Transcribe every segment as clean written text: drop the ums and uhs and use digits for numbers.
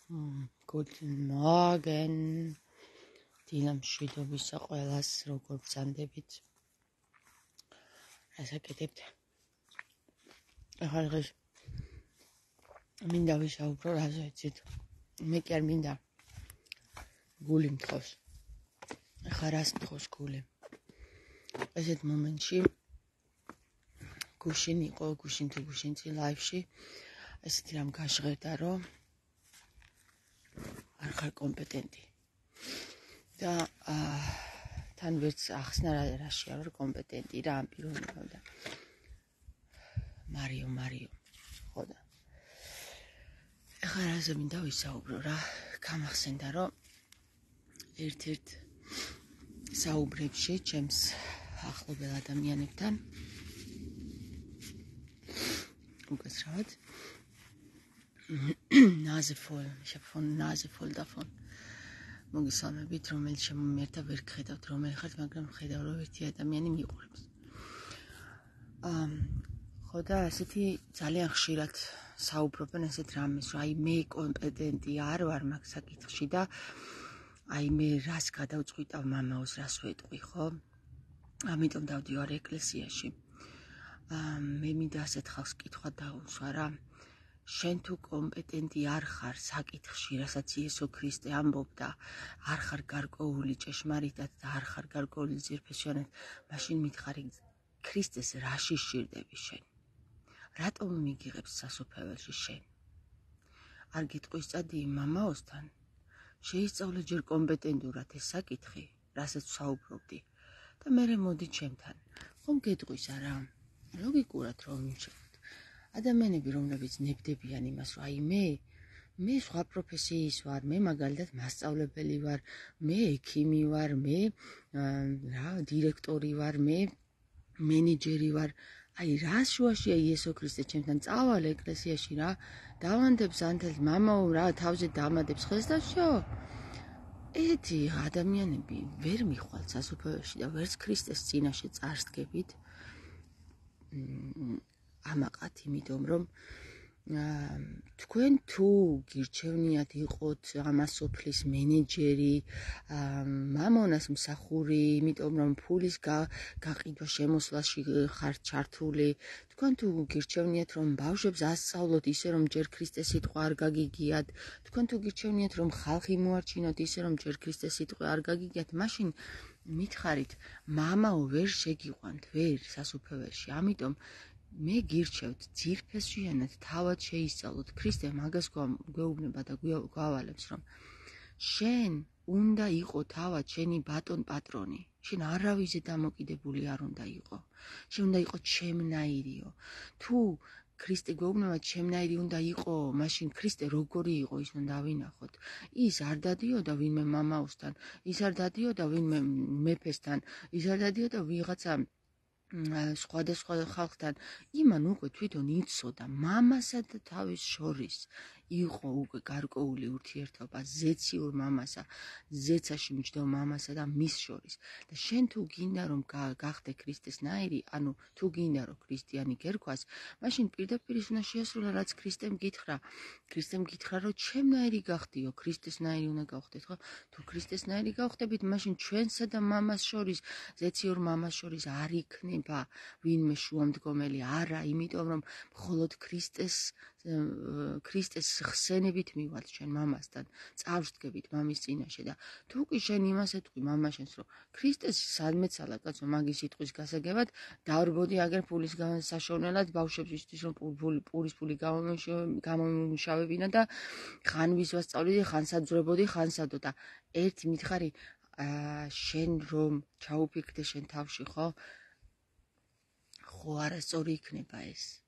Guten Morgen. დილამ შვიდობისა ყველას, როგორ ბრძანდებით? ასაკეთებთ. ახლა დღეს მინდა ვისაუბრო რაზე იცით. მე კი არ მინდა გული მთხოვს. ახლა რას მთხოვს გული? ესეთ მომენტში გუშინ იყო, გუშინ წინ ლაივში ესეთი რამ გაჟღერდა, რომ არ ხარ კომპეტენტი. და თან ვერც ახსნა რაშია ვარ კომპეტენტი რა ამ პიროვნებამ და მარიო ხო და ახლა რაზე მინდა ვისაუბრო რა გამახსენდა რომ ერთ-ერთ საუბრებში ჩემს ახლობელ ადამიანებთან უკაცრავად ნაზი ფოლდაფონ მოგესალმებით, რომელიც შემომიერთა ვერ გხედავთ, რომელი ხართ, მაგრამ ხედავ, რომ ერთი ადამიანი მიყურებს. ხო და ასეთი ძალიან ხშირად საუბრობენ ასეთ რამეს, რომ აი მე კომპეტენტი არ ვარ მაგ საკითხში და აი მე რას გადავწყვიტავ მამაოს, რას ვეტყვი, ხო? ამიტომ დავდივარ ეკლესიაში. მე მინდა ასეთ ხალხს კითხვა დავუსვა რა. შენ თუ კომპეტენტი არ ხარ საკითხში, რასაც იესო ქრისტე ამბობდა, არ ხარ გარკვეული ჭეშმარიტად და არ ხარ გარკვეული ძირფესიანად, მაშინ მითხარი ქრისტეს რაში სჭირდები შენ? რატომ მიგიღებს სასופველში შენ? არ გიტყვის წადი მამაოსთან? შეისწავლე ჯერ კომპეტენტურად ეს საკითხი, რასაც საუბრობდი და მერე მოდი ჩემთან. ხომ გეტყვის არა? ლოგიკურად რომ მიჩვენოთ. ადამიანები, რომლებიც ნებდებიან იმას, რომ აი მე სხვა პროფესიის ვარ, მე მაგალითად მასწავლებელი ვარ, მე ექიმი ვარ, მე დირექტორი ვარ, მე მენეჯერი ვარ. აი რა შუაშია იესო ქრისტე ჩემთან წავალ ეკლესიაში რა, დავანდებ ზანთელს მამაო რა თავზე დამადებს ხელს და всё. ესეთი ადამიანები ვერ მიხვალთ სასופველში და ვერც ქრისტეს წინაშე წარსდგებით. ამაყად, იმიტომ რომ თქვენ თუ გირჩევნიათ იყოთ ამას სოფლის მენეჯერი, მამონას მსახური, იმიტომ რომ ფულის გაყიდვა შემოსვლაში ხართ ჩართული, თქვენ თუ გირჩევნიათ რომ ბავშვებს ასწავლოთ ისე რომ ჯერ ქრისტეს სიტყვა არ გაგიგიათ, თქვენ თუ გირჩევნიათ რომ ხალხი მოარჩინოთ ისე რომ ჯერ ქრისტეს სიტყვა არ გაგიგიათ, მაშინ მითხარით მამაო ვერ შეგიყვანთ, ვერ სასופველში, ამიტომ მე გირჩევთ ძირფესიანად თავად შეისწავლოთ. ქრისტე მაგას გვეუბნება და გვავალებს, რომ შენ უნდა იყო თავად შენი ბატონ პატრონი. შენ არავიზე დამოკიდებული არ უნდა იყო. შენ უნდა იყო ჩემნაირიო. თუ ქრისტე გვეუბნება ჩემნაირი უნდა იყო, მაშინ ქრისტე როგორი იყო ის უნდა დავინახოთ. ის არ დადიოდა ვინმე მამაოსთან, ის არ დადიოდა ვინმე მეფესთან, ის არ დადიოდა ვიღაცა სხვადასხვა ხალხთან. იმან უკვე თვითონ იცოდა მამასა და თავის შორის იყო უკვე გარკვეული ურთიერთობა ზეციურ მამასა, ზეცაში მჯდომ მამასა და მის შორის. და შენ თუ გინდა რომ გახდე ქრისტესნაირი, ანუ თუ გინდა რომ ქრისტიანი გერქვას, მაშინ პირდაპირ ის უნდა შეასრულა რაც ქრისტემ გითხრა. ქრისტემ გითხრა რომ ჩემნაირი გახდიო, ქრისტესნაირი უნდა გავხდეთ, ხო? თუ ქრისტესნაირი გავხდებით, მაშინ ჩვენსა და მამას შორის, ზეციურ მამას შორის არ იქნება ვინმე შუამდგომელი, არა, იმიტომ რომ მხოლოდ ქრისტეს ხსენებით მივალთ ჩვენ მამასთან, წავსდგებით მამის წინაშე და თუ კი შენ იმას ეთქვი მამაშენს, რომ ქრისტეს სადმეცალა კაცო მაგის სიტყვის გასაგებად, დავრბოდი აგერ ფულის საშოვნელად ბავშვებისთვის, რომ პურის ფული გამომუშავებინა და ხან ვის ვასწავლიდი, ხან საძვრებოდი, ხან სადო და ერთი მითხარი, შენ რომ ჩაუფიქრდე შენ თავში, ხო? ხო არასწორი იქნება ეს.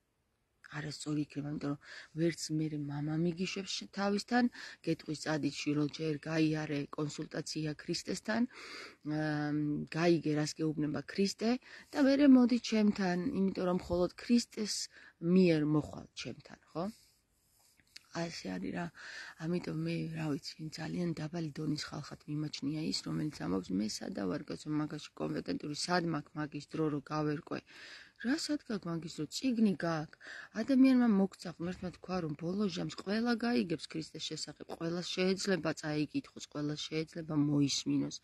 არასწორი იქნება, იმიტომ რომ ვერც მე მამა მიგიშვებს თავისთან, გეტყვის წადი შვილო ჯერ გაიარე კონსულტაცია ქრისტესთან, გაიგე რას გეუბნება ქრისტე და მერე მოდი ჩემთან, იმიტომ რომ მხოლოდ ქრისტეს მიერ მოხვალ ჩემთან, ხო? ასე არის რა. ამიტომ მე რა ვიცი, ძალიან დაბალი დონის ხალხად მიმაჩნია ის, რომელიც ამბობს მე სადა ვარ კაცო მაგაში კომპეტენტური, სად მაქვს მაგის დრო რომ გავერკვე. რასაც გაქვს მაგის რო წიგნი გაქვს. ადამიანმა მოგცა ღმერთმა თქვა რომ ბოლო ჟამს ყველა გაიგებს ქრისტეს შესახებ, ყველას შეეძლება წაიკითხოს, ყველას შეეძლება მოისმინოს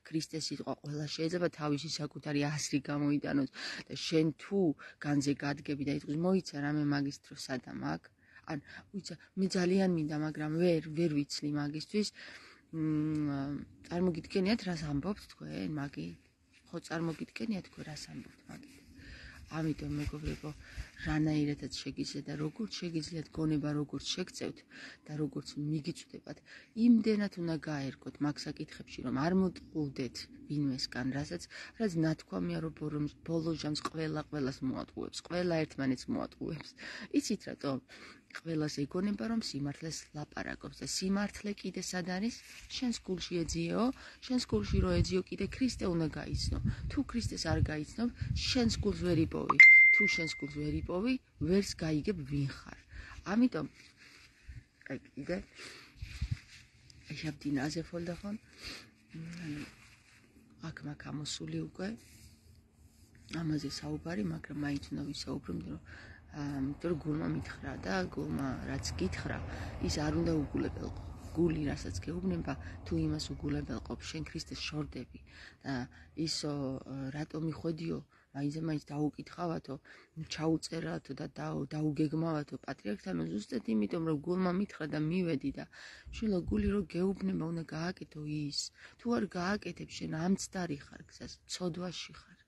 ქრისტეს სიტყვა, ყველას შეეძლება თავისი საკუთარი აზრი გამოიტანოს და შენ თუ განზე გადგები და იტყვის მოიცა რამე მაგის დრო სადამ აქ. ან უიცა მე ძალიან მინდა, მაგრამ ვერ ვიცლი მაგისთვის. წარმოგიდგენიათ რას ამბობთ თქვენ მაგით? ხო წარმოგიდგენიათ თქვენ რას ამბობთ მაგით? ამიტომ მეგობრებო, რანაირადაც შეგიძლიათ და როგორც შეგიძლიათ გონება როგორც შეგწევთ და როგორც მიგიწვდებათ, იმდენად უნდა გაერგოთ მაგ საკითხებში, რომ არ მოტყუდეთ ვინმესგან, რაც ნათქვამია, რომ ბოლო ჟამს ყველას მოატყუებს, ყველა ერთმანეთს მოატყუებს. იცით რატომ? ყველას ეგონება, რომ სიმართლეს ლაპარაკობს და სიმართლე კიდე სად არის? შენს გულში ეძიეო, შენს გულში რო ეძიო, კიდე ქრისტე უნდა გაიცნო. თუ ქრისტეს არ გაიცნობ, შენს გულს ვერ იპოვი. თუ შენს გულს ვერ იპოვი, ვერს გაიგებ ვინ ხარ. ამიტომ აი კიდე Ich habe die Nase voll davon. აქ მაგ ამოსული უკვე ამაზე საუბარი, მაგრამ მაინც უნდა ვისაუბროთ, რომ გულმა მითხრა და გულმა რაც გითხრა, ის არ უნდა უგულებელყო. გული რასაც გეუბნება, თუ იმას უგულებელყოფ, შენ ქრისტეს შორდები და ისო რატო მიხვედიო, მაინც დაუკითხავათო, ჩაუწერათო და დაუგეგმავათო პატრიარქთან ზუსტად იმიტომ, რომ გულმა მითხრა და მივედი და შვილო გული რო გეუბნება, უნდა გააკეთო ის. თუ არ გააკეთებ, შენ ამცდარი ხარ გზას, ცოდვაში ხარ.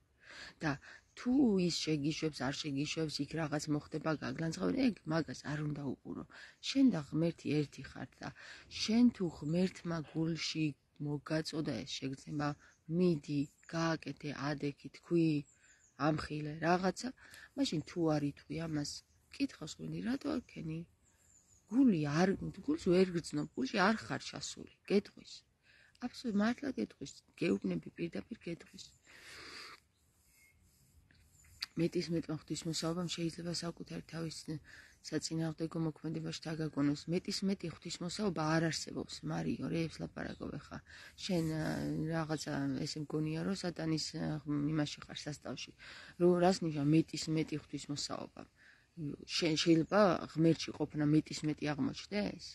და თუ ის შეგიშვებს, არ შეგიშვებს, იქ რაღაც მოხდება, გაგლანძღავენ, ეგ მაგას არ უნდა უყურო. შენ და ღმერთი ერთი ხართ და შენ თუ ღმერთმა გულში მოგაწოდა ეს შეგრძნება, მიდი, გააკეთე, ადექი, თქვი, ამხილე რაღაცა, მაშინ თუ არ იტყვი ამას, კითხავს ღვინი, რატო არქენი? გულს ვერ გრძნობ, გულში არ ხარ ჩასული, გეტყვის. აბსოლუტურად მართლა გეტყვის, გეუბნები პირდაპირ გეტყვის. მეტისმეტმა ღვთისმოსაობამ შეიძლება საკუთარი თავის საწინააღმდეგო მოქმედებაში დაგაგონოს. მეტისმეტი ღვთისმოსაობა არ არსებობს, მარიო, რეებს ლაპარაკობ ხა. შენ რაღაცა ესე მგონია, რომ სატანის იმაში ხარ სასწავში. რას ნიშნავს მეტისმეტი ღვთისმოსაობა? შენ შეიძლება ღმერთში ყოფნა მეტისმეტი აღმოჩნდეს?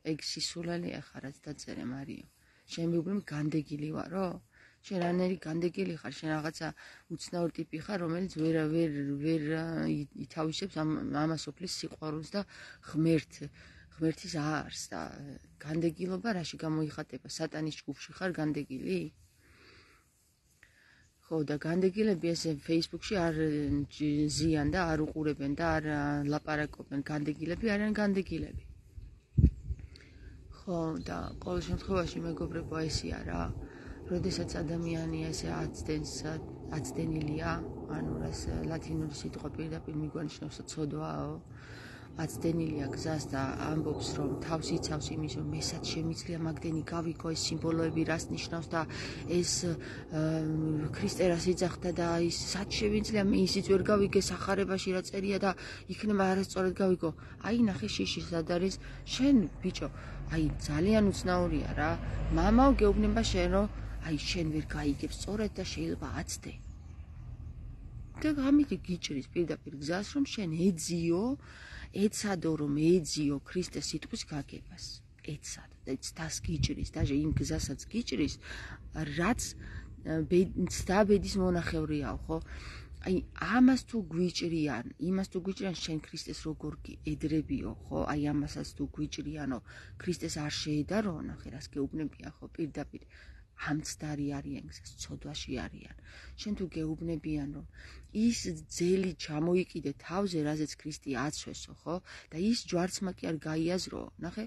ეგ სისულელეა ხა, რაც დაწერე, მარიო. შენ მეგობრებო განდეგილი ვარო? შენ რანერი განდეგილი ხარ, შენ რაღაცა უცნაური ტიპი ხარ, რომელიც ვერ ითავისებს ამას ოფლის სიყვარულს და ღმერთის არს და განდეგილობა რაში გამოიხატება? სატანის ჯგუფში ხარ განდეგილი? ხო და განდეგილები ესე Facebook-ში არ ზიან და არ უყურებენ და არ ლაპარაკობენ. განდეგილები არიან განდეგილები. ხო და ყოველ შემთხვევაში მეგობრებო ესია რა. როდესაც ადამიანი ესე აცდენილია, ანუ რას ლათინური სიტყვა პირდაპირ მიგვანიშნავს ცოდვაო, აცდენილია გზას და ამბობს, რომ თავს იცავს იმის, რომ მესაც შემიძლია მაგდენი გავიქო, ეს სიმბოლოები რას ნიშნავს და ეს ქრისტე რას ეძახდა და ის სად შემიძლია მე ისიც ვერ გავიგე სახარებაში რა წერია და იქნება არასწორად გავიგო. აი ნახე შიში სად არის, შენ ბიჭო, აი ძალიან უცნაურია რა. მამაო გეუბნება შენ რომ აი შენ ვერ გაიგებ სწორად და შეიძლება აცდე. და ამით გიჭრის პირდაპირ გზას, რომ შენ ეცადო რომ ეძიო ქრისტეს სიტყვის გაგებას. ეცადო და ცდას გიჭრის, დაჟე იმ გზასაც გიჭრის, რაც ცდაბედის მონახევრიაო, ხო? აი ამას თუ გვიჭრიან, შენ ქრისტეს როგორ ედრებიო, ხო? აი ამასაც თუ გვიჭრიანო, ქრისტეს არ შეედარო, ნახე რას გეუბნებიან, ხო? პირდაპირ ამცდარი არიან გზას, ცოდვაში არიან. შენ თუ გეუბნებიან, რომ ის ძელი ჩამოიყიდე თავზე, რაზეც ქრისტე აცვესო, ხო? და ის ჯვარცმა კი არ გაიაზრო. ნახე,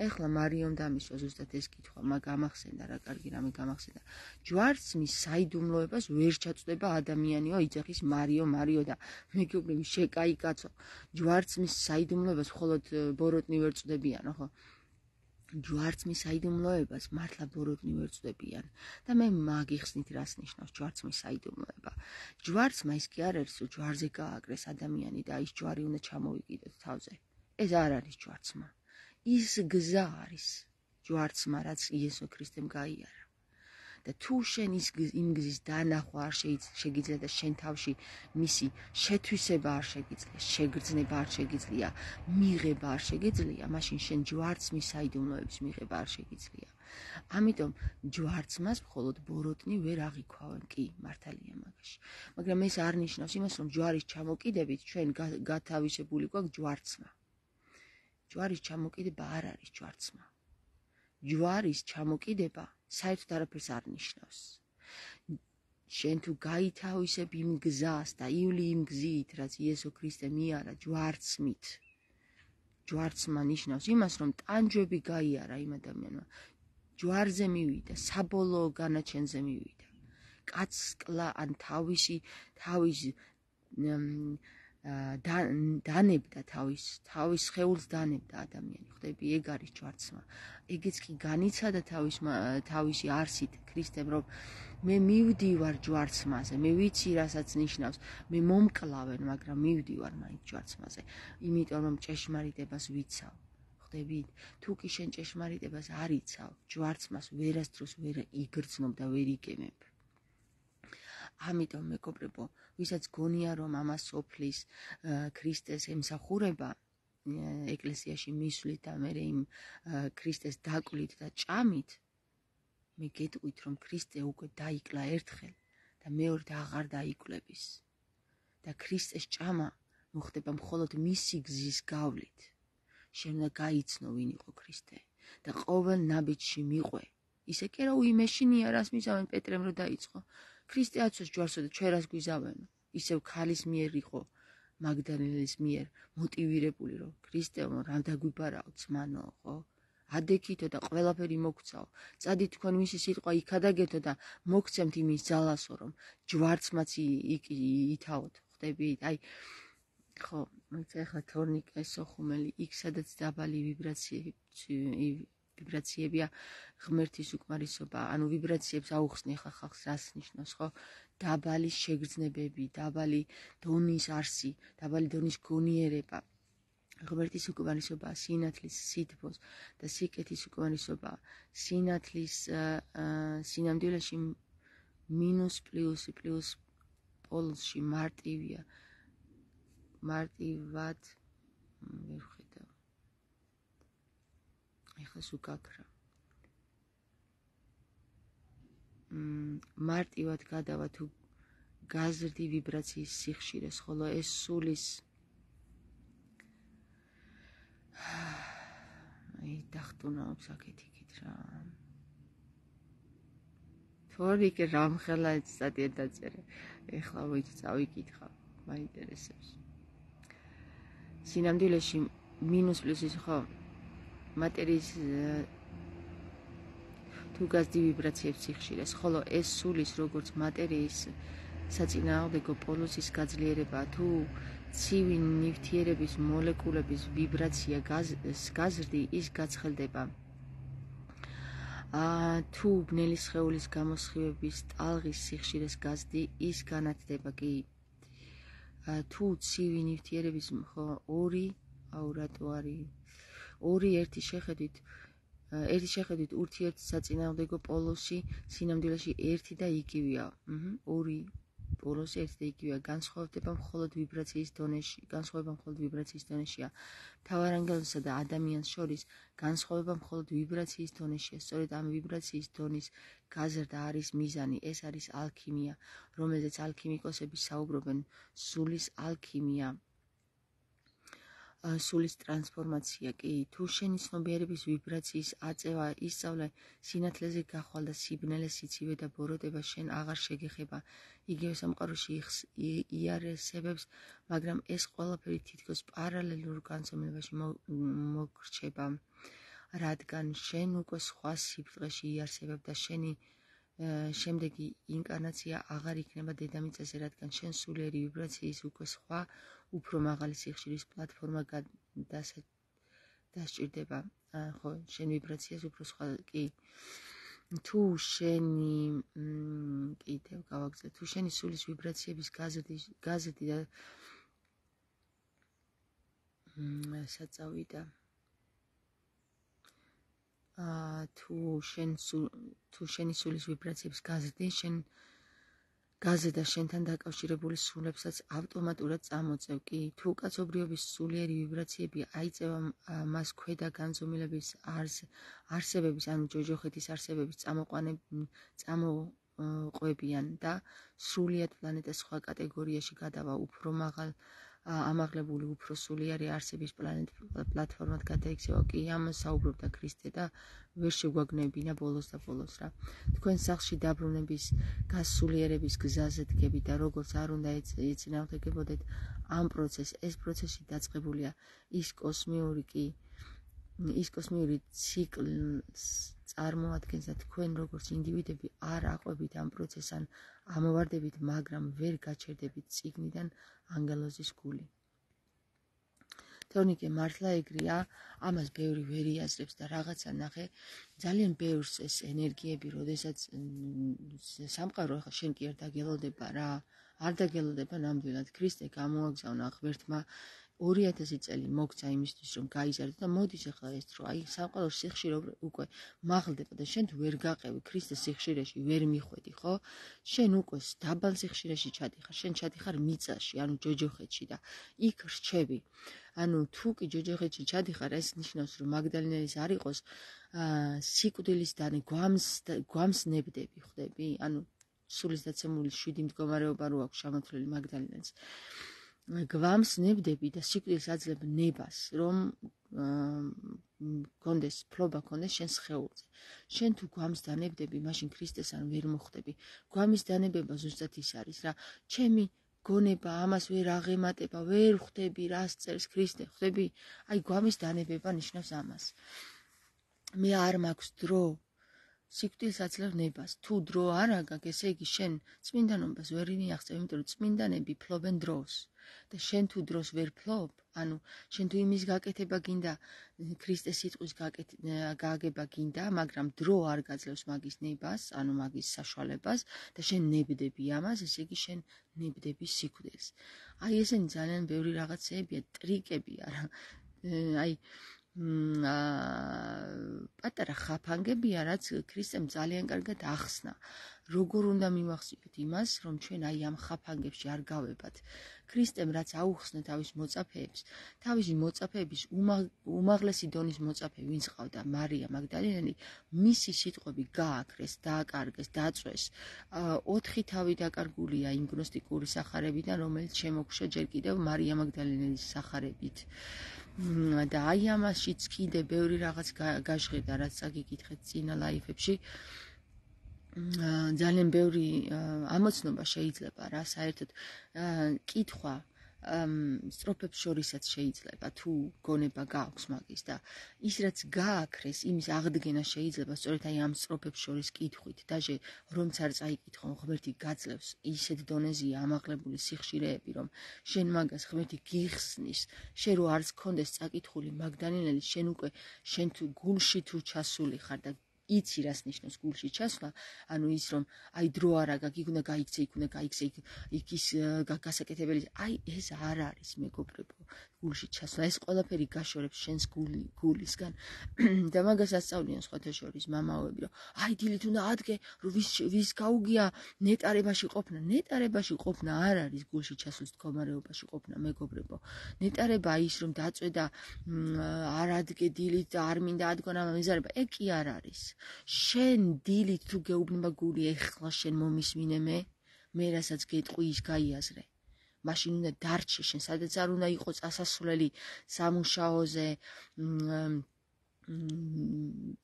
ეხლა მარიომ დამისვა ზუსტად ეს კითხვა, მაგ გამახსენდა რა, კარგი რამე გამახსენდა. ჯვარცმის საიდუმლოებას ვერ ჩაწვდება ადამიანიო, იძახის მარიო და მეგობრები შეკაი კაცო. ჯვარცმის საიდუმლოებას მხოლოდ ბოროტნი ვერ წვდებიანო, ხო? ჯვარცმის საიდუმლოებას მართლა ბოროტნი ვერ წვდებიან და მე მაგიხსნით რას ნიშნავს ჯვარცმის საიდუმლოება. ჯვარცმა ის კი არ არის, რომ ჯვარზე გააკრეს ადამიანი და ის ჯვარი უნდა ჩამოიყიდოთ თავზე. ეს არ არის ჯვარცმა. ის გზა არის ჯვარცმა, რაც იესო ქრისტემ გაიარა. და თუ შენ იმ გზის დანახვა არ შეგიძლია და შენ თავში მისი შეთვისება არ შეგიძლია, შეგრძნება არ შეგიძლია, მიღება არ შეგიძლია, მაშინ შენ ჯვარცმის საიდუმლოების მიღება არ შეგიძლია. ამიტომ ჯვარცმას მხოლოდ ბოროტნი ვერ აღიქვავენ, კი, მართალია მაგაში. მაგრამ ეს არ ნიშნავს იმას, რომ ჯვარის ჩამოკიდებით ჩვენ გათავისებული გვაქვს ჯვარცმა. ჯვარის ჩამოკიდება არ არის ჯვარცმა. ჯვარის ჩამოკიდება საერთოდ არაფერს არ ნიშნავს. შენ თუ გაითავისებ იმ გზას და ივლი იმ გზით, რაც იესო ქრისტე მიარა ჯვარცმით. ჯვარცმა ნიშნავს იმას, რომ ტანჯვები გაიარა იმ ადამიანმა. ჯვარზე მივიდა, საბოლოო განაჩენზე მივიდა. კაცკლა ან თავის დანებდა თავის სხეულს დანებდა ადამიანი. ხვდები, ეგ არის ჯვარცმა. ეგეც კი განიცადა თავისი არსით ქრისტემ, რომ მე მივდივარ ჯვარცმაზე, მე ვიცი რასაც ნიშნავს, მე მომკლავენ, მაგრამ მივდივარ მაინც ჯვარცმაზე, იმიტომ რომ ჭეშმარიტებას ვიცავ. ხვდებით, თუ კი შენ ჭეშმარიტებას არ იცავ, ჯვარცმას ვერასდროს ვერ იგრძნობ და ვერ იგემებ. ამიტომ მეგობრებო, ვისაც გონია რომ ამას სოფლის ქრისტეს ემსახურება ეკლესიაში მისვლით და მე იმ ქრისტეს დაკვლით და ჭამით, მე გეტყვით რომ ქრისტე უკვე დაიკლა ერთხელ და მეორედ აღარ დაიკლების და ქრისტეს ჭამა მოხდება მხოლოდ მისი გზის გავლით. შენ უნდა გაიცნო ვინ იყო ქრისტე და ყოველ ნაბიჯში მიყვე. ისე კი რა უიმეშინია რას მისავენ პეტრემ რო დაიწყო. ქრისტე აცოს ჯვარსო და ჩვენ რას გვიზავენო. ისევ ქალის მიერ იყო მაგდალენის მიერ მოტივირებული რომ ქრისტეო რა დაგვიბარაო ძმანო, ხო? ადექითო და ყველაფერი მოგცაო. წადი თქვენ მისი სიტყვა იქადაგეთო და მოგცემთ იმის ძალასო რომ ჯვარცმაც ითავოთ. ხვდებით? აი ხო, ეხლა თორნიკე სოხუმელი იქ სადაც დაბალი ვიბრაციებია ღმერთის უკმარისობა, ანუ ვიბრაციებს აუხსნი ხა ხალხს რას ნიშნავს, ხო? დაბალი შეგრძნებები, დაბალი დონის არსი, დაბალი დონის გონიერება. ღმერთის უკმარისობა სინათლის სითბოს და სიკეთის უკმარისობა სინათლის სინამდვილეში მინუს პლუსი პლუს პოლუსში მარტივია. მარტივად ვერ ხედავ. ეხლა სუკაკრა. მარტივად გადავა თუ გაზრდი ვიბრაციის სიხშირეს, ხოლო ეს სულის აი დახტუნაობს აქეთ-იქით რა. თორიკე რამხელა სტატია დაწერე. ეხლა ვიჩ წავიკითხავ, მაინტერესებს. სინამდვილეში მინუს პლუსის ხო მატერიის თუ გაზრდი ვიბრაციებს სიხშირეს, ხოლო ეს სულის როგორც მატერიის საწინააღმდეგო პოლუსის გაძლიერება, თუ ცივი ნივთიერების მოლეკულების ვიბრაცია გაზრდი, ის გაცხელდება. თუ ბნელი სხეულის გამოსხივების ტალღის სიხშირეს გაზრდი, ის განათდება კი. თუ ცივი ნივთიერების ხო ორი ერთი შეხედვით ურთიერთსაწინააღმდეგო პოლუსი სინამდვილეში ერთი და იგივეა. ორი პოლუსი ერთი და იგივეა, განსხვავება მხოლოდ ვიბრაციის დონეშია. მთავარანგელოზსა და ადამიანს შორის განსხვავება მხოლოდ ვიბრაციის დონეშია. სწორედ ამ ვიბრაციის დონის გაზრდა არის მიზანი, ეს არის ალქიმია, რომელზეც ალქიმიკოსები საუბრობენ. სულის ალქიმია, სულის ტრანსფორმაცია კი. თუ შენი ცნობიერების ვიბრაციის აწევა, ისწავლე, სინათლეზე გახვალ და სიბნელე, სიცივე და ბოროტება შენ აღარ შეგეხება. იგივე სამყაროში იარსებებს, მაგრამ ეს ყველაფერი თითქოს პარალელურ განცემლებაში მოგრჩება, რადგან შენ უკვე სხვა სიბწყეში იარსებებ და შენი შემდეგი ინკარნაცია აღარ იქნება დედამიწაზე, რადგან შენ სულიერი ვიბრაციის უკვე სხვა უფრო მაღალი სიხშირის პლატფორმა დასჭირდება. ხო, შენ ვიბრაციას უფრო სხვა კი. თუ შენი კიდევ გავაგზავნე, თუ შენი სულის ვიბრაციების გაზრდი და საწავიდა თუ შენ თუ შენი სულის ვიბრაციებს გაზრდი, შენ გაზრდა შენთან დაკავშირებული სულებსაც ავტომატურად წამოწევ კი. თუ კაცობრიობის სულიერი ვიბრაციები აიწევა მას ქვედა განზომილების არსებების, ანუ ჯოჯოხეთის არსებების წამოყვებიან და სრულიად პლანეტას სხვა კატეგორიაში გადავა, უფრო ამაღლებული, უფრო სულიერი არსების პლატფორმად გადაიქცევა კი. ამას საუბრობდა ქრისტე და ვერ შეგვაგნებინა ბოლოს და ბოლოს რა. თქვენ სახლში დაბრუნების გასულიერების გზაზე დგებით და როგორც არ უნდა ეწინააღმდეგებოდეთ ამ პროცესს, ეს პროცესი დაწყებულია ის კოსმიური ციკლს წარმოადგენს და თქვენ როგორც ინდივიდები არ აყვებით ამ პროცესს ან ამოვარდებით, მაგრამ ვერ გაჩერდებით წიგნიდან ანგელოზის გული. თორნიკე მართლა ეგრეა, ამას ბევრი ვერ იაზრებს და რაღაცა ნახე, ძალიან ბევრს ეს ენერგიები, როდესაც სამყარო ახლა შენ კი არ დაგელოდება რა, არ დაგელოდება ნამდვილად. ქრისტე გამოაგზავნა ღმერთმა 2000 წელი მოგცა იმისთვის, რომ გაიზარდო და მოდის ახლა ეს დრო, აი სამყაროს სიხშირე უკვე მაღლდება და შენ თუ ვერ გაყევი ქრისტეს სიხშირეში ვერ მიხვედი, ხო? შენ უკვე დაბალ სიხშირეში ჩადიხარ, შენ ჩადიხარ მიწაში, ანუ ჯოჯოხეთში და იქ რჩები. ანუ თუ კი ჯოჯოხეთში ჩადიხარ, ეს ნიშნავს, რომ მაგდალენელის არ იყოს სიკვდილის დანე გვამს ნებდები, ხვდები? ანუ სულის დაცემული 7 მდგომარეობა რო აქვს შემოთვლილი მაგდალენელს. გვამს ნებდები და სიკვდილს აძლებ ნებას, რომ კონდეს ფლობა კონდეს შენ სხეულზე. შენ თუ გვამს დანებდები, მაშინ ქრისტეს ან ვერ მოხვდები. გვამის დანებება ზუსტად ის არის რა. ჩემი გონება ამას ვერ აღემატება, ვერ ხვდები რას წერს ქრისტე, ხვდები? აი გვამის დანებება ნიშნავს ამას. მე არ მაქვს დრო სიკვდილს აძლევ ნებას. თუ დრო არ აგაგ, ესე იგი შენ წმინდანობას ვერ მიაღწევ, იმიტომ რომ წმინდანები ფლობენ დროს. და შენ თუ დროს ვერ ფლობ, ანუ შენ თუ იმის გაკეთება გინდა, ქრისტეს სიტყვის გააგება გინდა, მაგრამ დრო არ გაძლევს მაგის ნებას, ანუ მაგის საშუალებას და შენ ნებდები ამას, ესე იგი შენ ნებდები სიკვდილს. აი ესენი ძალიან ბევრი რაღაცეებია, ტრიკებია რა. აი პატარა ხაფანგებია, რაც ქრისტემ ძალიან კარგად ახსნა. როგორ უნდა მივახციოთ იმას, რომ ჩვენ აი ამ ხაფანგებში არ გავებად. ქრისტემ რაც აუხსნა თავის მოწაფეების უმაღლესი დონის მოწაფე, ვინც ყავდა მარია მაგდალენელი, მისი სიტყვები გააქრეს, დააკარგეს, დაწვეს. 4 თავი დაკარგულია იმ გნოსტიკური სახარებიდან, რომელიც შემოგშა ჯერ კიდევ მარია მაგდალენელის სახარებით. და აი ამაშიც კიდე ბევრი რაღაც გაჟღერდა, რაც წაგიკითხეთ წინა ლაიფებში. ძალიან ბევრი ამოცნობა შეიძლება რა, საერთოდ კითხვა სტროფებს შორისაც შეიძლება, თუ გონება გააქვს მაგის და ის რაც გააქრეს, იმის აღდგენა შეიძლება სწორედ აი ამ სტროფებს შორის კითხვით. დაჟე რომც არ წაიკითხო, ღმერთი გაძლევს ისეთ დონეზეა ამაღლებული სიხშირეები, რომ შენ მაგას ღმერთი გიხსნის, შენ რო არც გქონდეს წაკითხული მაგდალენელი, შენ თუ გულში თუ ჩასული ხარ და იცი რას ნიშნავს გულში ჩასვლა, ანუ ის რომ აი დრო არ აგაგ, იქ უნდა გაიქცე, იქ ის გასაკეთებელი, აი ეს არ არის მეგობრებო, გულში ჩასვლა, ეს ყველაფერი გაშორებს შენს გულისგან და მაგას ასწავლიან სხვათა შორის მამაოები, რომ აი დილით უნდა ადგე, რომ ვის გაუგია ნეტარებაში ყოფნა არ არის გულში ჩასვლის მდგომარეობაში ყოფნა, მეგობრებო. ნეტარება ის რომ დაწვე და არ ადგე დილით და არ მინდა ადგონ ამ მიზარება, ეგ კი არ არის. შენ დილით თუ გეუბნება გული, ეხლა შენ მომისმინე მე რასაც გეტყვი ის გაიაზრე. მაშინ უნდა დარჩე შენ, სადაც არ უნდა იყოს წასასვლელი სამუშაოზე,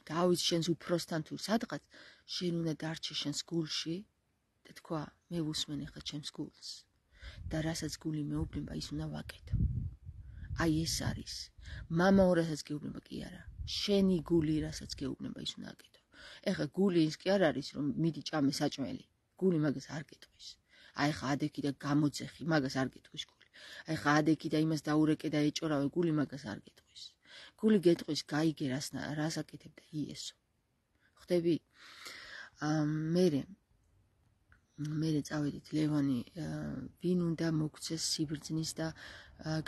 დავით შენს უფროსთან თუ სადღაც, შენ უნდა დარჩე შენს გულში და თქვა, მე ვუსმენ ახლა ჩემს გულს და რასაც გული მეუბნება, ის უნდა ვაკეთო. აი ეს არის. მამაო რასაც გეუბნება კი არა. შენი გული რასაც გეუბნება, ის უნდა აკეთო. ეხლა გული ის კი არ არის, რომ მიდი ჭამე საჭმელი. გული მაგას არ გეტყვის. აი ხა ადექი და გამოძეხი, მაგას არ გეტყვის გული. აი ხა ადექი და იმას დაურეკე და ეჭორავე, გული მაგას არ გეტყვის. გული გეტყვის, გაიგე რას აკეთებ და იესო. ხვდები? მერე წავედით ლევანი, ვინ უნდა მოგცეს სიბრძნის და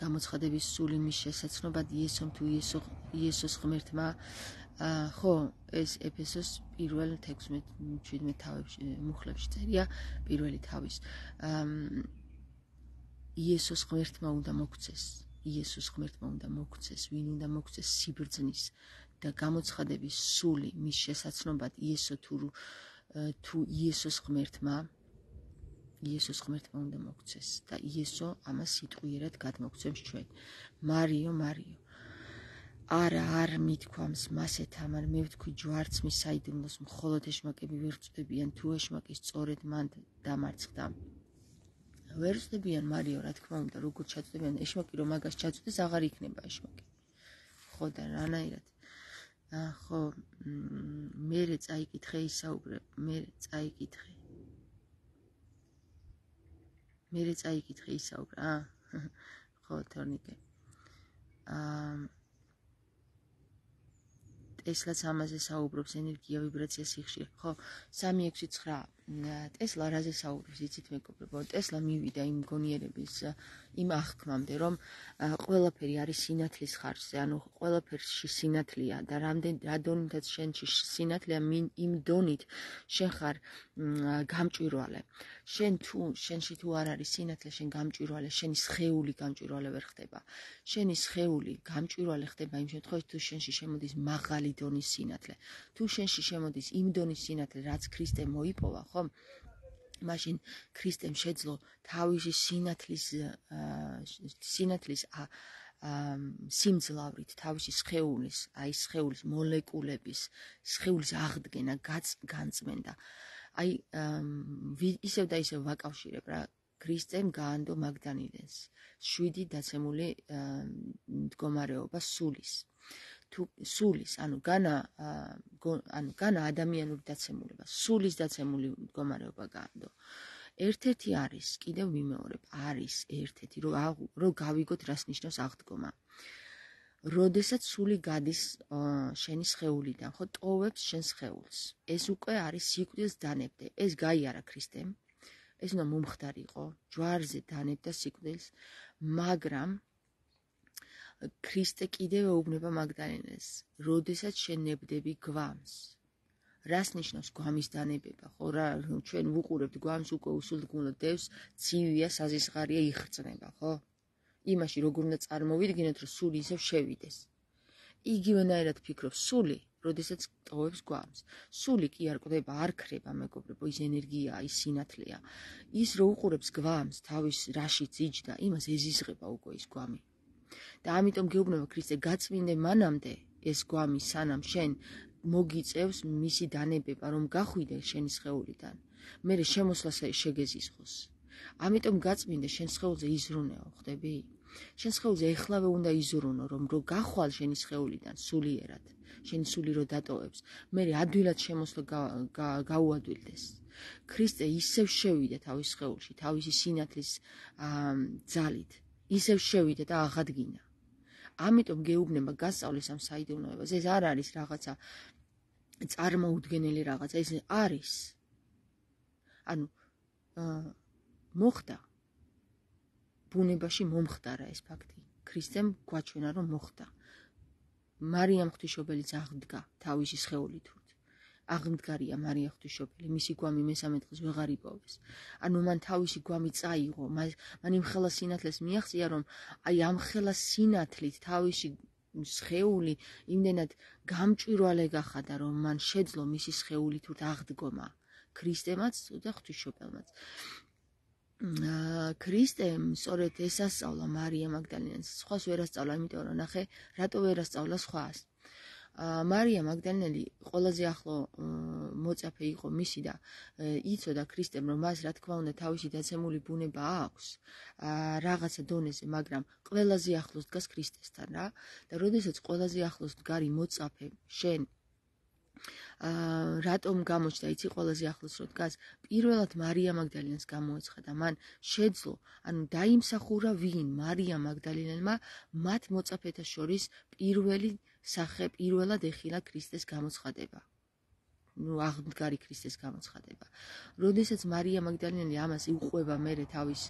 გამოცხადების სული მის შესაცნობად იესომ თუ იესოს ღმერთმა ხო, ეს ეფესოს პირველ 16-17 თავებში მუხლებში წერია პირველი თავის. იესოს ღმერთმა უნდა მოგვცეს, იესოს ღმერთმა უნდა მოგვცეს, ვინ უნდა მოგვცეს სიბრძნის და გამოცხადების სული მის შესაცნობად იესო თუ იესოს ღმერთმა უნდა მოგვცეს და იესო ამას სიტყვიერად გადმოგცემს ჩვენ. მარიო არ მithქვამს მასეთ ამან მე ვთქვი ჯვარცმის საიდუმლოს მხოლოდ ეშმაკები ვერ წვდებიან თუ ეშმაკი სწორედ მან დამარცხდა. ვერ წვდებიან მარიო, რა თქმა უნდა, როგორ ჩაწვდებიან ეშმაკი რომ მაგას ჩაწვდეს აღარ იქნება ეშმაკი. ხო და რანაირად ხო მერე წაიკითხე ისაუბრე, მერე წაიკითხე ისაუბრა. ხო თორნიკე. ტესლაც ამაზე საუბრობს ენერგია, ვიბრაცია, სიხშირე. ხო, 369 ტესლა რაზე საუბრობს, იცით მეგობრებო? ტესლა მივიდა იმ გონიერების იმ აღქმამდე, რომ ყველაფერი არის სინათლის ხარჯზე, ანუ ყველაფერში სინათლეა და რა დონითაც შენში სინათლეა, იმ დონით შენ ხარ გამჭვირვალე. შენში თუ არ არის სინათლე, შენ გამჭვირვალე, შენი სხეული გამჭვირვალე ვერ ხდება. შენი სხეული გამჭვირვალე ხდება იმ შემთხვევაში, თუ შენში შემოდის მაღალი დონის სინათლე. თუ შენში შემოდის იმ დონის სინათლე, რაც ქრისტემ მოიპოვა, ხო? მაშინ ქრისტემ შეძლო თავისი სინათლის სიმძლავრით, თავისი სხეულის, აი სხეულის მოლეკულების, სხეულის აღდგენა, განწმენდა. აი ისევ და ისევ ვაკავშირებ რა, ქრისტემ გაანდო მაგდანილეს 7 დაცემული მდგომარეობა სულის. თუ სულის, ანუ განა ადამიანური დაცემულება, სულის დაცემული მდგომარეობა გაანდო. ერთ-ერთი არის, კიდევ ვიმეორებ, არის ერთ-ერთი, რომ გავიგოთ რას ნიშნავს აღდგომა. როდესაც სული გადის შენი სხეულიდან, ხო, ტოვებს შენ სხეულს. ეს უკვე არის სიკვდილს დანებდე. ეს გაიარა ქრისტემ. ეს უნდა მომხდარიყო, ჯვარზე დანებდა სიკვდილს, მაგრამ ქრისტე კიდევ ეუბნება მაგდალენას, როდესაც შენ ნებდები გვამს. რას ნიშნავს გვამის დანებება? ხო, ჩვენ ვუყურებთ გვამს უკვე უსულთგმულო დევს, ცივია, საზისხარია, იხრწნება, ხო? იმაში როგორ უნდა წარმოვიდგინოთ, რომ სული ისევ შევიდეს. იგივენაირად ფიქრობს სული, როდესაც ტოვებს გვამს. სული კი არ კვდება, არ ქრება, მეგობრებო, ის ენერგია, ის სინათლეა. ის რო უყურებს გვამს, თავის რაშიც იჯდა, იმას ეზიზღება უკვე ის გვამი. და ამიტომ გეუბნება ქრისტე, გაწმინდე მანამდე ეს გვამი სანამ შენ მოგიწევს მისი დანებება, რომ გახვიდე შენი სხეულიდან, მერე შემოსვლას შეგეზიზღოს. ამიტომ გაწმინდე შენ სხეულზე იზრუნეო, ხვდები? შენ სხეულზე ეხლავე უნდა იზრუნო, რომ რო გახვალ შენი სხეულიდან სულიერად, შენი სული რო დატოვებს, მერე ადვილად შემოსვლა გაუადვილდეს. ქრისტე ისევ შევიდა თავის სხეულში, თავისი სინათლის ძალით, ისევ შევიდა და აღადგინა. ამიტომ გეუბნება გასწავლეს ამ საიდუმლოებას. ეს არ არის რაღაცა წარმოუდგენელი რაღაცა, ეს არის. ანუ მოხდა ბუნებაში მომხდარა ეს ფაქტი. ქრისტემ გვაჩვენა რომ მოხდა. მარიამ ღვთისმშობელიც აღდგა თავისი სხეულით. აღმდგარია მარია ღვთისმშობელი, მისი გვამი მესამე დღეს ვეღარ იპოვეს. ანუ მან თავისი გვამი წაიღო, მან იმ ხელა სინათლეს მიაღწია, რომ აი ამ ხელა სინათლით თავისი სხეული იმდენად გამჭვირვალე გახადა, რომ მან შეძლო მისი სხეულით აღდგომა. ქრისტემაც და ღვთისმშობელმაც. ქრისტემ სწორედ ეს ასწავლა მარია მაგდალენას, სხვას ვერ ასწავლა, იმიტომ რომ ნახე, რატო ვერ ასწავლა სხვას. მარია მაგდალენელი ყველაზე ახლო მოწაფე იყო მისი და იცოდა ქრისტემ, რომ მას რა თქმა უნდა თავისი დაცემული ბუნება აქვს რაღაცა დონეზე, მაგრამ ყველაზე ახლოს დგას ქრისტესთან რა. და როდესაც ყველაზე ახლოს დგარი მოწაფე შენ რატომ გამოჩნდა, იცი ყველაზე ახლოს რო დგას, პირველად მარია მაგდალენას გამოეცხადა, მან შეძლო, ანუ დაიმსახურა ვინ? მარია მაგდალენელმა მათ მოწაფეთა შორის პირველად ეხილა ქრისტეს გამოცხადება. აღმდგარი ქრისტეს გამოცხადება. როდესაც მარია მაგდალინელი ამას იყვება მერე თავის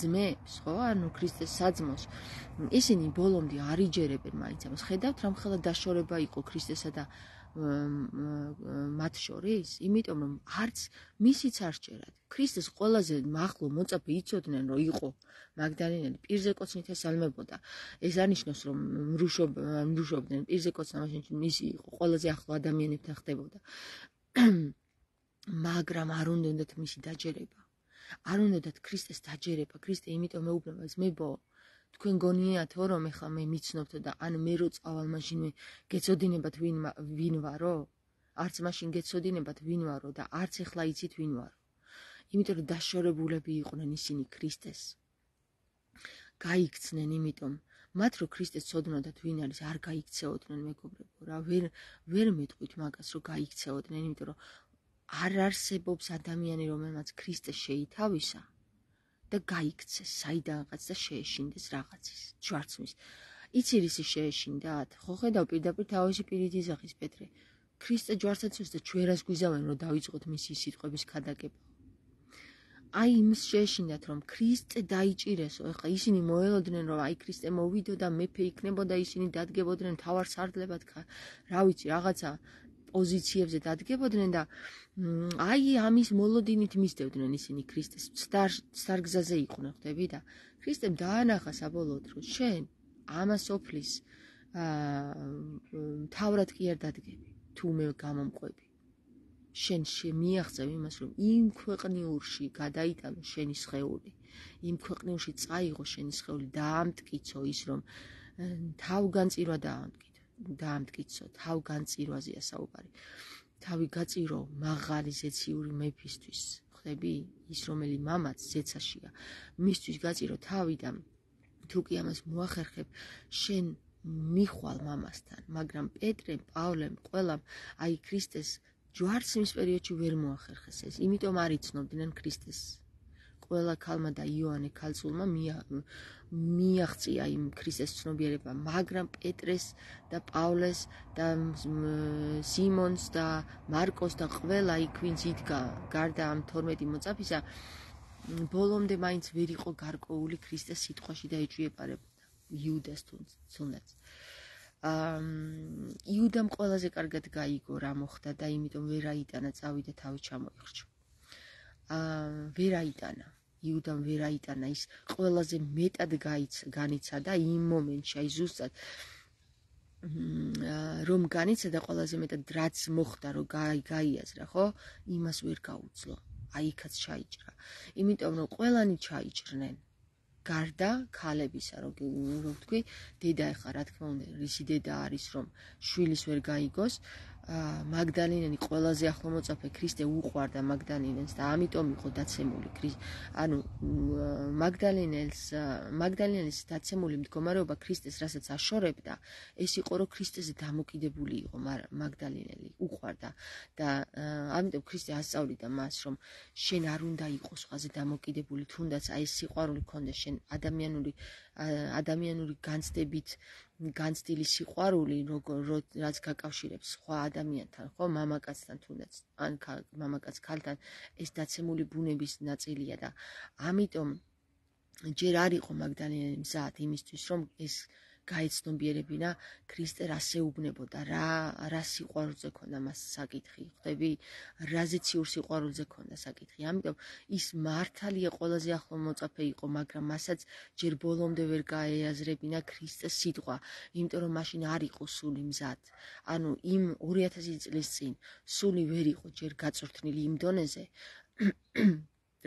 ძმებს, ხო, ანუ ქრისტეს საძმოს, ისინი ბოლომდე არ იჯერებენ მაინც ამას. ხედავთ, რამხელა დაშორება იყო ქრისტესა და მათ შორის, იმიტომ რომ არც მისიც არ სჯერათ. ქრისტეს ყველაზე მაღლო მოწაფე იცოდნენ, რომ იყო მაგდალინელი, პირზე კოცნით ესალმებოდა. ეს არნიშნავს, რომ მრუშობდნენ პირზე კოცნა, მაშინ მისი იყო ყველაზე ახლო ადამიანებთან ხდებოდა. მაგრამ არ უნდათ მისი დაჯერება. არ უნდათ ქრისტეს დაჯერება. ქრისტე იმიტომ მეუბნება, ძმებო, თქვენ გონიათო, რომ ეხლა მე მიცნობთ და ან მე რო წავალ, მაშინ მე გეცოდინებათ ვინ ვარო? არც მაშინ გეცოდინებათ ვინ ვარო და არც ეხლა იცით ვინ ვარო. იმიტომ რომ დაშორებულები იყვნენ ისინი ქრისტეს. გაიქცნენ, იმიტომ მათ რო ქრისტეს ცოდნოდათ ვინ არის, არ გაიქცეოდნენ, მეგობრებო, რა ვერ მეტყვით მაგას, რომ გაიქცეოდნენ, იმიტომ რომ არ არსებობს ადამიანი, რომელმაც ქრისტე შეითავისა და გაიქცეს საიდანღაც და შეეშინდეს რაღაცის ჯვარცმის. იცი რისი შეეშინდათ? ხო ხედავ პირდაპირ თავისი პირით იზახის პეტრე. ქრისტე ჯვარცაცოს და ჩვენას გვიზავენ, რომ დავიწყოთ მისი სიტყვების ქადაგება. აი იმის შეეშინდათ, რომ ქრისტე დაიჭირესო. ეხლა ისინი მოელოდნენ, რომ აი ქრისტე მოვიდო და მეფე იქნებოდა, ისინი დადგებოდნენ მთავარ სარდლებად, რა ვიცი, რაღაცა პოზიციებზე დადგებოდნენ და აი ამის მოლოდინით მისდევდნენ ისინი ქრისტეს. სარგზაზე იყვნენ, ხვდები და ქრისტემ დაანახა საბოლოოდ, რომ შენ ამას ოფლის მთავრად კი არ დადგები, თუ მე გამომყვები. შენ მიაღწევ იმას, რომ იმ ქვეყნიურში გადაიტანო შენი სხეული, იმ ქვეყნიურში წაიღო შენი სხეული, დაამტკიცო ის, რომ თავგანწირვა დაამტკიცო, თავგანწირვაზეა საუბარი. თავი გაწირო მაღალი ზეციური მეფისთვის, ხვდები? ის რომელი მამაც ზეცაშია, მისთვის გაწირო თავი და თუ კი ამას მოახერხებ, შენ მიხვალ მამასთან, მაგრამ პეტრემ, პავლემ, ყველამ აი ქრისტეს ჯვარცმის პერიოდში ვერ მოახერხეს ეს, იმიტომ არ იცნობდნენ ქრისტეს. ყველა ქალმა და იოანე ქალწულმა მიაღწია იმ ქრისტეს ცნობიერება, მაგრამ პეტრეს და პავლეს და სიმონს და მარკოს და ყველა იქ ვინც იდგა გარდა ამ 12 მოწაფისა, ბოლომდე მაინც ვერ იყო გარკვეული ქრისტეს სიტყვაში და ეჭვიეპარებოდა იუდას თუნდაც. იუდამ ყველაზე კარგად გაიგო რა მოხდა და იმიტომ ვერ აიტანა, წავიდა თავი ჩამოიხრჩა. ვერ აიტანა. იუდამ ვერ აიტანა, ის ყველაზე მეტად განიცადა იმ მომენტში, აი ზუსტად რომ განიცადა ყველაზე მეტად რაც მოხდა, რომ გაიაზრა, ხო? იმას ვერ გაუძლო. აი იქაც ჩაიჭრა. იმიტომ რომ ყველანი ჩაიჭრნენ. გარდა ქალებისა, რომ ვთქვი, დედა ეხა რა თქმა უნდა, რისი დედა არის, რომ შვილის ვერ გაიგოს, მაგდალინელი ყველაზე ახლო მოწაფე ქრისტე უყვარდა მაგდალინელს და ამიტომ იყო დაცემული. ანუ მაგდალინელის დაცემული მდგომარეობა ქრისტეს რასაც აშორებდა, ეს იყო, რომ ქრისტეზე დამოკიდებული იყო მაგდალინელი, უყვარდა და ამიტომ ქრისტე ასწავლიდა მას, რომ შენ არ უნდა იყოს სხვაზე დამოკიდებული, თუნდაც აი ეს სიყვარული ქონდეს შენ ადამიანური განცდილი სიყვარული, რაც გაკავშირებს სხვა ადამიანთან, ხო, მამაკაცთან თუნდაც, ან მამაკაც ქალთან, ეს დაცემული ბუნების ნაწილია და ამიტომ ჯერ არ იყო მაგდალინელი მზად იმისთვის, რომ ეს გაეცნობიერებინა ქრისტე რას ეუბნებოდა, რა სიყვარულზე ქონდა მას საკითხი, ხვდები? რაზე ციურ სიყვარულზე ქონდა საკითხი. ამიტომ ის მართალია ყველაზე ახლო მოწაფე იყო, მაგრამ მასაც ჯერ ბოლომდე ვერ გაეაზრებინა ქრისტეს სიტყვა, იმიტომ რომ მაშინ არ იყო სული მზად. ანუ იმ 2000 წლის წინ სული ვერ იყო ჯერ გაწვრთნილი იმ დონეზე,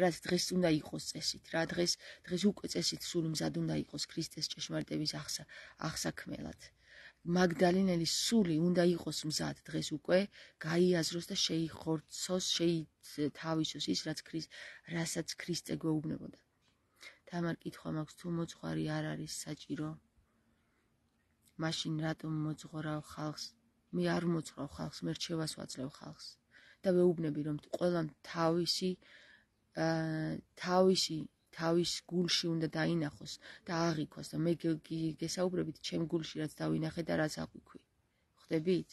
რაც დღეს უნდა იყოს წესით, რა დღეს უკვე წესით სული მზად უნდა იყოს ქრისტეს ჭეშმარიტების აღსაქმელად. მაგდალინელის სული უნდა იყოს მზად დღეს უკვე გაიაზროს და შეიხორცოს, შეითავისოს ის, რასაც ქრისტე გვეუბნებოდა. თამარ კითხვა მაქვს, თუ მოძღვარი არ არის საჭირო, მაშინ რატომ მოძღვრავ ხალხს? მე არ მოძღვრავ ხალხს, მე რჩევას ვაძლევ ხალხს და ვეუბნები, რომ ყველამ თავის გულში უნდა დაინახოს და აღიქვას და მე გესაუბრებით ჩემ გულში რაც დავინახე და რაც აღვიქვი. ხვდებით?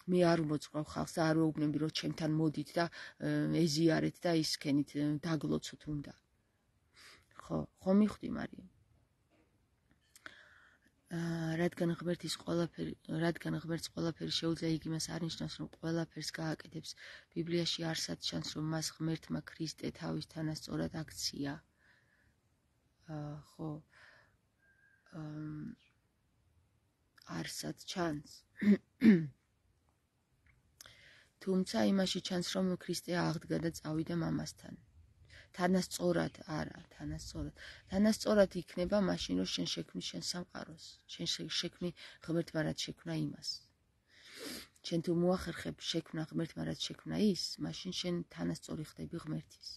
მე არ უმოძღვრავ ხალხს და არ ვეუბნები რომ ჩემთან მოდით და ეზიარეთ და ისქენით დაგლოცოთ უნდა. ხო მიხვდი მარიამ. რადგან ღმერთს ყველაფერი შეუძლია, იგი მას არნიშნავს, რომ ყველაფერს გააკეთებს. ბიბლიაში არსად ჩანს, რომ მას ღმერთმა ქრისტე თავის თანასწორად აქცია. ხო. არსად ჩანს. თუმცა იმაში ჩანს, რომ ქრისტე აღდგა და წავიდა მამასთან. თანასწორად არა, თანასწორად იქნება მაშინ, რომ შენ შექმნი შენ სამყაროს, შენ შექმნი ღმერთმა რაც შექმნა იმას. შენ თუ მოახერხებ შექმნა ღმერთმა რაც შექმნა ის, მაშინ შენ თანასწორი ხდები ღმერთის.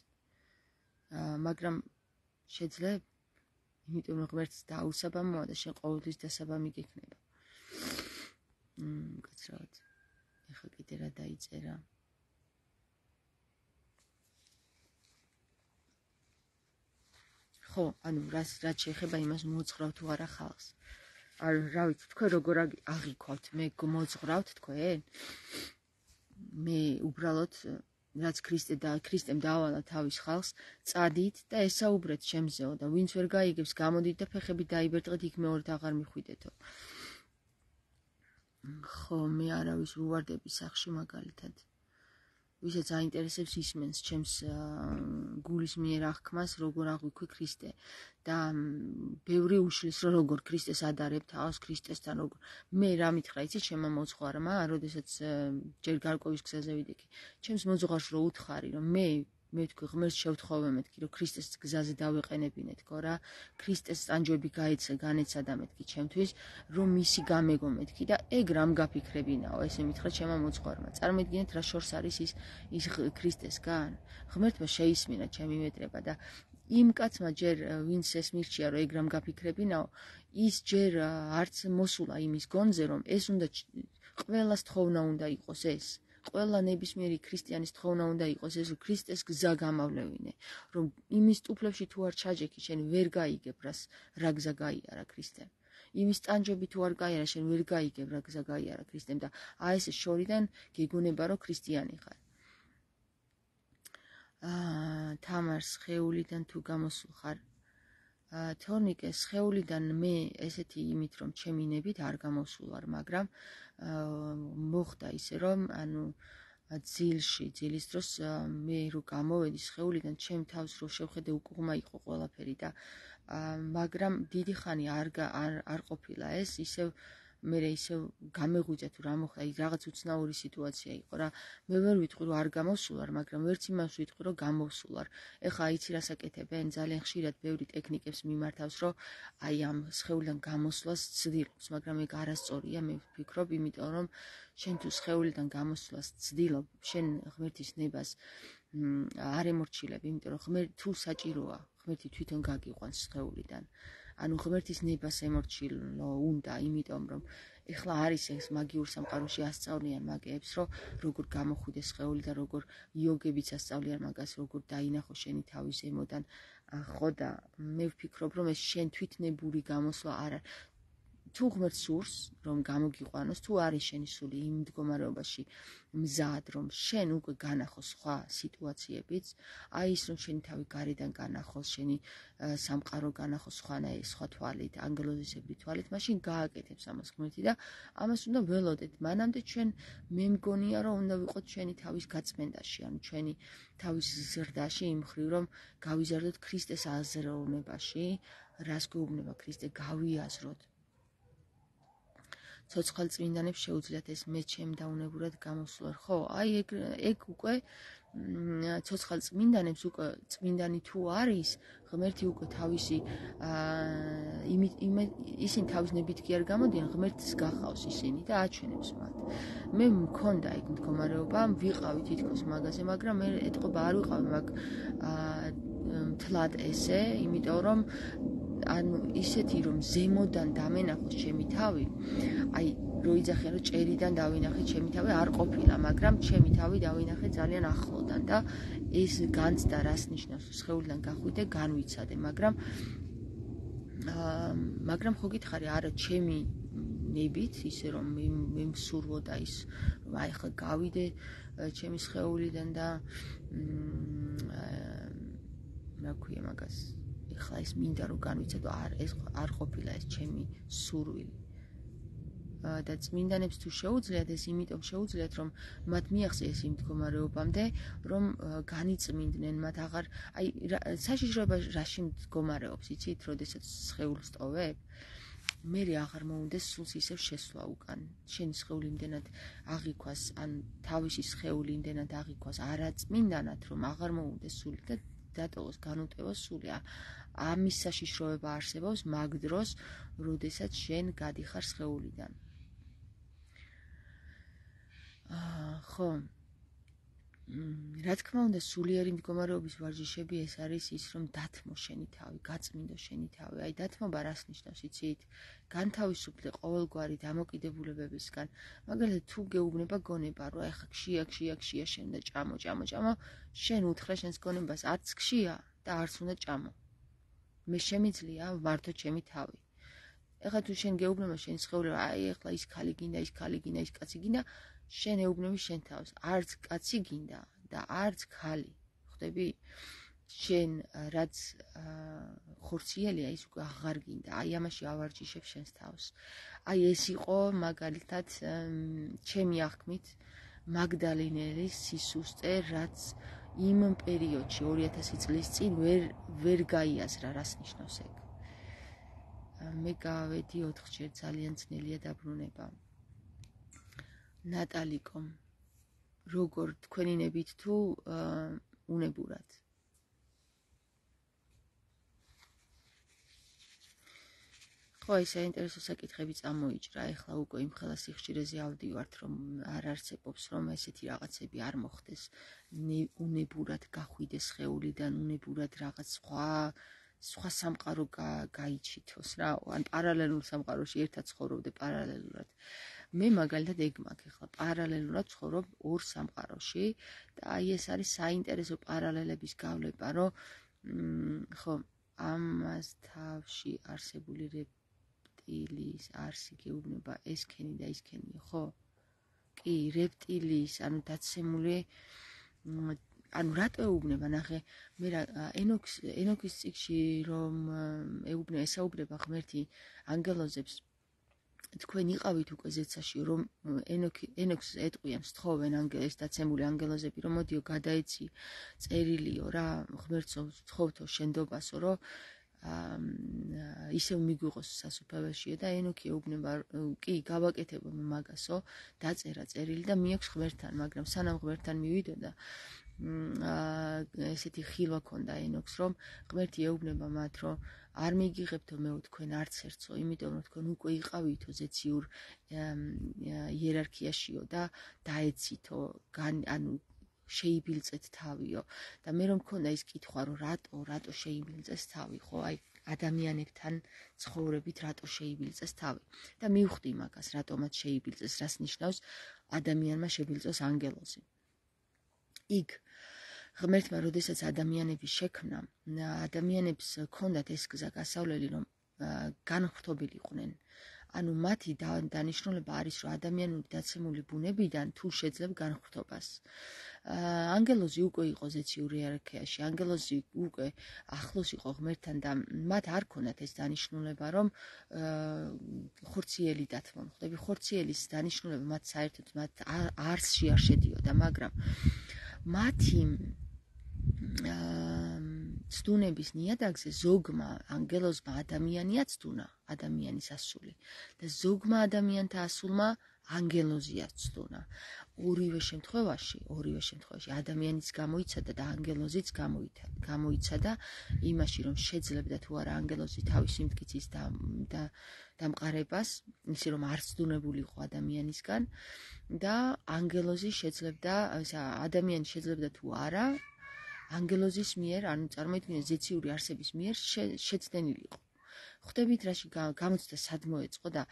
მაგრამ შეძლებ, იმიტომ რომ ღმერთს დაუსაბამოა და შენ ყოველთვის დასაბამი გექნება. კაცრავად. ეხლა კიდე რა დაიწერა? ხო, ანუ რაც შეეხება იმას მოძღვრავ თუ არა ხალხს. რა ვიცი, თქვენ როგორ აღიქვათ, მე მოძღვრავთ თქვენ? მე უბრალოდ რაც ქრისტემ დაავალა თავის ხალხს, წადით და ესაუბრეთ ჩემზეო და ვინც ვერ გაიგებს, გამოდით და ფეხებით დაიბერტყეთ, იქ მეორედ აღარ მიხვიდეთო. ხო, მე არავის ვუვარდები სახში მაგალითად. ვისაც აინტერესებს ისმენს ჩემს გულის მიერ აღქმას, როგორ აღვიქვი ქრისტე და ბევრი უშლის, რომ როგორ ქრისტეს ადარებ თავს, ქრისტესთან როგორ. მე რა მითხრა, იცი ჩემმა მოძღვარმა, როდესაც ჯერ გარკვევის გზაზე ვიდექი, ჩემს მოძღვარს რო უთხარი, რომ მე ვთქვი ღმერთს შევთხოვე მეთქი, რომ ქრისტეს გზაზე დავეყენებინეთქო რა, ქრისტეს ტანჯვები განეცადა მეთქი ჩემთვის, რომ მისი გამეგო მეთქი და ეგ რამ გაფიქრებინაო, ესე მითხრა ჩემმა მოძღვარმა. წარმოიდგინეთ რა შორს არის ის ქრისტესგან. ღმერთმა შეისმინა ჩემი მეტრება და იმ კაცმა ჯერ ვინც ეს მირჩია, რომ ეგ რამ გაფიქრებინაო, ის ჯერ არც მოსულა იმის გონზე, რომ ეს უნდა ყველას თხოვნა უნდა იყოს ეს. ყველა ნებისმიერი ქრისტიანის თხოვნა უნდა იყოს ეს, რომ ქრისტეს გზა გამავლევინე, რომ იმის ტუფლებში თუ არ ჩაჯექი, შენ ვერ გაიგებ რა გზა გაიარა ქრისტემ. იმის ტანჯვები თუ არ გაიარა, შენ ვერ გაიგებ რა გზა გაიარა ქრისტემ და ეს შორიდან გეგონება, რომ ქრისტიანი ხარ. თამარ სხეულიდან თუ გამოსულ ხარ? თორნიკე, სხეულიდან მე ესეთი იმით, რომ ჩემი ნებით არ გამოსულ ვარ, მაგრამ მოხდა ისე, რომ ძილის დროს მე რო გამოვედი სხეულიდან, ჩემ თავს რო შევხედე უკუღმა იყო ყველაფერი და მაგრამ დიდი ხანი არ ყოფილა ეს, მე ისევ გამეღვიძა თუ რა მოხდა, რაღაც უცნაური სიტუაცია იყო რა. მე ვერ ვიტყვი რომ არ გამოსულ ვარ, მაგრამ ვერც იმას ვიტყვი რომ გამოსულ ვარ. ეხლა იცი რას აკეთებენ? ძალიან ხშირად ბევრი ტექნიკებს მიმართავს, რომ აი ამ სხეულიდან გამოსვლას ცდილობს, მაგრამ ეგ არასწორია, მე ვფიქრობ, იმიტომ რომ შენ თუ სხეულიდან გამოსვლას ცდილობ, შენ ღმერთის ნებას არ ემორჩილებ, იმიტომ რომ თუ საჭიროა, ღმერთი თვითონ გაგიყვანს სხეულიდან. ანუ ღმერთის ნებას ემორჩილო უნდა, იმიტომ რომ ეხლა არის ეს მაგიურ სამყაროში ასწავლიან მაგეებს, რომ როგორ გამოხვიდეს სხეული და როგორ იოგებიც ასწავლიან მაგას, როგორ დაინახო შენი თავი ზემოდან. ხო და მე ვფიქრობ, რომ ეს შენ თვითნებური გამოსვლა არ არის. თუ ღმერთს სურს, რომ გამოგიყვანოს, თუ არის შენი სული იმ მდგომარეობაში მზად, რომ შენ უკვე განახოს სხვა სიტუაციებიც, აი ის რომ შენი თავი გარედან განახოს, შენი სამყარო განახოს სხვა თვალით, ანგელოზისებრი თვალით, მაშინ გააკეთებს ამას ღმერთი და ამას უნდა ველოდეთ. მანამდე ჩვენ მე მგონია, რომ უნდა ვიყოთ ჩვენი თავის გაწმენდაში, ანუ ჩვენი თავის ზრდაში იმ მხრივ, რომ გავიზარდოთ ქრისტეს აზროვნებაში, რას გვეუბნება ქრისტე, გავიაზროთ. ცოცხალ წმინდანებს შეუძლიათ ეს მე ჩემ დაუნებურად გამოსვლა. ხო, აი ეგ უკვე ცოცხალ წმინდანებს უკვე წმინდანი თუ არის, ღმერთი უკვე თავისი ისინი თავის ნებით კი არ გამოდიან, ღმერთს გახავს ისინი და აჩვენებს მათ. მე მქონდა ეგ მდგომარეობა, ვიყავი თითქოს მაგაზე, მაგრამ მე ეთყობა არ ვიყავი მაგ მთლად ესე, იმიტომ რომ ანუ ისეთი რომ ზემოდან დამენახოს ჩემი თავი, აი რო იძახიან რომ ჭერიდან დავინახე ჩემი თავი არ ყოფილა, მაგრამ ჩემი თავი დავინახე ძალიან ახლოდან და ეს განცდა რას ნიშნავს, სხეულიდან გახვიდე, განვიცადე, მაგრამ ხო გითხარი, არა ჩემი ნებით, ისე რომ მე მსურვოდა ის, რომ აი ახლა გავიდე ჩემი სხეულიდან და რა ქვია მაგას, ეხლა ეს მინდა რომ განვიცადო, ეს არ ყოფილა ეს ჩემი სურვილი. და წმინდანებს თუ შეუძლიათ ეს, იმიტომ შეუძლიათ, რომ მათ მიაღწიეს იმ მდგომარეობამდე, რომ განიწმინდნენ, მათ აღარ, აი საშიშროება რაში მდგომარეობს, იცით, როდესაც სხეულს ტოვებ, მე აღარ მოუნდეს სულს ისევ შესვლა უკან. შენი სხეული იმდენად აღიქვას, ან თავისი სხეული იმდენად აღიქვას არაწმინდანად, რომ აღარ მოუნდეს სული და დატოვოს, განუტევოს სული. ამის საშიშროება არსებობს მაგ დროს, როდესაც შენ გადიხარ სხეულიდან. ხო, რა თქმა უნდა, სულიერი მდგომარეობის ვარჯიშები ეს არის ის, რომ დათმო შენი თავი, გაწმინდო შენი თავი. აი დათმობა რას ნიშნავს, იცით? განთავისუფლდე ყოველგვარი დამოკიდებულებებისგან. მაგალითად, თუ გეუბნება გონება, რომ ეხა ქშია შენ და ჭამო, შენ უთხრა შენს გონებას, არც ქშია და არც უნდა ჭამო. მე შემიძლია ვმართო ჩემი თავი. ეხლა თუ შენ გეუბნება შენ სხეული, აი ეხლა ის ქალი გინდა, ის კაცი გინდა, შენ ეუბნები შენ თავს, არც კაცი გინდა და არც ქალი, ხვდები? შენ რაც ხორციელია, ის უკვე აღარ გინდა, აი ამაში ავარჯიშებ შენს თავს. აი ეს იყო მაგალითად ჩემი აღქმით მაგდალინელის სისუსტე, რაც იმ პერიოდში 2000 წლის წინ ვერ გაიაზრა, რას ნიშნავს ეგ. მე გავედი 4-ჯერ, ძალიან ძნელია დაბრუნება. ნატალიკო, როგორ თქვენი ნებით თუ უნებურად? ხო, ეს საინტერესო საკითხები წამოიჭრა, ეხლა უკვე იმ ხელა სიხშირეზე ავდივართ, რომ არ არსებობს, რომ ესეთი რაღაცები არ მოხდეს, უნებურად გახვიდეს სხეულიდან, უნებურად რაღაც სხვა სამყარო გაიჩითოს რა, ან პარალელურ სამყაროში ერთად ცხოვრობდე პარალელურად. მე მაგალითად ეგ მაქვს, ეხლა პარალელურად ცხოვრობ ორ სამყაროში და აი ეს არის საინტერესო პარალელების გავლება, რომ ხო, ამას თავში არსებული რეპტილიის არსი გეუბნება ესქენი და ისქენიო, ხო? კი, რეპტილიის, ანუ დაცემული, ანუ რატო ეუბნება, ნახე, მე ენოქის წიგში რომ ესაუბრება ღმერთი ანგელოზებს, თქვენ იყავით უკვე ზეცაში, რომ ენოქს ეტყვიან, სთხოვენ ეს დაცემული ანგელოზები, რომ მოდიო გადაეცი წერილიო რა, ღმერთო სთხოვთო შენდობასო, რომ ისევ მიგვიყოს სასუფეველშიო და ენოქი ეუბნება, კი, გავაკეთებო მაგასო, დაწერა წერილი და მიაქვს ღმერთთან, მაგრამ სანამ ღმერთთან მივიდოდა, ესეთი ხილვა ქონდა ენოქს, რომ ღმერთი ეუბნება მათ, რომ არ მიგიღებთო მეო თქვენ არც ერთსო, იმიტომ რომ თქვენ უკვე იყავითო ზეციურ იერარქიაშიო და დაეცითო, ანუ შეიბილწეთ თავიო. და მე რომ მქონდა ის კითხვა, რომ რატო შეიბილწეს თავი, ხო, აი ადამიანებთან ცხოვრებით რატო შეიბილწეს თავი. და მივხვდი მაგას, რატომაც შეიბილწეს, რას ნიშნავს ადამიანმა შებილწოს ანგელოზი. იქ ღმერთმა, როდესაც ადამიანები შექმნა, ადამიანებს ჰქონდათ ეს გზა გასავლელი, რომ განხრთობილიყვნენ. ანუ მათი დანიშნულება არის, რომ ადამიანური დაცემული ბუნებიდან თუ შეძლებ განხრთობას. ანგელოზი უკვე იყო ზეციურ იერარქიაში, ანგელოზი უკვე ახლოს იყო ღმერთთან და მათ არ ქონდათ ეს დანიშნულება, რომ ხორციელი დათმონ. ხვდები, ხორციელის დანიშნულება მათ საერთოდ მათ არსში არ შედიოდა, მაგრამ მათი ცდუნების ნიადაგზე ზოგმა ანგელოზმა ადამიანია ცდუნა, ადამიანის ასული და ზოგმა ადამიანთა ასულმა ანგელოზია ცდუნა. ორივე შემთხვევაში ადამიანიც გამოიცადა და ანგელოზიც გამოიცადა იმაში, რომ შეძლებდა თუ არა ანგელოზი თავისი მტკიცის დამყარებას, ისე რომ არ ცდუნებულიყო ადამიანისგან და ანგელოზი შეძლებდა, ადამიანი შეძლებდა თუ არა ანგელოზის მიერ, ანუ წარმოიდგინეთ ზეციური არსების მიერ შეცდენილიყო. ხვდებით რაში გამოცდა სად მოეწყო და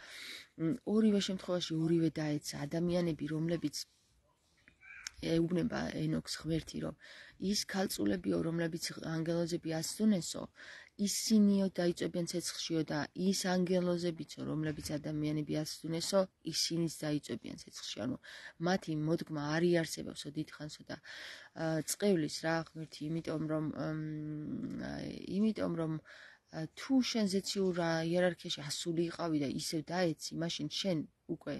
ორივე შემთხვევაში ორივე დაეცა ადამიანები, რომლებიც ეუბნება ენოქს ღმერთი, რომ ის ქალწულებიო, რომლებიც ანგელოზები ასწუნესო, ისინიო დაიწვებიან ცეცხლშიო და ის ანგელოზებიცო, რომლებიც ადამიანები ასწუნესო, ისინიც დაიწვებიან ცეცხლში. ანუ მათი მოდგმა არ იარსებებსო დიდხანსო და წყევლის რა ღმერთი, იმიტომ რომ თუ შენ ზეციურ იერარქიაში ასული იყავი და ისევ დაეცი, მაშინ შენ უკვე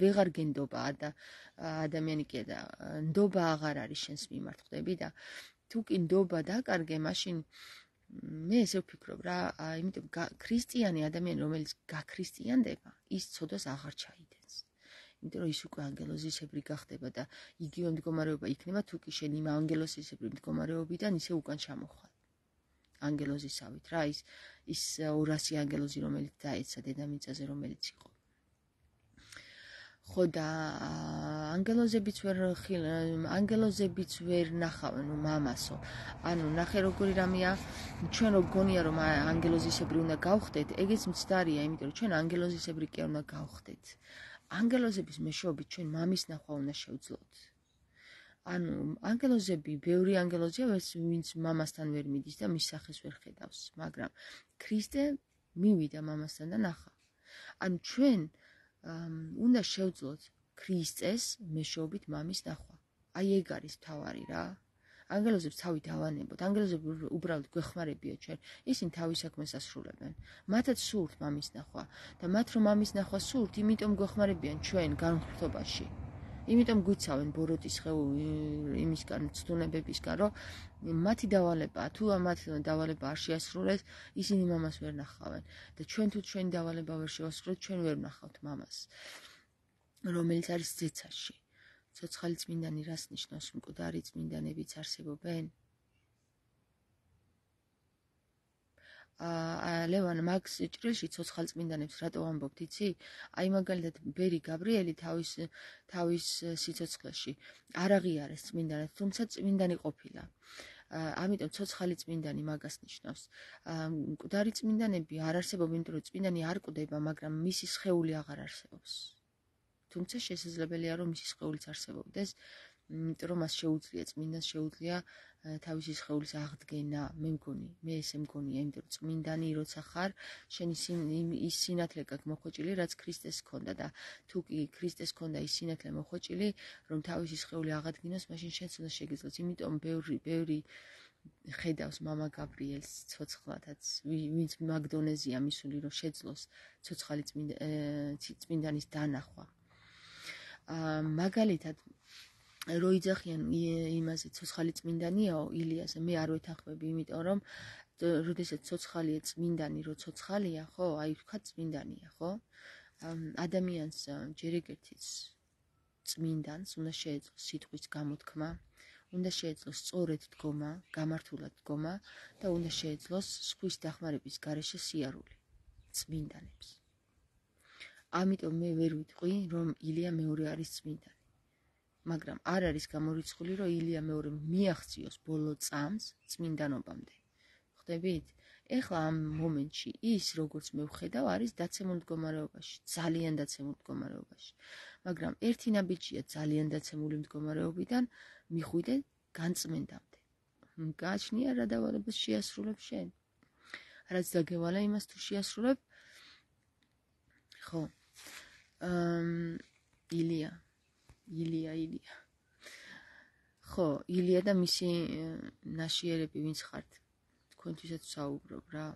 ვეღარ გენდობა ადამიანი კი და ნდობა აღარ არის შენს მიმართ, ხვდები და თუ კი ნდობა დაკარგე, მაშინ მე ესე ვფიქრობ რა, იმიტომ ქრისტიანი ადამიანი, რომელიც გაქრისტიანდება, ის ცოდვას აღარ ჩაიდენს. იმიტომ რომ ის უკვე ანგელოზისებრი გახდება და იგივე მდგომარეობა იქნება, თუ კი შენ იმ ანგელოზისებრი მდგომარეობიდან ისე უკან ჩამოხვალ. ანგელოზისავით რა, ის 200 ანგელოზი, რომელიც დაეცა დედამიწაზე, რომელიც იყო. ხო და ანგელოზებიც ვერ ნახავენ მამასო. ანუ ნახე როგორი რამეა, ჩვენ რო გონია რომ ანგელოზისებრი უნდა გავხდეთ, ეგეც მცდარია, იმიტომ რომ ჩვენ ანგელოზისებრი კი არ უნდა გავხდეთ. ანგელოზების მეშვეობით ჩვენ მამის ნახვა უნდა შევძლოთ. ანუ ანგელოზები, ბევრი ანგელოზია, ვინც მამასთან ვერ მიდის და მის სახეს ვერ ხედავს, მაგრამ ქრისტე მივიდა მამასთან და ნახა. ანუ ჩვენ უნდა შევძლოთ ქრისტეს მეშვეობით მამის ნახვა. აი ეგ არის თავარი რა. ანგელოზებს თავით ავანებოთ. ანგელოზები უბრალოდ გვეხმარებიო ჩვენ. ისინი თავის საქმეს ასრულებენ. მათაც სურთ მამის ნახვა და მათ რომ მამის ნახვა სურთ, იმიტომ გვეხმარებიან ჩვენ განხრთობაში. იმიტომ გვიცავენ ბოროტის იმისგან, ცდუნებებისგან, რომ მათი დავალებაა, თუ მათ დავალება არ შეასრულეს, ისინი მამას ვერ ნახავენ და ჩვენ თუ ჩვენი დავალება ვერ შევასრულეთ, ჩვენ ვერ ნახავთ მამას, რომელიც არის ზეცაში. ცოცხალი წმინდანი რას ნიშნავს? მკვდარი წმინდანებიც არსებობენ? ლევან, მაგს ჭრილში ცოცხალ წმინდანებს რატო ამბობთ, იცი? აი მაგალითად ბერი გაბრიელი თავის სიცოცხლეში არ აღიარეს წმინდანად, თუმცა წმინდანი ყოფილა. ამიტომ ცოცხალი წმინდანი მაგას ნიშნავს. მკვდარი წმინდანები არ არსებობენ, იმიტომ რომ წმინდანი არ კვდება, მაგრამ მისი სხეული აღარ არსებობს. თუმცა შესაძლებელია რომ მისი სხეულიც არსებობდეს, იმიტომ რომ მას შეუძლია წმინდანს შეუძლია თავისი სხეულის აღდგენა. მე ესე მგონია, იმიტომ რომ წმინდანი როცა ხარ, შენი ის სინათლე გაქვს მოხვეჭილი, რაც ქრისტეს ჰქონდა და თუ კი ქრისტეს ჰქონდა ის სინათლე მოხვეჭილი, რომ თავისი სხეული აღადგინოს, მაშინ შენც უნდა შეგიძლოს. იმიტომ ბევრი ხედავს მამა გაბრიელს ცოცხლადაც, ვინც მაგდონეზია მისული, რომ შეძლოს ცოცხალი წმინდანის დანახვა. მაგალითად რო იძახიან იმაზე ცოცხალი წმინდანიაო ილიაზე, მე არ ვეთანხმები, იმიტომ რომ როდესაც ცოცხალია წმინდანი, რო ცოცხალია, ხო, აი ვთქვათ წმინდანია, ხო? ადამიანს ჯერ ეგერთიც წმინდანს უნდა შეეძლოს სიტყვის გამოთქმა, უნდა შეეძლოს სწორედ დგომა, გამართულად დგომა და უნდა შეეძლოს სხვის დახმარების გარეშე სიარული წმინდანებს. ამიტომ მე ვერ ვიტყვი, რომ ილია მეორე არის წმინდანი. მაგრამ არ არის გამორიცხული, რომ ილია მეორე მიაღწიოს ბოლო წამს წმინდანობამდე. ხვდებით? ეხლა ამ მომენტში ის, როგორც მე ვხედავ, არის დაცემულ მდგომარეობაში, ძალიან დაცემულ მდგომარეობაში. მაგრამ ერთი ნაბიჯია ძალიან დაცემული მდგომარეობიდან მიხვიდე განწმენდამდე. გააჩნია რა დავალებას შეასრულებ შენ? რაც დაგევალა იმას თუ შეასრულებ? ხო. ილია. ხო, ილია და მისი ნაშიერები ვინც ხართ? თქვენთვისაც ვსაუბრობ რა.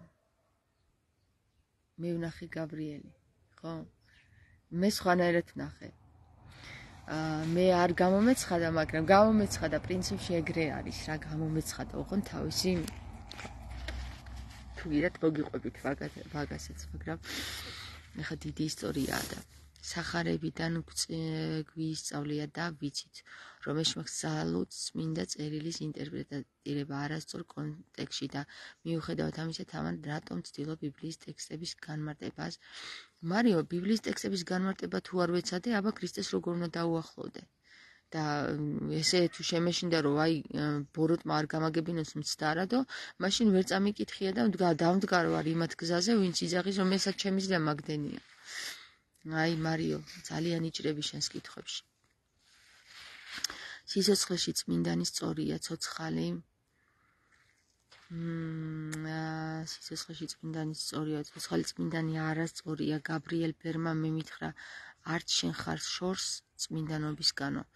მე ვნახე გაბრიელი, ხო? მე სხვანაირად ვნახე. მე არ გამომეცხადა, მაგრამ გამომეცხადა პრინციპში ეგრე არის რა, გამომეცხადა ოღონდ თავისი თუ გიდათ მოგიყვებით ვაგასაც, მაგრამ ეხა დიდი ისტორიაა და სახარებიდან გვისწავლია და ვიცით, რომ ეშმაკს ძალუც წმინდა წერილის ინტერპრეტირება არასწორ კონტექსტში და მიუხედავად ამისა, თავად რატომ ცდილობ ბიბლიის ტექსტების განმარტებას? მარიო, ბიბლიის ტექსტების განმარტება თუ არ ვეცადე, აბა ქრისტეს როგორ უნდა დაუახლოვდე? და ესე თუ შემეშინდა, რომ აი ბოროტმა არ გამაგებინოს მცდარადო, მაშინ ვერ წამიკითხია და დავმდგარო არ იმათ გზაზე, ვინც იძახის, რომ ესაც ჩემი ზრდა მაგდენია. აი მარიო, ძალიან იჭრები შენს კითხვებში. სიცოცხლეში წმინდანი სწორია ცოცხალი სიცოცხლეში წმინდანი სწორია ცოცხალი წმინდანი არასწორია გაბრიელ ბერმა მე მითხრა არც შენ ხარ შორს წმინდანობისგანო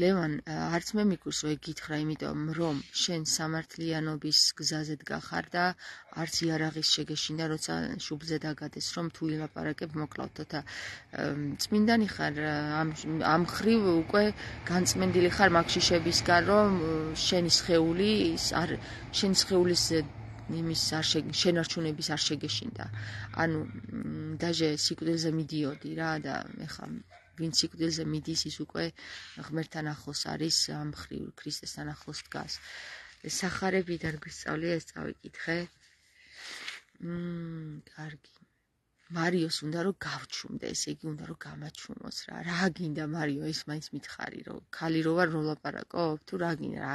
ლევან არც მე მიგურს რომ გითხრა იმიტომ რომ შენ სამართლიანობის გზაზე დგახარ და არც იარაღის შეგეშინდა როცა შუბლზე დაგადეს რომ თუ ილაპარაკებ მოკლავ თოთა წმინდანი ხარ ამ ხრივ უკვე განწმენდილი ხარ მაგშიშებისგან რომ შენი სხეული შენი სხეულის იმის შენარჩუნების არ შეგეშინდა ანუ დაჟე სიკვდილზე მიდიოდი რა და ეხა ვინც სიკვდილზე მიდის ის უკვე ღმერთთან ახლოს არის ამ ხრივ ქრისტესთან ახლოს დგას სახარებიდან გვისწავლია ეს წავიკითხე კარგი მარიოს უნდა რომ გავჩუმდე ესე იგი უნდა რომ გამაჩუმოს რა გინდა მარიო ეს მაინც მითხარი რომ ქალი რო ვარ რომ ლაპარაკობ თუ რა გინდა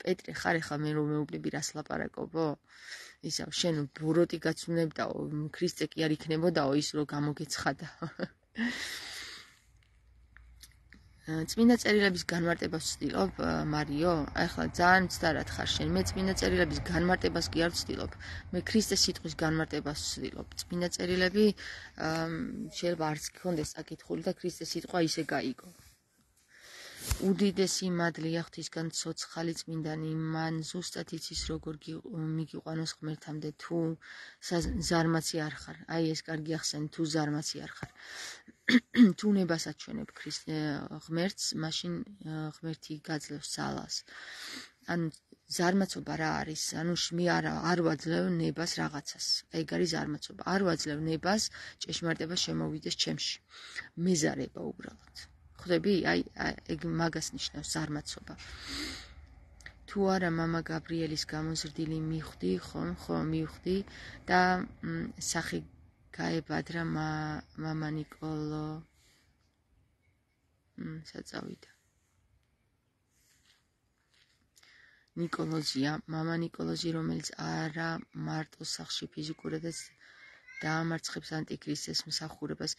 პეტრე ხარ ეხლა მე რომ მეუბნები რას ლაპარაკობო ისა შენ ბოროტი გაცნებდაო ქრისტე კი არ იქნებოდაო ის რომ გამოგეცხადა წმინდა წერილების განმარტებას ვცდილობ მარიო ახლა ძალიან მცდარად ხარ შენ მე წმინდა წერილების განმარტებას კი არ ვცდილობ მე ქრისტეს სიტყვის განმარტებას ვცდილობ წმინდა წერილები შეიძლება არც გქონდეს საკითხული და ქრისტეს სიტყვა ისე გაიგო უდიდესი მადლია ღვთისგან ცოცხალი წმინდანი მან ზუსტად იცის როგორ მიგიყვანოს ღმერთამდე თუ ზარმაცი არ ხარ აი ეს კარგი ახსენე თუ ზარმაცი არ ხარ თუ ნებას აჩვენებ ღმერთს მაშინ ღმერთი გაძლევს ძალას ანუ ზარმაცობა რა არის ანუ მე არ ვაძლევ ნებას რაღაცას ეგ არის ზარმაცობა არ ვაძლევ ნებას ჭეშმარიტება შემოვიდეს ჩემში მეზარება უბრალოდ ხვდები აი ეგ მაგას ნიშნავს ზარმაცობა თუ არა მამა გაბრიელის გამოზრდილი მივხვდი ხო მივხვდი და სახე გაებადრა მამა ნიკოლო საწავიდა ნიკოლოზია მამა ნიკოლოზი რომელიც არა მარტო სახლში ფიზიკურადაც დაამარცხებს ანტიქრისტეს მსახურებას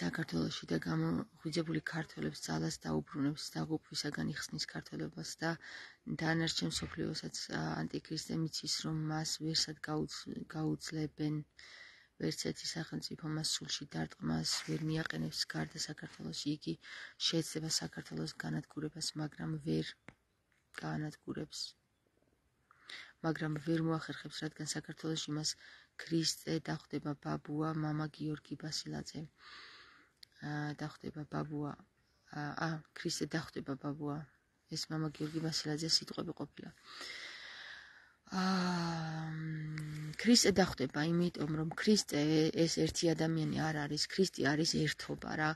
საქართველოში და გამოღვიძებული ქართველებს ძალას დაუბრუნებს დაღუპვისაგან იხსნის ქართველებას და დანარჩენ მსოფლიოსაც ანტიქრისტე მიცის რომ მას ვერსად გაუძლებენ ვერცერთი სახელმწიფო მას სულში დარტყმას ვერ მიაყენებს გარდა საქართველოში იგი შეეცდება საქართველოს განადგურებას მაგრამ ვერ გაანადგურებს მაგრამ ვერ მოახერხებს რადგან საქართველოში მას ქრისტე დახვდება ბაბუა მამა გიორგი ბასილაძე დახვდება ბაბუა ქრისტე დახვდება ბაბუა ეს მამა გიორგი ბასილაძე სიტყვები ყოფილა ქრისტე დახვდება იმიტომ რომ ქრისტე ეს ერთი ადამიანი არ არის ქრისტე არის ერთობა რა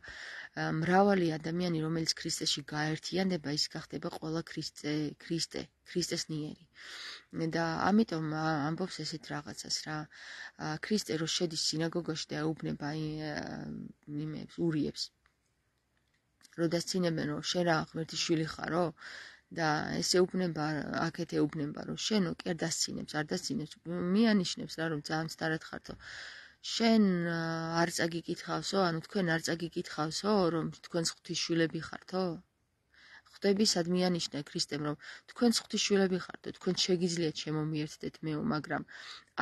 მრავალი ადამიანი რომელიც ქრისტეში გაერთიანდება ის გახდება ყველა ქრისტესნიერი და ამიტომ ამბობს ესეთ რაღაცას რა ქრისტე რო შედის სინაგოგაში და ეუბნება იმებს ურიებს რო დასცინებენ რომ შენ რა ღმერთის შვილი ხარო და ესე ეუბნება აქეთ ეუბნება რომ შენო კი არ დასცინებს მიანიშნებს რა რომ ძალიან სწრაფად ხართო შენ არ წაგიკითხავსო ანუ თქვენ არ წაგიკითხავსო რომ თქვენ ღვთისშვილები ხართო ხვდები სად მიანიშნა ქრისტემ რომ თქვენ ღვთისშვილები ხართ თქვენ შეგიძლიათ შემომიერთდეთ მეო მაგრამ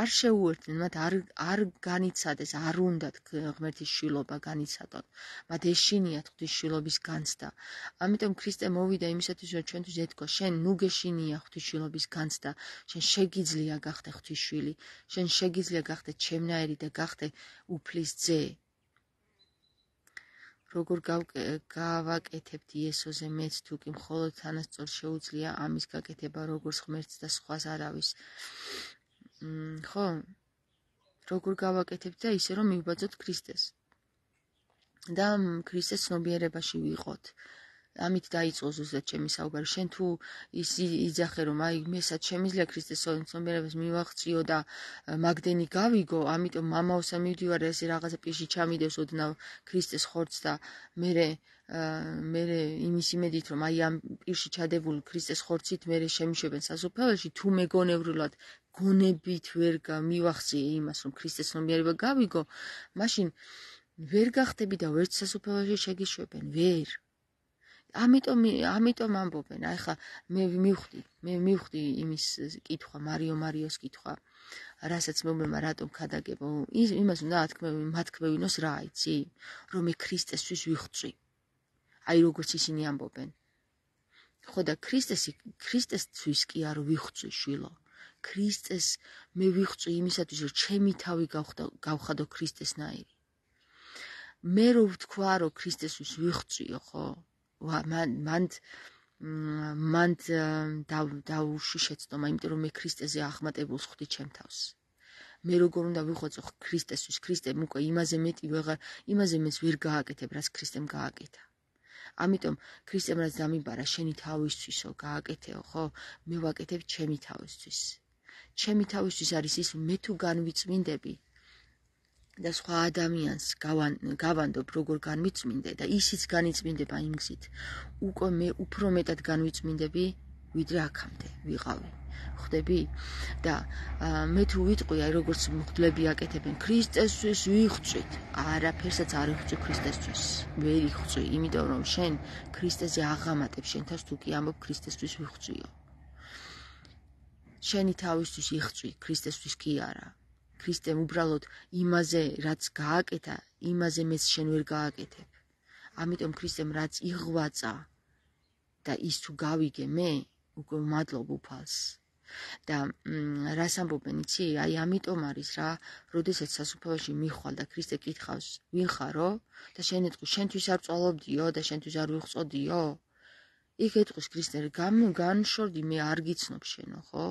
არ შეუერთდნენ მათ არ განიცადეს არ უნდათ ღმერთის შვილობა განიცადონ მათ ეშინიათ ღვთისშვილობის განცდა ამიტომ ქრისტე მოვიდა იმისათვის რომ ჩვენთვის ეთქვა შენ ნუ გეშინია ღვთისშვილობის განცდა შენ შეგიძლია გახდე ღვთისშვილი შენ შეგიძლია გახდე ჩემნაირი და გახდე უფლის ძე როგორ გავაკეთებთ იესოზე მეც თუ კი მხოლოდ თანასწორ შეუძლია ამის გაკეთება როგორც ღმერთს და სხვას არავის ხო როგორ გავაკეთებთ და ისე რომ მივბაძოთ ქრისტეს და ქრისტეს ცნობიერებაში ვიყოთ ამით დაიწყო ზუსტად ჩემი საუბარი შენ თუ ის იძახე რომ აი მესაც შემიძლია ქრისტეს ცნობიერებას მივაღწიო და მაგდენი გავიგო ამიტომ მამაოსა მივდივარ ესე რაღაცა პირში ჩამიდევს ოდნავ ქრისტეს ხორცს და მე იმის იმედით რომ აი ამ პირში ჩადებულ ქრისტეს ხორცით მე შემიშვებენ სასუფეველში თუ მეგონევრულად გონებით ვერ მივახციე იმას რომ ქრისტეს ცნობიერება გავიგო მაშინ ვერ გახდები და ვერც სასუფეველში შეგიშვებენ ვერ ამიტომ ამბობენ, აი ხა მე მივხვდი იმის კითხვა, მარიოს კითხვა, რასაც მეუბნება რატომ ქადაგებო, იმას უნდა ათქმევინოს რა იცი, რომ მე ქრისტესთვის ვიხვწვი. აი როგორც ისინი ამბობენ. ხო და ქრისტესთვის კი არ ვიხვწვი შვილო. ქრისტეს მე ვიხვწვი იმისათვის, რომ ჩემი თავი გავხადო ქრისტესნაირი. მე რო ვთქვა, რომ ქრისტესთვის ვიხვწვიო, ხო? მან დაუშვი შეცდომა, იმიტომ რომ მე ქრისტეზე ახმატებულს ხვდი ჩემ თავს. მე როგორ უნდა ვიხვეწო ქრისტესთვის, ქრისტემ უკვე იმაზე მეც ვერ გააკეთებ, რაც ქრისტემ გააკეთა. ამიტომ ქრისტემ რაც დამიბარა შენი თავისთვისო გააკეთეო, ხო? მე ვაკეთებ ჩემი თავისთვის. ჩემი თავისთვის არის ის, მე თუ განვიწმინდები და სხვა ადამიანს გავანდობ როგორ განვიწმინდე და ისიც განიწმინდება იმ გზით. უკვე მე უფრო მეტად განვიწმინდები, ვიდრე აქამდე ვიყავი. ხვდები? და მე თუ ვიტყვი, აი როგორც მღვდლები აკეთებენ, ქრისტესთვის ვიხვწვით. არაფერსაც არ ვიხვწვი ქრისტესთვის. ვერ იხვწვი, იმიტომ რომ შენ ქრისტეზე აღამატებ შენ თავს, თუ კი ამბობ ქრისტესთვის ვიხვწვიო. შენი თავისთვის იხვწვი, ქრისტესთვის კი არა. ქრისტემ უბრალოდ იმაზე რაც გააკეთა, იმაზე მეც შენ ვერ გააკეთებ. ამიტომ ქრისტემ რაც იღვაწა და ის თუ გავიგე მე, უკვე მადლობ უფალს. და რას ამბობენ იცი? აი ამიტომ არის რა, როდესაც სასუფეველში მიხვალ და ქრისტე კითხავს, ვინ ხარო? და შენ ეტყვი, შენთვის არ წვალობდიო და შენთვის არ ვიხვწოდიო? იქ ეტყვის ქრისტე, განშორდი, მე არ გიცნობ შენო, ხო?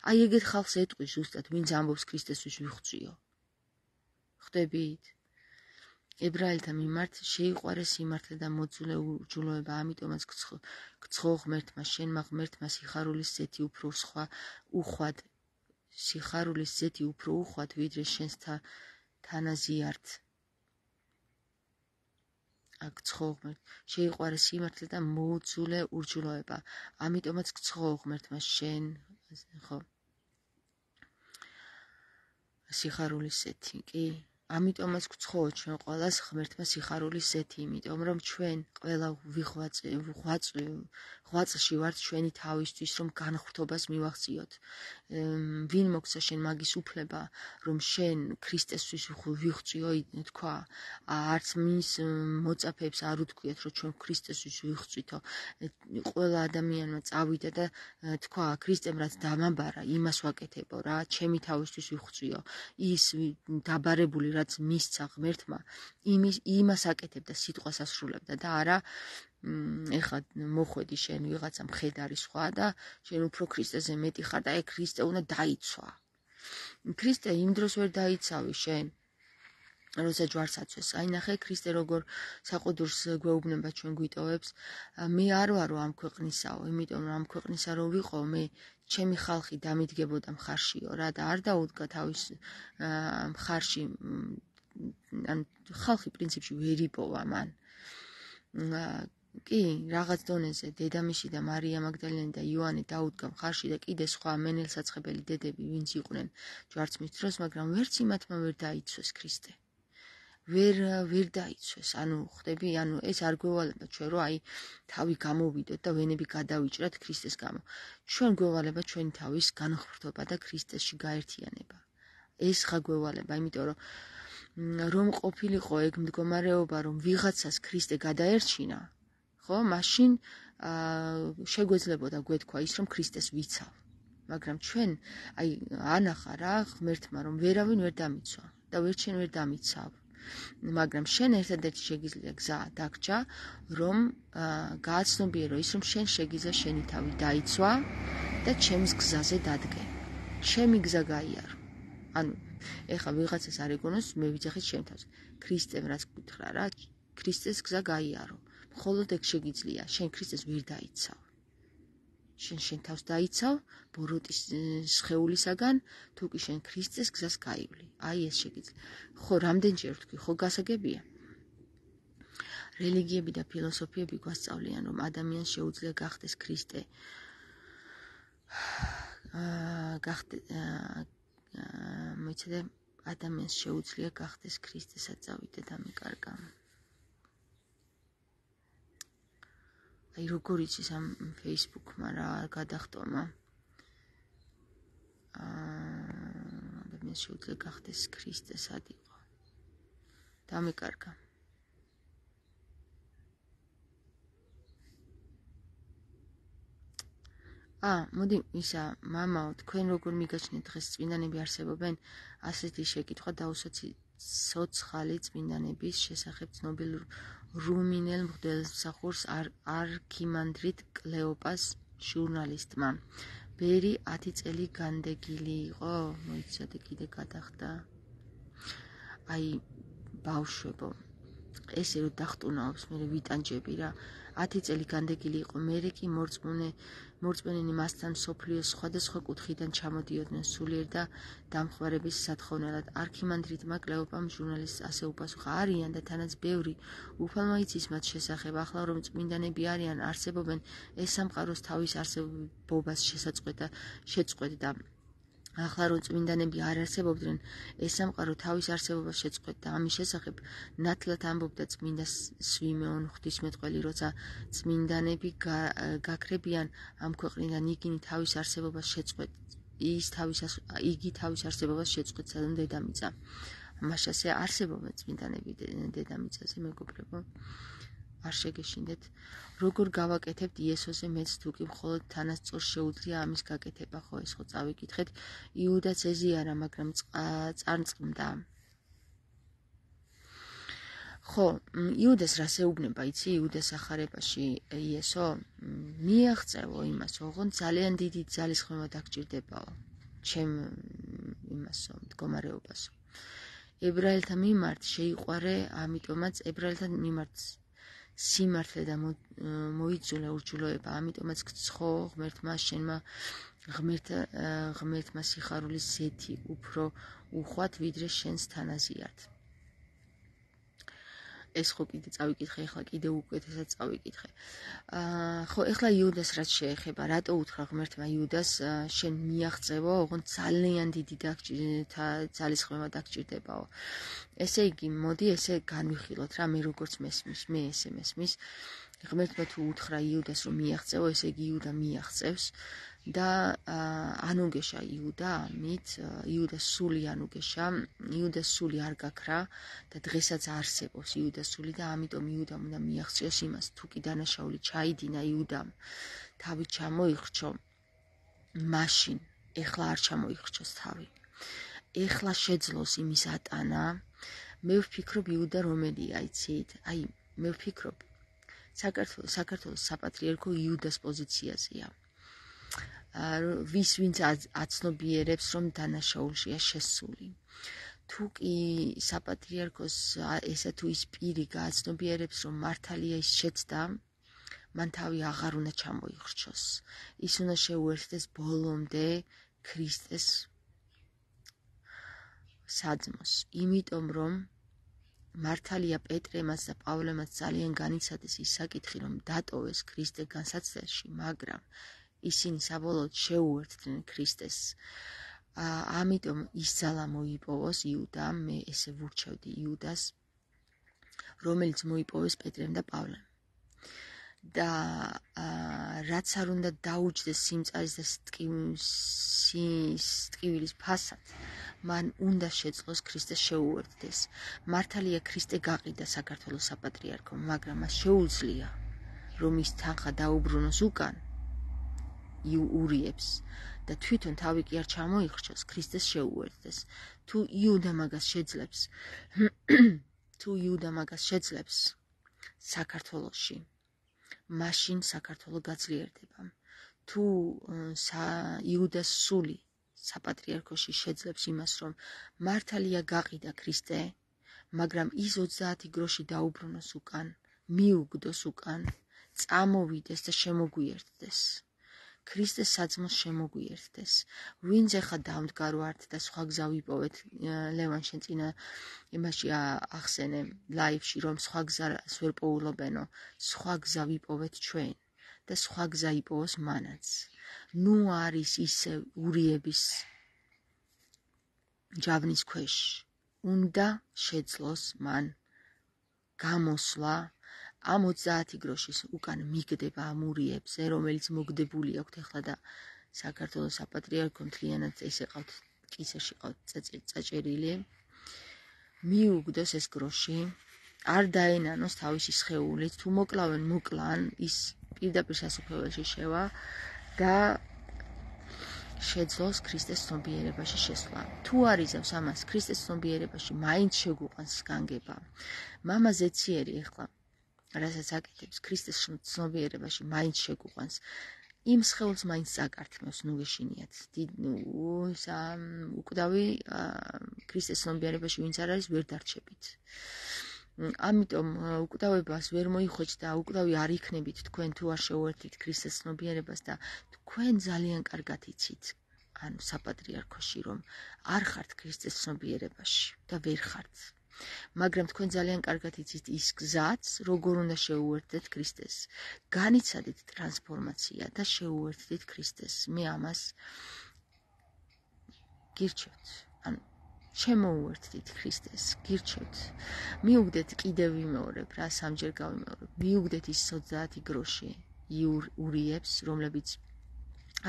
აი ეგეთ ხალხს ეტყვის ზუსტად, ვინც ამბობს ქრისტესთვის ვიხვწიო. ხვდებით? ებრაელთა მიმართ შეიყვარეს სიმართლე და მოძულე ურჯულოება, ამიტომაც გცხო ღმერთმა, შენმა ღმერთმა სიხარულის ზეთი უფრო უხვად, ვიდრე შენს თანაზიართ. გცხო ღმერთ, შეიყვარეს სიმართლე და მოძულე ურჯულოება, ამიტომაც გცხო ღმერთმა შენ, ხო? სიხარულის ზეთი, კი? ამიტომაც გცხო ჩვენ ყველას ღმერთმა სიხარულის ზეთი, იმიტომ რომ ჩვენ ყველა ღვაწლში ვართ ჩვენი თავისთვის, რომ განხრთობას მივახციოთ. ვინ მოგცა შენ მაგის უფლება, რომ შენ ქრისტესთვის ვიხვწიო, თქვა, არც მის მოწაფეებს არ უთქვიათ, რომ ჩვენ ქრისტესთვის ვიხვწვითო. ყველა ადამიანმა წავიდა და თქვა, ქრისტემ რაც დამაბარა, იმას ვაკეთებო რა, ჩემი თავისთვის ვიხვწიო. ის დაბარებული რაც მისცა ღმერთმა, იმას აკეთებდა, სიტყვას ასრულებდა და არა ეხლა მოხვედი შენ ვიღაცა მხედარი სხვა და შენ უფრო ქრისტეზე მეტი ხარ და ქრისტე უნდა დაიცვა. ქრისტე იმ დროს ვერ დაიცავი შენ, როცა ჯვარს აცვეს. აი ნახე, ქრისტე როგორ საყუდურს გვეუბნება ჩვენ გვიტოვებს. მე არ ვარო ამ ქვეყნისაო, იმიტომ რომ ამ ქვეყნისა რო ვიყო, მე ჩემი ხალხი დამიდგებოდა მხარშიო რა და არ დაუდგა თავის მხარში, ან ხალხი პრინციპში ვერ იპოვა მან. კი, რაღაც დონეზე დედამისი და მარია მაგდალენი და იოანე დაუდგა მხარში და კიდე სხვა მენელსაცხებელი დედები ვინც იყვნენ ჯვარცმის დროს, მაგრამ ვერც იმათმა ვერ დაიცვეს ქრისტე. ვერ დაიცვეს, ანუ ხვდები, ანუ ეს არ გვევალება ჩვენ რომ აი თავი გამოვიდოთ და ვენები გადავიჭრათ ქრისტეს გამო. ჩვენ გვევალება ჩვენი თავის განხრთობა და ქრისტესში გაერთიანება. ეს ხა გვევალება, იმიტომ რომ ყოფილიყო ეგ მდგომარეობა, რომ ვიღაცას ქრისტე გადაერჩინა, ხო, მაშინ შეგვეძლებოდა გვეთქვა ის, რომ ქრისტეს ვიცავ. მაგრამ ჩვენ აი ანახა რა ღმერთმა, რომ ვერავინ ვერ დამიცვა და ვერჩენ ვერ დამიცავ. მაგრამ შენ ერთადერთი შეგიძლია გზა დაგჭა, რომ გააცნობიერო ის, რომ შენ შეგიძლია შენი თავი დაიცვა და ჩემს გზაზე დადგე. ჩემი გზა გაიარო. ანუ ეხლა ვიღაცას არ ეგონოს, მე ვიძახით ჩემ თავს. ქრისტემ რაც გითხრა რა, ქრისტეს გზა გაიარო. მხოლოდ ეგ შეგიძლია, შენ ქრისტეს ვერ დაიცავ. შენ თავს დაიცავ ბოროტის სხეულისაგან, თუ კი შენ ქრისტეს გზას გაივლი. აი ეს შეგიძლია. ხო, რამდენჯერ ვთქვი, ხო გასაგებია. რელიგიები და ფილოსოფიები გვასწავლიან, რომ ადამიანს შეუძლია გახდეს ქრისტე. მოიცადე, ადამიანს შეუძლია გახდეს ქრისტესაც წავიდე და მეკარგა. აი როგორ იცის ამ Facebook-მა რა გადახტომა. ადამიანს შეუძლია გახდეს ქრისტე სად იყო. დამეკარგა. მოდი ისა, მამაო, თქვენ როგორ მიგაჩნიათ დღეს წმინდანები არსებობენ? ასეთი შეკითხვა დაუსვათ სოციალი წმინდანების შესახებ ცნობილ რუმინელ მღვდელმსახურს არქიმანდრიტ კლეოპას ჟურნალისტმა. ბერი 10 წელი განდეგილი იყო, მოიცადე კიდე გადახდა. აი ბავშვებო, ესე რომ დახტუნაობს, მე ვიტანჯები რა. 10 წელი განდეგილი იყო, მერე კი მორწმუნენი მასთან მსოფლიოს სხვადასხვა კუთხიდან ჩამოდიოდნენ სულიერ და დამხმარების სათხოვნელად. არქიმანდრიტმა კლეოპამ ჟურნალისტს ასე უპასუხა: არიან და თანაც ბევრი უფალმა იცის მათ შესახებ. ახლა რომ წმინდანები არიან, არსებობენ, ეს სამყაროს თავის არსებობას შეწყვეტდა. ახლა რომ წმინდანები არ არსებობდნენ, ეს სამყარო თავის არსებობას შეწყვეტდა. ამის შესახებ ნათლად ამბობდა წმინდა სვიმეონ ღვთისმეტყველი, როცა წმინდანები გაქრებიან ამ ქვეყნიდან, იგი თავის არსებობას შეწყვეტს დედამიწა. ამაშასე არსებობენ წმინდანები დედამიწაზე, მეგობრებო. არ შეგეშინდეთ. როგორ გავაკეთებთ იესოზე მეც თუ კი მხოლოდ თანასწორს შეუძლია ამის გაკეთება, ხო ეს ხო წავიკითხეთ. იუდაც ეზიარა, მაგრამ წარწყმდა. ხო, იუდას რას ეუბნება, იცი? იუდას ახარებაში იესო მიაღწევო იმას, ოღონდ ძალიან დიდი ძალისხმევა დაგჭირდებაო, ჩემ იმასო, მდგომარეობასო. ებრაელთა მიმართ შეიყვარე, ამიტომაც ებრაელთა მიმართ სიმართლე და მოიძულე ურჯულოება, ამიტომაც გცხო ღმერთმა შენმა ღმერთმა სიხარულის ზეთი უფრო უხვად, ვიდრე შენს თანაზიართ. ეს ხო კიდე წავიკითხე, ეხლა კიდე უკეთესად წავიკითხე. ხო, ეხლა იუდას რაც შეეხება, რატო უთხრა ღმერთმა იუდას შენ მიაღწევო, ოღონდ ძალიან დიდი ძალისხმევა დაგჭირდებაო. ესე იგი, მოდი ესე განვიხილოთ რა, მე როგორც მესმის, მე ესე მესმის. ღმერთმა თუ უთხრა იუდას რომ მიაღწევო, ესე იგი იუდა მიაღწევს და ანუგეშა იუდა ამით, იუდას სული ანუგეშა, იუდას სული არ გაქრა და დღესაც არსებობს იუდას სული და ამიტომ იუდამ უნდა მიაღწიოს იმას, თუ კი დანაშაული ჩაიდინა იუდამ, თავი ჩამოიხრჩო, მაშინ ეხლა არ ჩამოიხრჩოს თავი. ეხლა შეძლოს იმის ატანა. მე ვფიქრობ იუდა რომელია, იცით? აი, მე ვფიქრობ საქართველოს საპატრიარქო იუდას პოზიციაზეა. ვინც აცნობიერებს, რომ დანაშაულშია შესული. თუ კი საპატრიარქოს ესა თუ ის პირი გააცნობიერებს, რომ მართალია ის შეცდა, მან თავი აღარ უნდა ჩამოიხრჩოს. ის უნდა შეუერთდეს ბოლომდე ქრისტეს საძმოს. იმიტომ რომ მართალია პეტრემაც და პავლემაც ძალიან განიცადეს ის საკითხი, რომ დატოვეს ქრისტე განსაცდელში, მაგრამ ისინი საბოლოოდ შეუერთდნენ ქრისტეს. ამიტომ ის ძალა მოიპოვოს იუდამ, მე ესე ვურჩევდი იუდას, რომელიც მოიპოვეს პეტრემ და პავლემ. და რაც არ უნდა დაუჯდეს სიმწარის და ტკივილის ფასად, მან უნდა შეძლოს ქრისტეს შეუერთდეს. მართალია ქრისტე გაყიდა საქართველოს საპატრიარქომ, მაგრამ მას შეუძლია, რომ ის თანხა დაუბრუნოს უკან ურიებს და თვითონ თავი კი არ ჩამოიხრჩოს, ქრისტეს შეუერთდეს. თუ იუდა მაგას შეძლებს საქართველოში, მაშინ საქართველო გაძლიერდება. თუ იუდას სული საპატრიარქოში შეძლებს იმას, რომ მართალია გაყიდა ქრისტე, მაგრამ ის 30 გროში დაუბრუნოს უკან, მიუგდოს უკან, წამოვიდეს და შემოგვიერთდეს. ქრისტეს საძმოს შემოგვიერთდეს. ვინც ახლა დამდგარო ართ და სხვა გზა ვიპოვეთ, ლევან შენ წინა იმაში ახსენე ლაივში, რომ სხვა გზას ვერ პოულობენო, სხვა გზა ვიპოვეთ ჩვენ და სხვა გზა იპოვოს მანაც. ნუ არის ისე ურიების ჯავნის ქვეშ. უნდა შეძლოს მან გამოსვლა ამ 30 გროშის უკან მიგდება ამ ურიებზე, რომელიც მოგდებული აქვთ ახლა და საქართველოს საპატრიარქო მთლიანად ესე ყავთ კისერში ყავთ წაჭერილი. მიუგდოს ეს გროში, არ დაენანოს თავისი სხეულით, თუ მოკლავენ მოკლან, ის პირდაპირ სასუფეველში შევა და შეძლოს ქრისტეს ცნობიერებაში შესვლა. თუ არ იზავს ამას ქრისტეს ცნობიერებაში, მაინც შეგუყვანს განგება. მამა ზეციერი ახლა რასაც აკეთებს ქრისტეს ცნობიერებაში, მაინც შეგუყვანს. იმ სხეულს მაინც წაკართმევს, ნუ გეშინიათ. უკვდავი ქრისტეს ცნობიერებაში ვინც არ არის, ვერ დარჩებით. ამიტომ უკვდავებას ვერ მოიხვეჭ და უკვდავი არ იქნებით თქვენ თუ არ შეუერთდით ქრისტეს ცნობიერებას და თქვენ ძალიან კარგად იცით, ანუ საპატრიარქოში, რომ არ ხართ ქრისტეს ცნობიერებაში და ვერ ხართ. მაგრამ თქვენ ძალიან კარგად იცით ის გზაც, როგორ უნდა შეუერთდეთ ქრისტეს. განიცადეთ ტრანსფორმაცია და შეუერთდით ქრისტეს. მე ამას გირჩევთ. ანუ შემოუერთდით ქრისტეს, გირჩევთ. მიუგდეთ კიდევ ვიმეორებ რა, სამჯერ გავიმეორებ. მიუგდეთ ის 30 გროში ურიებს, რომლებიც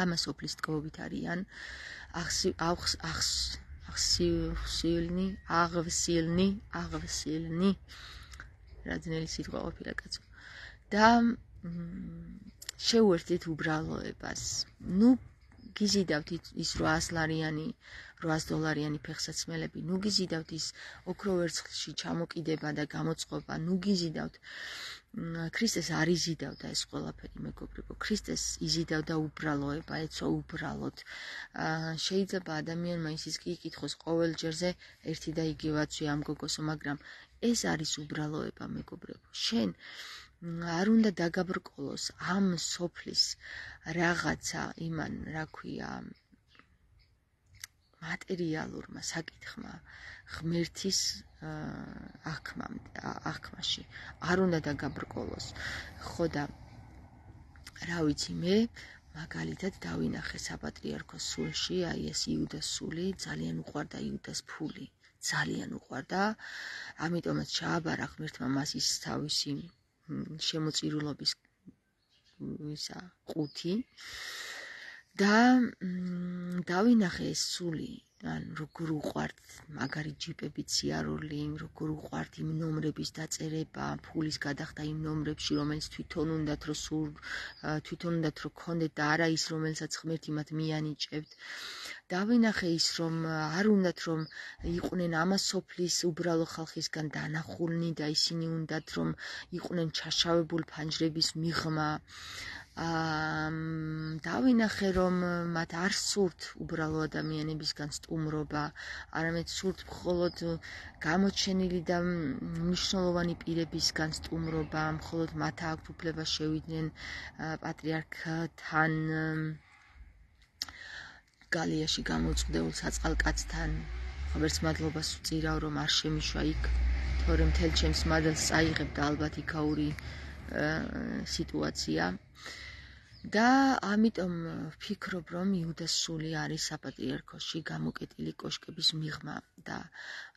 ამას ოფლის ტკბობით არიან. აღვსილნი რა ძნელი სიტყვა ყოფილა კაცო და შეუერთდით უბრალოებას. ნუ გიზიდავთ ის 800 დოლარიანი ფეხსაცმელები, ნუ გიზიდავთ ის ოქრო ვერცხლში ჩამოკიდება და გამოწყობა, ნუ გიზიდავთ. ქრისტეს არ იზიდავდა ეს ყველაფერი, მეგობრებო. ქრისტეს იზიდავდა უბრალოება, ეცვა უბრალოდ. შეიძლება ადამიანმა ისიც კი იკითხოს ყოველ ჯერზე ერთი და იგივაცვე ამ გოგოსო, მაგრამ ეს არის უბრალოება, მეგობრებო. შენ არ უნდა დაგაბრკოლოს ამ სოფლის რაღაცა იმან, რა ქვია, მატერიალურმა საკითხმა, ღმერთის აღქმაში. არ უნდა დაგაბრკოლოს. ხო და რა ვიცი მე, მაგალითად დავინახე საპატრიარქოს სულში, აი ეს იუდას სული, ძალიან უყვარდა იუდას ფული. ძალიან უყვარდა, ამიტომაც ჩააბარა ღმერთმა მას ის თავისი შემოწირულობის ყუთი და დავინახე ეს სული, ან როგორ უყვართ მაგარი ჯიპების სიარული, როგორ უყვართ იმ ნომრების დაწერება, ფულის გადახდა იმ ნომრებში, რომელიც თვითონ უნდათ რომ ქონდეთ და არა ის, რომელსაც ღმერთი მათ მიანიჭებთ. დავინახე ის, რომ არ უნდათ რომ იყვნენ ამას სოფლის უბრალო ხალხისგან დანახულნი და ისინი უნდათ რომ იყვნენ ჩაშავებული ფანჯრების მიღმა. დავინახე რომ მათ არ სურთ უბრალო ადამიანებისგან სტუმრობა, არამედ სურთ მხოლოდ გამოჩენილი და მნიშვნელოვანი პირებისგან სტუმრობა, მხოლოდ მათ აქვთ უფლება შევიდნენ პატრიარქთან, გალიაში გამოწვდებულ საწყალკაცთან. ღმერთს მადლობას ვწირავ, რომ არ შემიშვა იქ, თორემ მთელ ჩემს მადლს წაიღებ და ალბათ იქაური სიტუაცია. და ამიტომ ვფიქრობ, რომ იუდას სული არის საპატრიარქოში გამოკეტილი კოშკების მიღმა და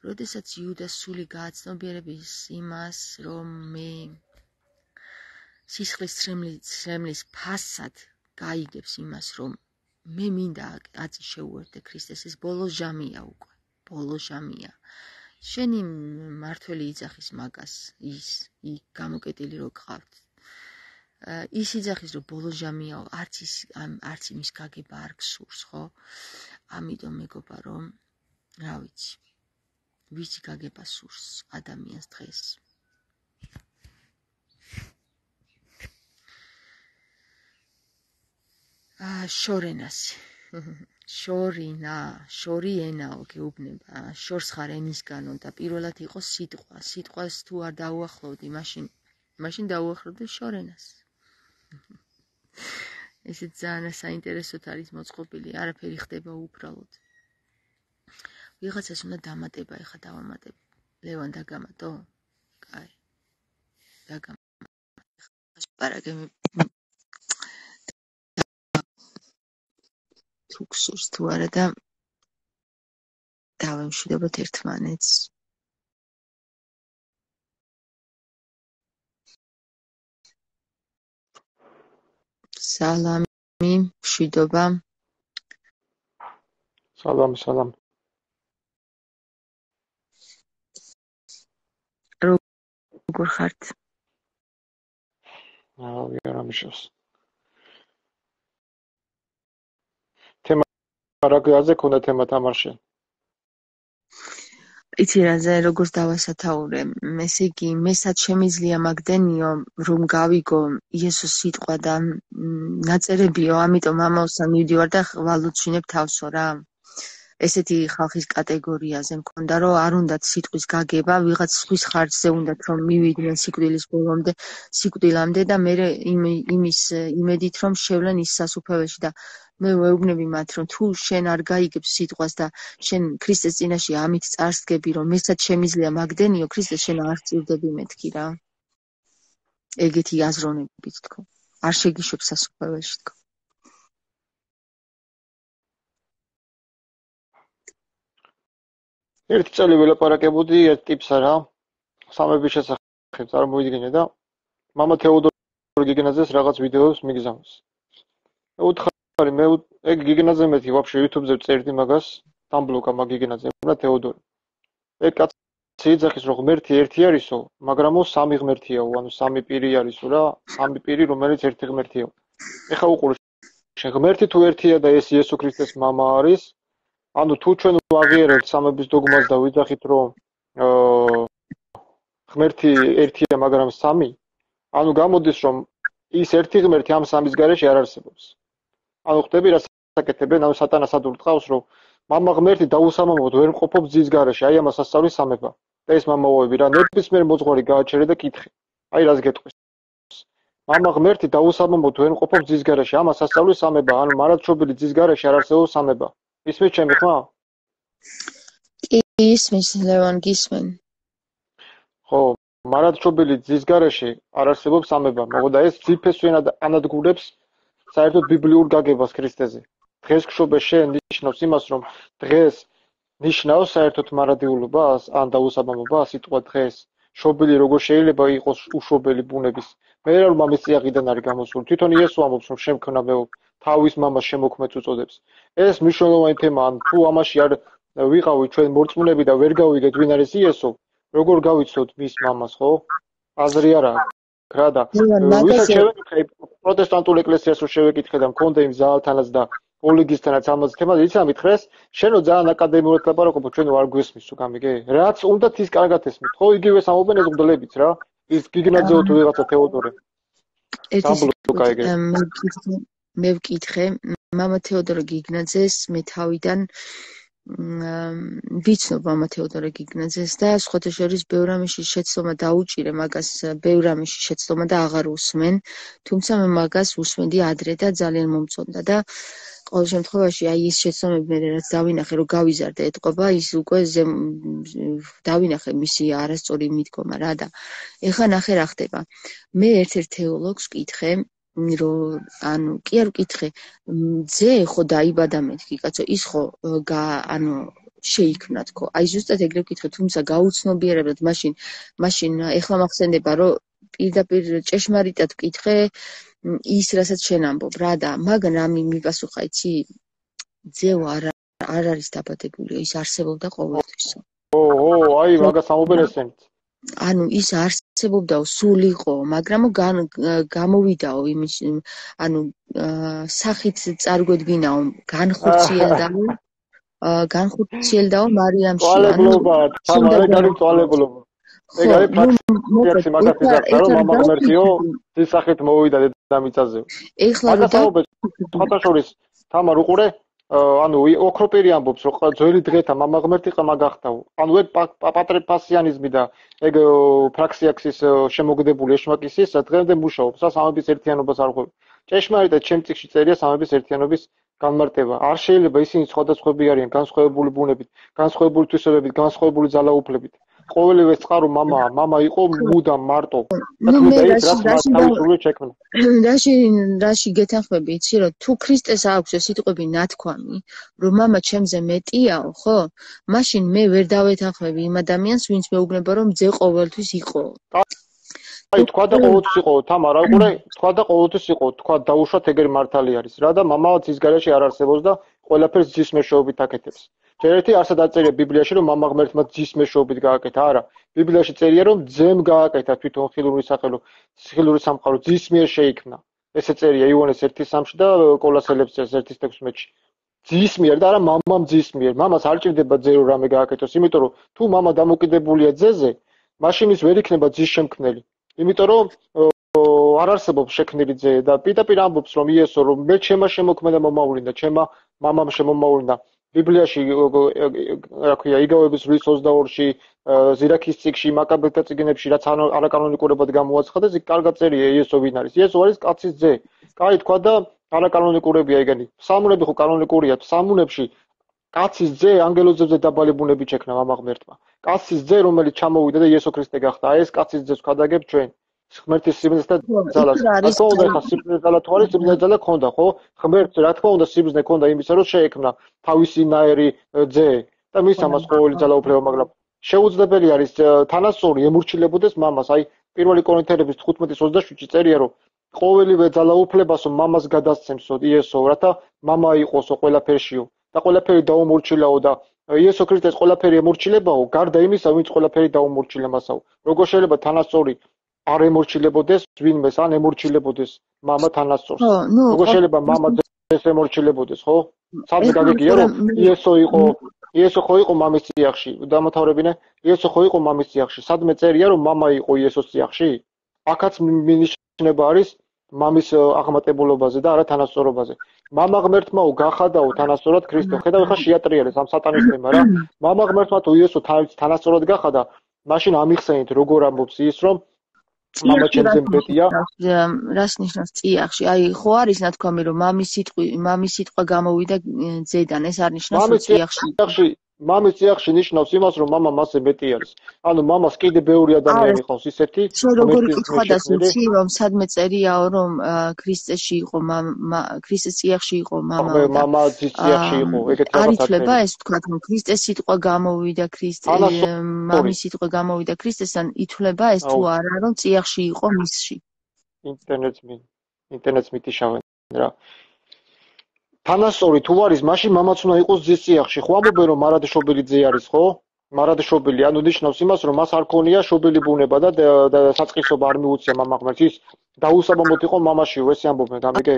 როდესაც იუდას სული გააცნობიერებს იმას, რომ მე სისხლის ცრემლის ფასად გაიგებს იმას, რომ მე მინდა აწი შეუერთდე ქრისტეს, ეს ბოლო ჟამია უკვე, ბოლო ჟამია. შენი მართველი იძახის მაგას, ის გამოკეტილი რო გყავთ. ის იძახის, რომ ბოლო ჟამია, არც იმის გაგება არ გსურს, ხო? ამიტომ მეგობა, რომ რა ვიცი, ვიცი გაგება სურს ადამიანს დღეს. შორენასი. შორიენაო გეუბნება, შორს ხარ ენისგანო და პირველად იყო სიტყვა. სიტყვას თუ არ დაუახლოვდი, მაშინ დაუახლოვდი შორენას. ესეც ძალიან საინტერესოდ არის მოწყობილი, არაფერი ხდება უბრალოდ. ვიღაცას უნდა დამატება, ეხა დავამატებ. ლევან დაგამატო? კაი. დაგამატე. პარაგემი თუ გსურს თუ არა და დავემშვიდობოთ ერთმანეთს. სალამი, მშვიდობა. სალამ. როგორ ხართ? არა მიშოს. თემა რა გაზე ქონდა თემა თამარში? იცი რაზე როგორც დავასათაურე, ესე იგი, მესაც შემიძლია მაგდენიო, რომ გავიგო იესოს სიტყვა და ნაწერებიო, ამიტომ ამავსთან მივდივარ და ვალუჩინებ თავსო რა. ესეთი ხალხის კატეგორიაზე მქონდა, რომ არ უნდათ სიტყვის გაგება, ვიღაც სხვის ხარჯზე უნდათ რომ მივიდნენ სიკვდილის ბოლომდე, სიკვდილამდე და მე იმის იმედით რომ შევლენ ის სასუფეველში და მე ვეუბნები მათ რომ თუ შენ არ გაიგებ სიტყვას და შენ ქრისტეს წინაშე ამით წარსდგები რომ მესაც შემიძლია მაგდენიო ქრისტეს შენ არ წირდები მეთქი რა. ეგეთი აზროვნებით თქო. არ შეგიშვებ სასუფეველში თქო. ერთი წელი ველაპარაკებოდი ერთ ტიპსა რა. სამების შესახებ წარმოვიდგინე და მამა თეოდორ გიგნაძეს რაღაც ვიდეოს მიგზავნეს. უთხარი მე ეგ გიგნაძე მეთი ვაფშე YouTube-ზე წერდი მაგას, დამბლოკა მაგ გიგნაძე და თეოდორი. ეგ კაცი იძახის რომ ღმერთი ერთი არისო, მაგრამ სამი ღმერთიაო, ანუ სამი პირი არისო რა, სამი პირი რომელიც ერთი ღმერთიაო. ეხა უყურე შენ ღმერთი თუ ერთია და ეს იესო ქრისტეს მამა არის, ანუ თუ ჩვენ ვაღიარებთ სამების დოგმას და ვიძახით რომ ღმერთი ერთია მაგრამ სამი, ანუ გამოდის რომ ის ერთი ღმერთი ამ სამის გარეშე არ არსებობს. ანუ ხტები რა საკეთებენ, ანუ სატანას ადურტყავს რომ მამა ღმერთი დაუსამამოდ ვერ მყოფობს ძის გარეშე, აი ამას ასწავლის სამება. და ეს მამაოები რა ნებისმიერ მოძღვარი გააჩერე და კითხე. აი რას გეტყვის. მამა ღმერთი დაუსამამოდ ვერ მყოფობს ძის გარეშე, ამას ასწავლის სამება, ანუ მარადმშობილი ძის გარეშე არ არსებობს სამება. ისმის ჩემი ხმა? კი, ისმის ლევან გისმენ. ხო, მარადმშობილი ძის გარეშე არ არსებობს სამება, მაგრამ ეს ძიფესვენად ანადგურებს საერთოდ ბიბლიურ გაგებას ქრისტეზე. დღეს გშობე შენ ნიშნავს იმას, რომ დღეს ნიშნავს საერთოდ მარადიულობას, ან დაუსაბამობას, სიტყვა დღეს. შობილი როგორ შეიძლება იყოს უშობელი ბუნების. მე რა მამის წიაღიდან არის გამოსული. თვითონ იესო ამბობს, რომ შემქნა მეო თავის მამას შემოქმედს უწოდებს. ეს მნიშვნელოვანი თემაა, ან თუ ამაში არ ვიყავით ჩვენ მორწმუნეები და ვერ გავიგეთ ვინ არის იესო, როგორ გავიცნოთ მის მამას, ხო? აზრი არა აქვს რა და ვისაც შევეკითხე პროტესტანტულ ეკლესიას რომ შევეკითხე და მქონდა იმ ზაალთანაც და ოლიგისთანაც ამაზე თემაზე იცი რა მითხრეს? შენო ძალიან აკადემიურად ლაპარაკობ, ჩვენ არ გვესმის თუ გამიგე? რაც უნდათ ის კარგად ესმით, ხო? იგივეს ამობენ ეს მგლებიც რა. ის გიგნაძეო თუ ვიღაცა თეოდორე. მე ვკითხე, მამა თეოდორე გიგნაძეს მე თავიდან ვიცნობ მამა თეოდორე გიგნაძეს და სხვათა შორის ბევრ ამაში შეცდომა დაუჭირე მაგას, ბევრ ამაში შეცდომა და აღარ უსმენ, თუმცა მე მაგას უსმენდი ადრე და ძალიან მომწონდა და ყოველ შემთხვევაში აი ის შეცდომები მე რაც დავინახე რომ გავიზარდა ეთყობა, ის უკვე დავინახე მისი არასწორი მიდგომა რა და ეხლა ნახე რა ხდება. მე ერთ-ერთ თეოლოგს ვკითხე რომ ანუ კი არ ვკითხე ძე ხო დაიბადა მეთქი კაცო ის ხო ანუ შეიქმნა თქო აი ზუსტად ეგრე ვკითხე თუმცა გაუცნობიერებლად მაშინ ეხლა მახსენდება რომ პირდაპირ ჭეშმარიტად ვკითხე ის რასაც შენ ამბობ რა და მაგრამ მიპასუხა იცი ძეო არ არის დაბადებული ის არსებობდა ყოველთვისო აი მაგას ამობენ ესენიც ანუ ის არსებობდაო სულ იყო, მაგრამ გამოვიდაო იმის ანუ სახით წარგვედგინაო განხორციელდაო მარიამში ანუ თამარი წვალებლობა ეგ არის პრაქტიკაში მაგას იზარდა რომ მამა ღმერთიო ის სახით მოვიდა დედამიწაზე ეხლა რა შორის თამარ უყურე ანუ ოქროპირი ამბობს რომ ძველი დღეთა მამა ღმერთი ყმა გახდაო ანუ ეგ პატრიფასიანიზმი და ეგ ფრაქსიაქსის შემოგდებული ეშმაკისის დღემდე მუშაობს სამების ერთიანობას არ ღვევ ჭეშმარიტად ჩემ წიგნში წერია სამების ერთიანობის განმარტება არ შეიძლება ისინი სხვადასხვები არიან განსხვავებული ბუნებით განსხვავებული თვისებებით განსხვავებული ძალაუფლებით ყოველივე წყარო მამა იყო მუდამ მარტო რაში გეთანხმები იცი რომ თუ ქრისტეს აქვს ეს სიტყვები ნათქვამი რომ მამა ჩემზე მეტიაო ხო მაშინ მე ვერ დავეთანხმები იმ ადამიანს ვინც მეუბნება რომ ძე ყოველთვის იყო აი თქვა და ყოველთვის იყო თამარა უყურე თქვა თქვა და ყოველთვის იყო, თქვა დაუშვათ ეგრე მართალი არის რა და მამა ძის გარეშე არ არსებობს და ყველაფერს ძის მეშვეობით აკეთებს. ჯერ ერთი არსად აწერია ბიბლიაში რომ მამა ღმერთმა ძის მეშვეობით გააკეთა, არა. ბიბლიაში წერია რომ ძემ გააკეთა თვითონ ხილური სამყარო ძის მიერ შეიქმნა. ესე წერია იოანეს 1:3-ში და კოლოსელებს წერს 1:16-ში. ძის მიერ და არა მამამ ძის მიერ. მამას არ ჭირდება ძე რომ რამე გააკეთოს, იმიტომ რომ თუ მამა დამოკიდებულია ძეზე, მაშინ ის ვერ იქნება ძის შემქმნელი. იმიტომ რომ არ არსებობს შექმნილი ძე და პირდაპირ ამბობს რომ იესო რომ მე ჩემმა შემოქმედა მომავლინდა, ჩემმა მამამ შემომავლინდა. ბიბლიაში რა ქვია, იგავების ღვრის 22-ში, ზირაქის წიგნში, მაკაბელთა წიგნებში რაც არაკანონიკურებად გამოაცხადეს, იქ კარგად წერია იესო ვინ არის. იესო არის კაცის ძე. კაი თქვა და არაკანონიკურებია ეგენი. ფსალმუნები ხო კანონიკურია. ფსალმუნებში კაცის ძე ანგელოზებზე დაბალი ბუნებით შექმნა მამა ღმერთმა. კაცის ძე რომელიც ჩამოვიდა და იესო ქრისტე გახდა. აი ეს კაცის ძეს ვქადაგებ ჩვენ. ღმერთის სიბრძნეს და ძალას. რა თქმა უნდა, ხა სიბრძნე ძალა თუ არის, სიბრძნე ძალა ქონდა, ხო? ღმერთს რა თქმა უნდა სიბრძნე ქონდა იმისა, რომ შეექმნა თავისი ნაერი ძე და მის ამას ყოველი ძალა უფლება, მაგრამ შეუძლებელი არის თანასწორი ემორჩილებოდეს მამას. აი, 1 კორინთელების 15:27-ში წერია, რომ ყოველივე ძალა უფლებასო მამას გადასცემსო იესო, რათა მამა იყოსო ყველაფერშიო და ყველაფერი დაუმორჩილაო და იესო ქრისტეს ყველაფერი ემორჩილებაო, გარდა იმისა, ვინც ყველაფერი დაუმორჩილა მასაო. როგორ შეიძლება თანასწორი არ ემორჩილებოდეს ვინმეს, ან ემორჩილებოდეს მამა თანასწორს. როგორ შეიძლება მამა ძეს ემორჩილებოდეს, ხო? სადღაც გაგიგია რომ იესო ხო იყო მამის წიაღში, დამთავრებინე, იესო ხო იყო მამის წიაღში. სადმე წერია რომ მამა იყო იესოს წიაღში? აქაც მინიშნება არის მამის აღმატებულობაზე და არა თანასწორობაზე. მამა ღმერთმაო გახადაო თანასწორად ქრისტე. ხედავ ხა შეატრიალეს ამ სატანისტებმა რა. მამა ღმერთმა თუ იესო თანასწორად გახადა, მაშინ ამიხსენით როგორ ამბობს ის რომ მამა ჩემზე მბედია. რას ნიშნავს წიაღში? აი ხო არის ნათქვამი რომ მამის სიტყვა გამოვიდა ძედან, ეს არ ნიშნავს რომ წიაღში. მამის წიაღში ნიშნავს იმას რომ მამა მასზე მეტი არის. ანუ მამას კიდე ბევრი ადამიანი ყავს ისეთი. როგორი კითხვა და სუცი რომ სადმე წერიაო რომ ქრისტეში იყო ქრისტეს წიაღში იყო მამა. მამა ძის წიაღში იყო, ეგეთი რაღაცა. არ ითვლება ეს თქვა რომ ქრისტეს სიტყვა გამოვიდა მამის სიტყვა გამოვიდა ქრისტესთან, ითვლება ეს თუ არა რომ წიაღში იყო მისში. ინტერნეტს მითიშავენ რა. თანასწორი თუ არის, მაშინ მამაც უნდა იყოს ძის წიაღში. ხო ამბობენ რომ მარადშობილი ძე არის, ხო? მარადშობილი, ანუ ნიშნავს იმას, რომ მას არ ქონია შობილი ბუნება და საწყისობა არ მიუწია მამა ღმერთს. ის დაუსაბამოდ იყო მამაშიო, ესე ამბობენ, გამიგე?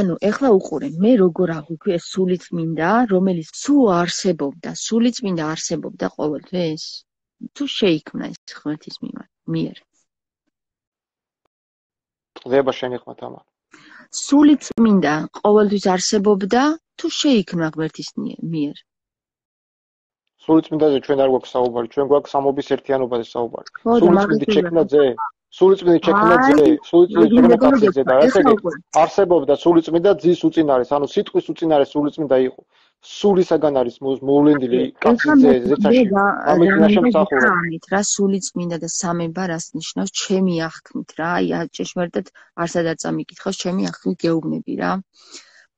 ანუ ეხლა უყურე, მე როგორ აღვიქვი ეს სულიწმინდა, რომელიც თუ არსებობდა, სულიწმინდა არსებობდა ყოველთვის? თუ შეიქმნა ეს ღმერთის მიერ. ყდება შენი ხმა თამა. სულიწმინდა ყოველთვის არსებობდა თუ შეიქმნა ღმერთის მიერ? სულიწმინდაზე ჩვენ არ გვაქვს საუბარი, ჩვენ გვაქვს სამობის ერთიანობაზე საუბარი. სულიწმინდით შექმნა ძე, სულიწმინდით შექმნა ძე, სულიწმინდით შექმნა კაცის ძე და ესე არსებობდა სულიწმინდა ძის უწინარეს, ანუ სიტყვის უწინარეს სულიწმინდა იყო. სულისაგან არის მოვლენილი კაცის ძე, ზეცაში. ამით ნაშემსახურა. რა სულიწმინდა და სამება რას ნიშნავს ჩემი აღქმით რა? აი ჭეშმარიტად არსად არ წამიკითხავს, ჩემი აღქმით გეუბნები რა.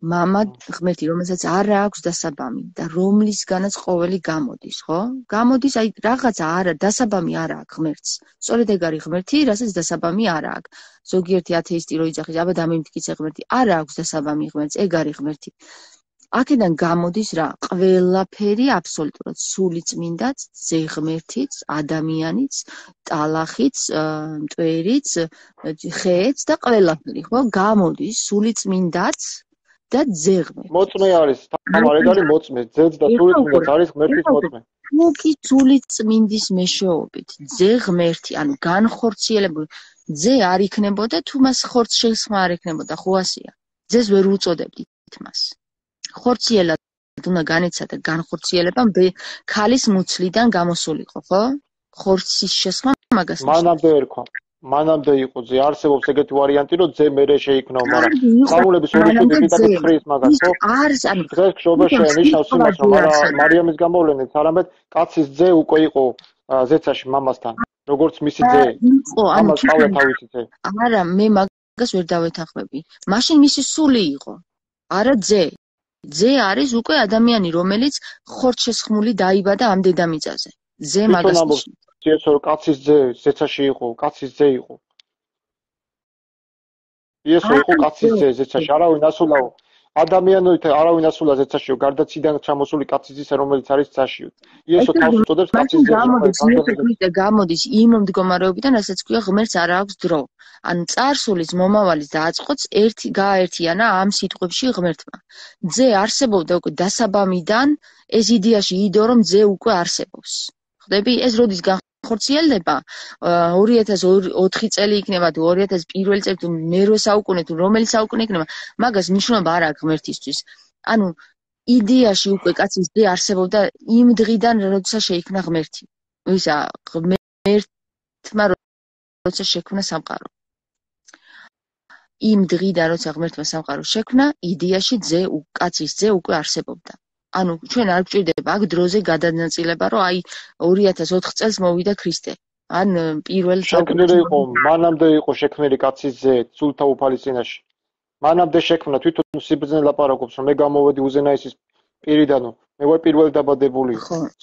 მამა ღმერთი, რომელსაც არ აქვს დასაბამი და რომლისგანაც ყოველი გამოდის, ხო? გამოდის, აი რაღაცა არა, დასაბამი არ აქვს ღმერთს. სწორედ ეგ არის ღმერთი, რასაც დასაბამი არ აქვს. ზოგიერთი ათეისტი რო იძახის, აბა დამემტკიცე ღმერთი, არ აქვს დასაბამი ღმერთს, ეგ არის ღმერთი. აქედან გამოდის რა? ყველაფერი აბსოლუტურად სულიწმინდაც, ძე ღმერთიც, ადამიანიც, ტალახიც, მტვერიც, ხეც და ყველაფერი, ხო? გამოდის სულიწმინდაც და ძე ღმერთი. მოწმე არის, თამარ ეგ არის მოწმე, ძეც და სულიწმინდაც არის ღმერთის მოწმე. თუ კი სულიწმინდის მეშვეობით, ძე ღმერთი, ანუ განხორციელებული, ძე არ იქნებოდა თუ მას ხორცს შესხმა არ ექნებოდა, ხო ასეა. ძეს ვერ უწოდებდით მას. ხორციელად უნდა განეცადა განხორციელება ქალის მუცლიდან გამოსულიყო, ხო? ხორცის შესხმა მაგას მანამდე იყო ძე, არსებობს ეგეთი ვარიანტი, რომ ძე მერე შეიქმნაო, მაგრამ სამულების ორი შვილი პირდაპირ ხრის მაგას, ხო? დღეს ხშობა შენიშნავს იმას, რომ მარიამის გამოვლენით, არამედ კაცის ძე უკვე იყო ზეცაში მამასთან, როგორც მისი ძე. ამას ყავდა თავისი ძე. არა, მე მაგას ვერ დავეთანხმები. მაშინ მისი სული იყო, არა ძე. ძე არის უკვე ადამიანი, რომელიც ხორცშესხმული დაიბადა ამ დედამიწაზე. ძე მაგას ნიშნავს. კაცის ძე, ზეცაში იყო, კაცის ძე იყო. იესო იყო კაცის ძე ზეცაში, არავინ ასულაო. ადამიანოით არავინ ასულა ზეცაშიო, გარდა ციდან ჩამოსული კაცის ძისა, რომელიც არის ძაშიო. იესო თავს უწოდებს კაცის ძეს. გამოდის იმ მდგომარეობიდან, რასაც ქვია ღმერთს არ აქვს დრო. ანუ წარსულის მომავალის დააწყოც გააერთიანა ამ სიტყვებში ღმერთმა. ძე არსებობდა უკვე დასაბამიდან, ეს იდეაში იდო რომ ძე უკვე არსებობს. ხვდები? ეს როდის განხორციელდება? 2004 წელი იქნება თუ 2001 წელი თუ მერვე საუკუნე თუ რომელი საუკუნე იქნება, მაგას მნიშვნელობა არ აქვს ღმერთისთვის. ანუ იდეაში უკვე კაცის ძე არსებობდა იმ დღიდან, როცა შეიქმნა ღმერთი. ვისა ღმერთმა როცა შექმნა სამყარო. იმ დღიდან, როცა ღმერთმა სამყარო შექმნა, იდეაში კაცის ძე უკვე არსებობდა. ანუ ჩვენ არ გვჭირდება აქ დროზე გადანაწილება, რომ აი 2004 წელს მოვიდა ქრისტე. ან პირველ შექმნილი იყო, მანამდე იყო შექმნილი კაცის ძე, სულთა უფალის წინაშე. მანამდე შექმნა, თვითონ სიბრძნე ლაპარაკობს, რომ მე გამოვედი უზენაესის პირიდანო, მე ვარ პირველი დაბადებული.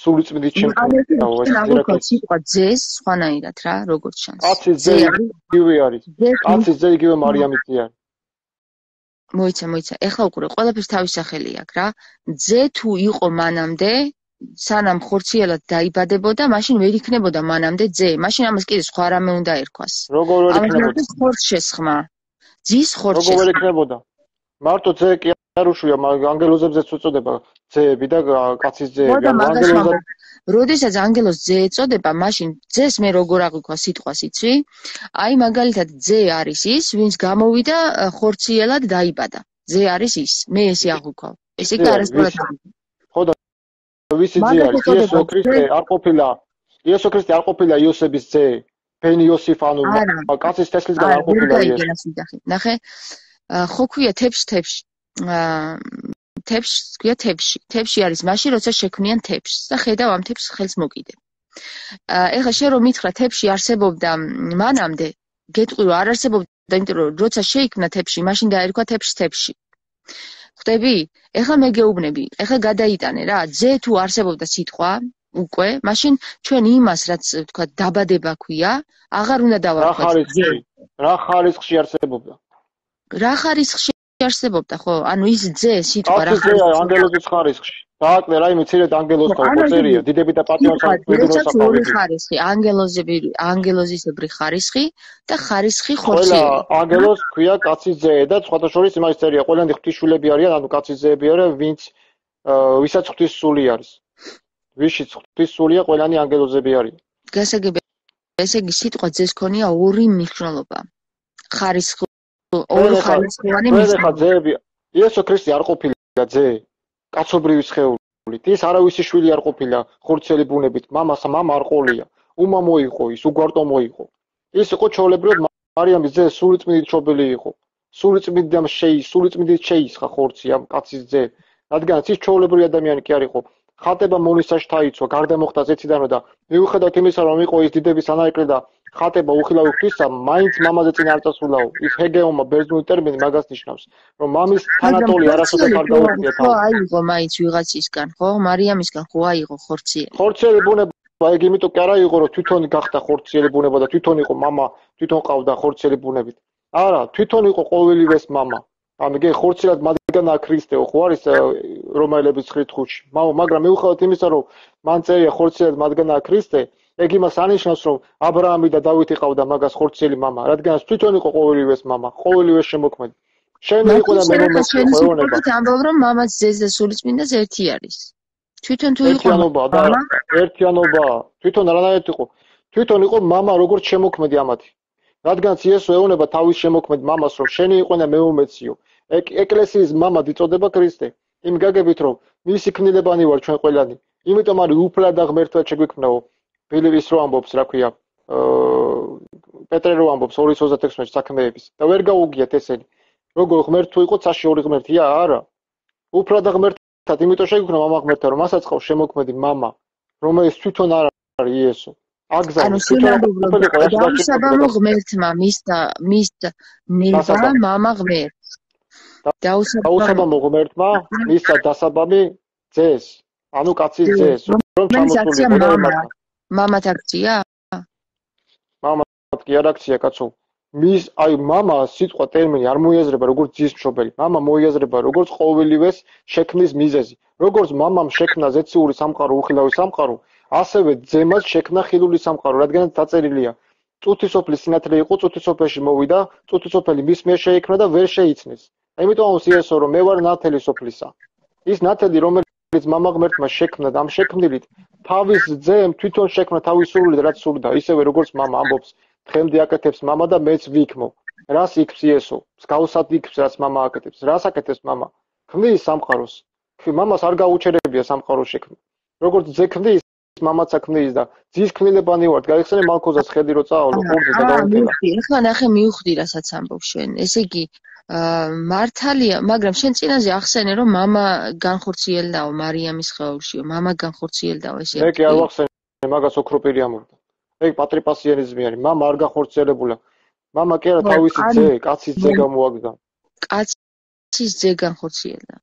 სული წმინდით შემქმნელო, ეს ირაკლი სიტყვა ძეს სხვანაირად რა, როგორც ჩანს. კაცის ძე იგივე არის. კაცის ძე იგივე მარიამის ძე არის. მოიცა. ეხლა უკვე ყველაფერს თავის სახელი აქვს რა. ძე თუ იყო მანამდე, სანამ ხორციელად დაიბადებოდა, მაშინ ვერ იქნებოდა მანამდე ძე. მაშინ ამას კიდე სხვა რამე უნდა ერქვას. როგორ ვერ იქნებოდა? ხორცს შესხმა. ძის ხორცს. როგორ ვერ იქნებოდა? მარტო ძე კი არ უშვია, ანგელოზებზეც უწოდება ძეები და კაცის ძეები. როდესაც ანგელოზს ძე ეწოდება, მაშინ ძეს მე როგორ აღვიქვა სიტყვას იცი? აი მაგალითად ძე არის ის, ვინც გამოვიდა ხორციელად დაიბადა. ძე არის ის. მე ესე აღვიქვავ. ესე კი არასდროს. ხო და ვისი ძე არის? იესო ქრისტე არ ყოფილა. იესო ქრისტე არ ყოფილა იოსების ძე. ბენ იოსიფ ანუ კაცის თესლისგან არ ყოფილა იესო. ნახე, ხო ქვია თებში. თებში ქვია თებში. თებში არის მაშინ, როცა შექმნიან თებს და ხედავ ამ თებს ხელს მოკიდებ. ეხლა შენ რომ მითხრა თებში არსებობდა მანამდე, გეტყვი რომ არ არსებობდა, იმიტომ რომ როცა შეიქმნა თებში, მაშინ დაერქვა თებში. ხვდები? ეხლა მე გეუბნები, ეხლა გადაიტანე რა, ძე თუ არსებობდა სიტყვა უკვე, მაშინ ჩვენ იმას, რაც თქვა დაბადება ქვია, აღარ უნდა დავარქვათ ძე. რა ხარისხში არსებობდა? რა ხარისხში არსებობდა, ხო? ანუ ის ძე სიტყვა რა ხარისხში? ანგელოზის ხარისხში. დააკლე რაიმე მცირედ ანგელოზთან ყოფერია, დიდები და პატიონსაც მიდროსაფავი ხარისხი, ანგელოზისებრი ხარისხი და ხარისხი ხორციელი. ყველა ანგელოზს ქვია კაცის ძე და სხვათა შორის იმას წერია, ყველანი ღვთისშვილები არიან, ანუ კაცის ძეები არიან, ვისაც ღვთის სული არის. ვიშიც ღვთის სულია, ყველანი ანგელოზები არიან. გასაგებია, ესე იგი სიტყვა ძეს ქონია ორი მნიშვნელობა. ხარისხი ორი ხარისხოვანი მნიშვნელობა. ძეები, იესო ქრისტე არ ყოფილა ძე. კაცობრივი სხეულით. ის არავისი შვილი არ ყოფილა ხორციელი ბუნებით. მამა არ ყოლია. უმამო იყო ის, უგვარტო მოიყო. ის იყო ჩაოლებრივად მარიამის ძე, სულიწმიდით ჩობილი იყო. სულიწმიდით შეისხა ხორცი ამ კაცის ძე. რადგანაც ის ჩაოლებრივი ადამიანი კი არ იყო. ხატება მონისაში დაიცვა, გარდა მოხდა ზეციდანო და მიუხედავად იმისა, რომ იყო ის დიდების ანაეკლე და ხატება უხილავი ღვთისა, მაინც მამაზე წინ არ წასულა. ის ჰეგეომა ბერძნული ტერმინი მაგას ნიშნავს, რომ მამის თანატოლი არასოდეს არ დაუწია თავს. ხო, აიღო მაინც ვიღაცისგან, ხო? მარიამისგან ხო აიღო ხორციელი. ხორციელი ბუნება, ეგ იმიტომ კი არ აიღო, რომ თვითონ გახდა ხორციელი ბუნება და თვითონ იყო მამა, თვითონ ყავდა ხორციელი ბუნებით. არა, თვითონ იყო ყოველივეს მამა. ანუ იგი ხორციელად მათგანაა ქრისტეო, ხო არის რომაელების 9:5-ში. მაგრამ მიუხედავად იმისა, რომ მან წერია ხორციელად მათგანაა ქრისტე, ეგ იმას ანიშნავს, რომ აბრაამი და დავითი ყავდა მაგას ხორციელი მამა, რადგანაც თვითონ იყო ყოველივეს მამა, ყოველივეს შემოქმედი. შენ იყო და მე მომეცხოვენება. ამბობ რომ მამაც ძეს და სულიწმინდას ერთი არის. თვითონ თუ იყო ერთიანობა, თვითონ არანაირად იყო. თვითონ იყო მამა როგორც შემოქმედი ამათი. რადგანაც იესო ეუბნება თავის შემოქმედ მამას, რომ შენი იყო და მე მომეციო. ეკლესიის მამად იწოდება ქრისტე. იმ გაგებით რომ მისი ქმნილებანი ვარ ჩვენ ყველანი. იმიტომ არის უფლად და ღმერთად შეგვიქმნაო. ბილევის რო ამბობს, რა ქვია, პეტრე რო ამბობს 2:26 საქმეების და ვერ გაუგიათ ესენი. როგორ ღმერთ თუ იყო ცაში ორი ღმერთია? არა. უფლად და ღმერთად, იმიტომ შეგვიქმნა მამა ღმერთად, რომ მასაც ყავს შემოქმედი მამა, რომელიც თვითონ არ არის იესო. ანუ დაუსაბამო ღმერთმა მის ნება მამა ღმერთს. დაუსაბამო ღმერთმა მისცა დასაბამი ძეს, ანუ კაცის ძეს, რომ ჩამოსული მამათ აქცია? მამათ კი არ აქცია, კაცო. მის აი მამა სიტყვა ტერმინი არ მოიაზრება როგორც ძის მშობელი. მამა მოიაზრება როგორც ყოველივეს შექმნის მიზეზი. როგორც მამამ შექმნა ზეციური სამყარო, უხილავი სამყარო, ასევე ძემას შექმნა ხილული სამყარო, რადგანაც დაწერილია. წუთისოფლის სინათლე იყო, წუთისოფელში მოვიდა, წუთისოფელი მის მიერ შეიქმნა და ვერ შეიცნეს. ამიტომ ამს იესო რომ მე ვარ ნათელი სოფლისა. ის ნათელი რომელიც მამა ღმერთმა შექმნა და ამ შექმნილით თავის ძემ თვითონ შექმნა თავის სურვილით რაც სურდა, ისევე როგორც მამა ამბობს, დღემდე აკეთებს მამა და მეც ვიქმო. რას იქს იესო? მსგავსად იქს რაც მამა აკეთებს. რას აკეთებს მამა? ქმნის სამყაროს. მამას არ გაუჩერებია სამყაროს შექმნა. როგორც ძე ქმნის, მამაც ქმნის და ძის ქმნილებანი ვართ. გაიხსენე მალქოზას ხედი რო წაავლო ყურზე და გაუნტელა. ეხლა ნახე მივხვდი რასაც ამბობ შენ. ესე იგი მართალია, მაგრამ შენ წინაზე ახსენე რომ მამა განხორციელდაო მარიამის ხეობშიო, მამა განხორციელდაო ესე. მე კი არ ვახსენე მაგას ოქროპირი ამბობდა. ეგ პატრიპასიანიზმი არის. მამა არ განხორციელებულა. მამა კი არა თავისი ძე, კაცის ძე გამოაგდა. კაცის ძე განხორციელდა.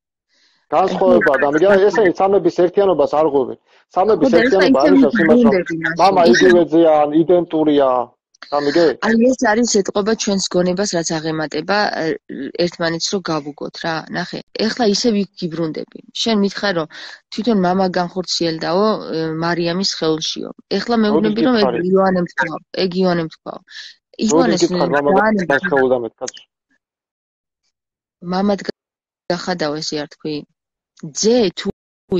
განსხვავება და ესე სამების ერთიანობას არ ღვევენ. სამების ერთიანობა არის იმას რომ მამა იგივე ძეა, იდენტურია. გამიგე? აი ეს არის ეთყობა ჩვენს გონებას რაც აღემატება ერთმანეთს რო გავუგოთ რა. ნახე, ეხლა ისე ვიგიბრუნდები. შენ მითხარ რომ თვითონ მამა განხორციელდაო მარიამის სხეულშიო. ეხლა მეუბნები რომ ეგ იოანემ თქვა. ეგ იოანემ თქვა. იოანეს მამად გახადაო ესე არ თქვი? ძე თუ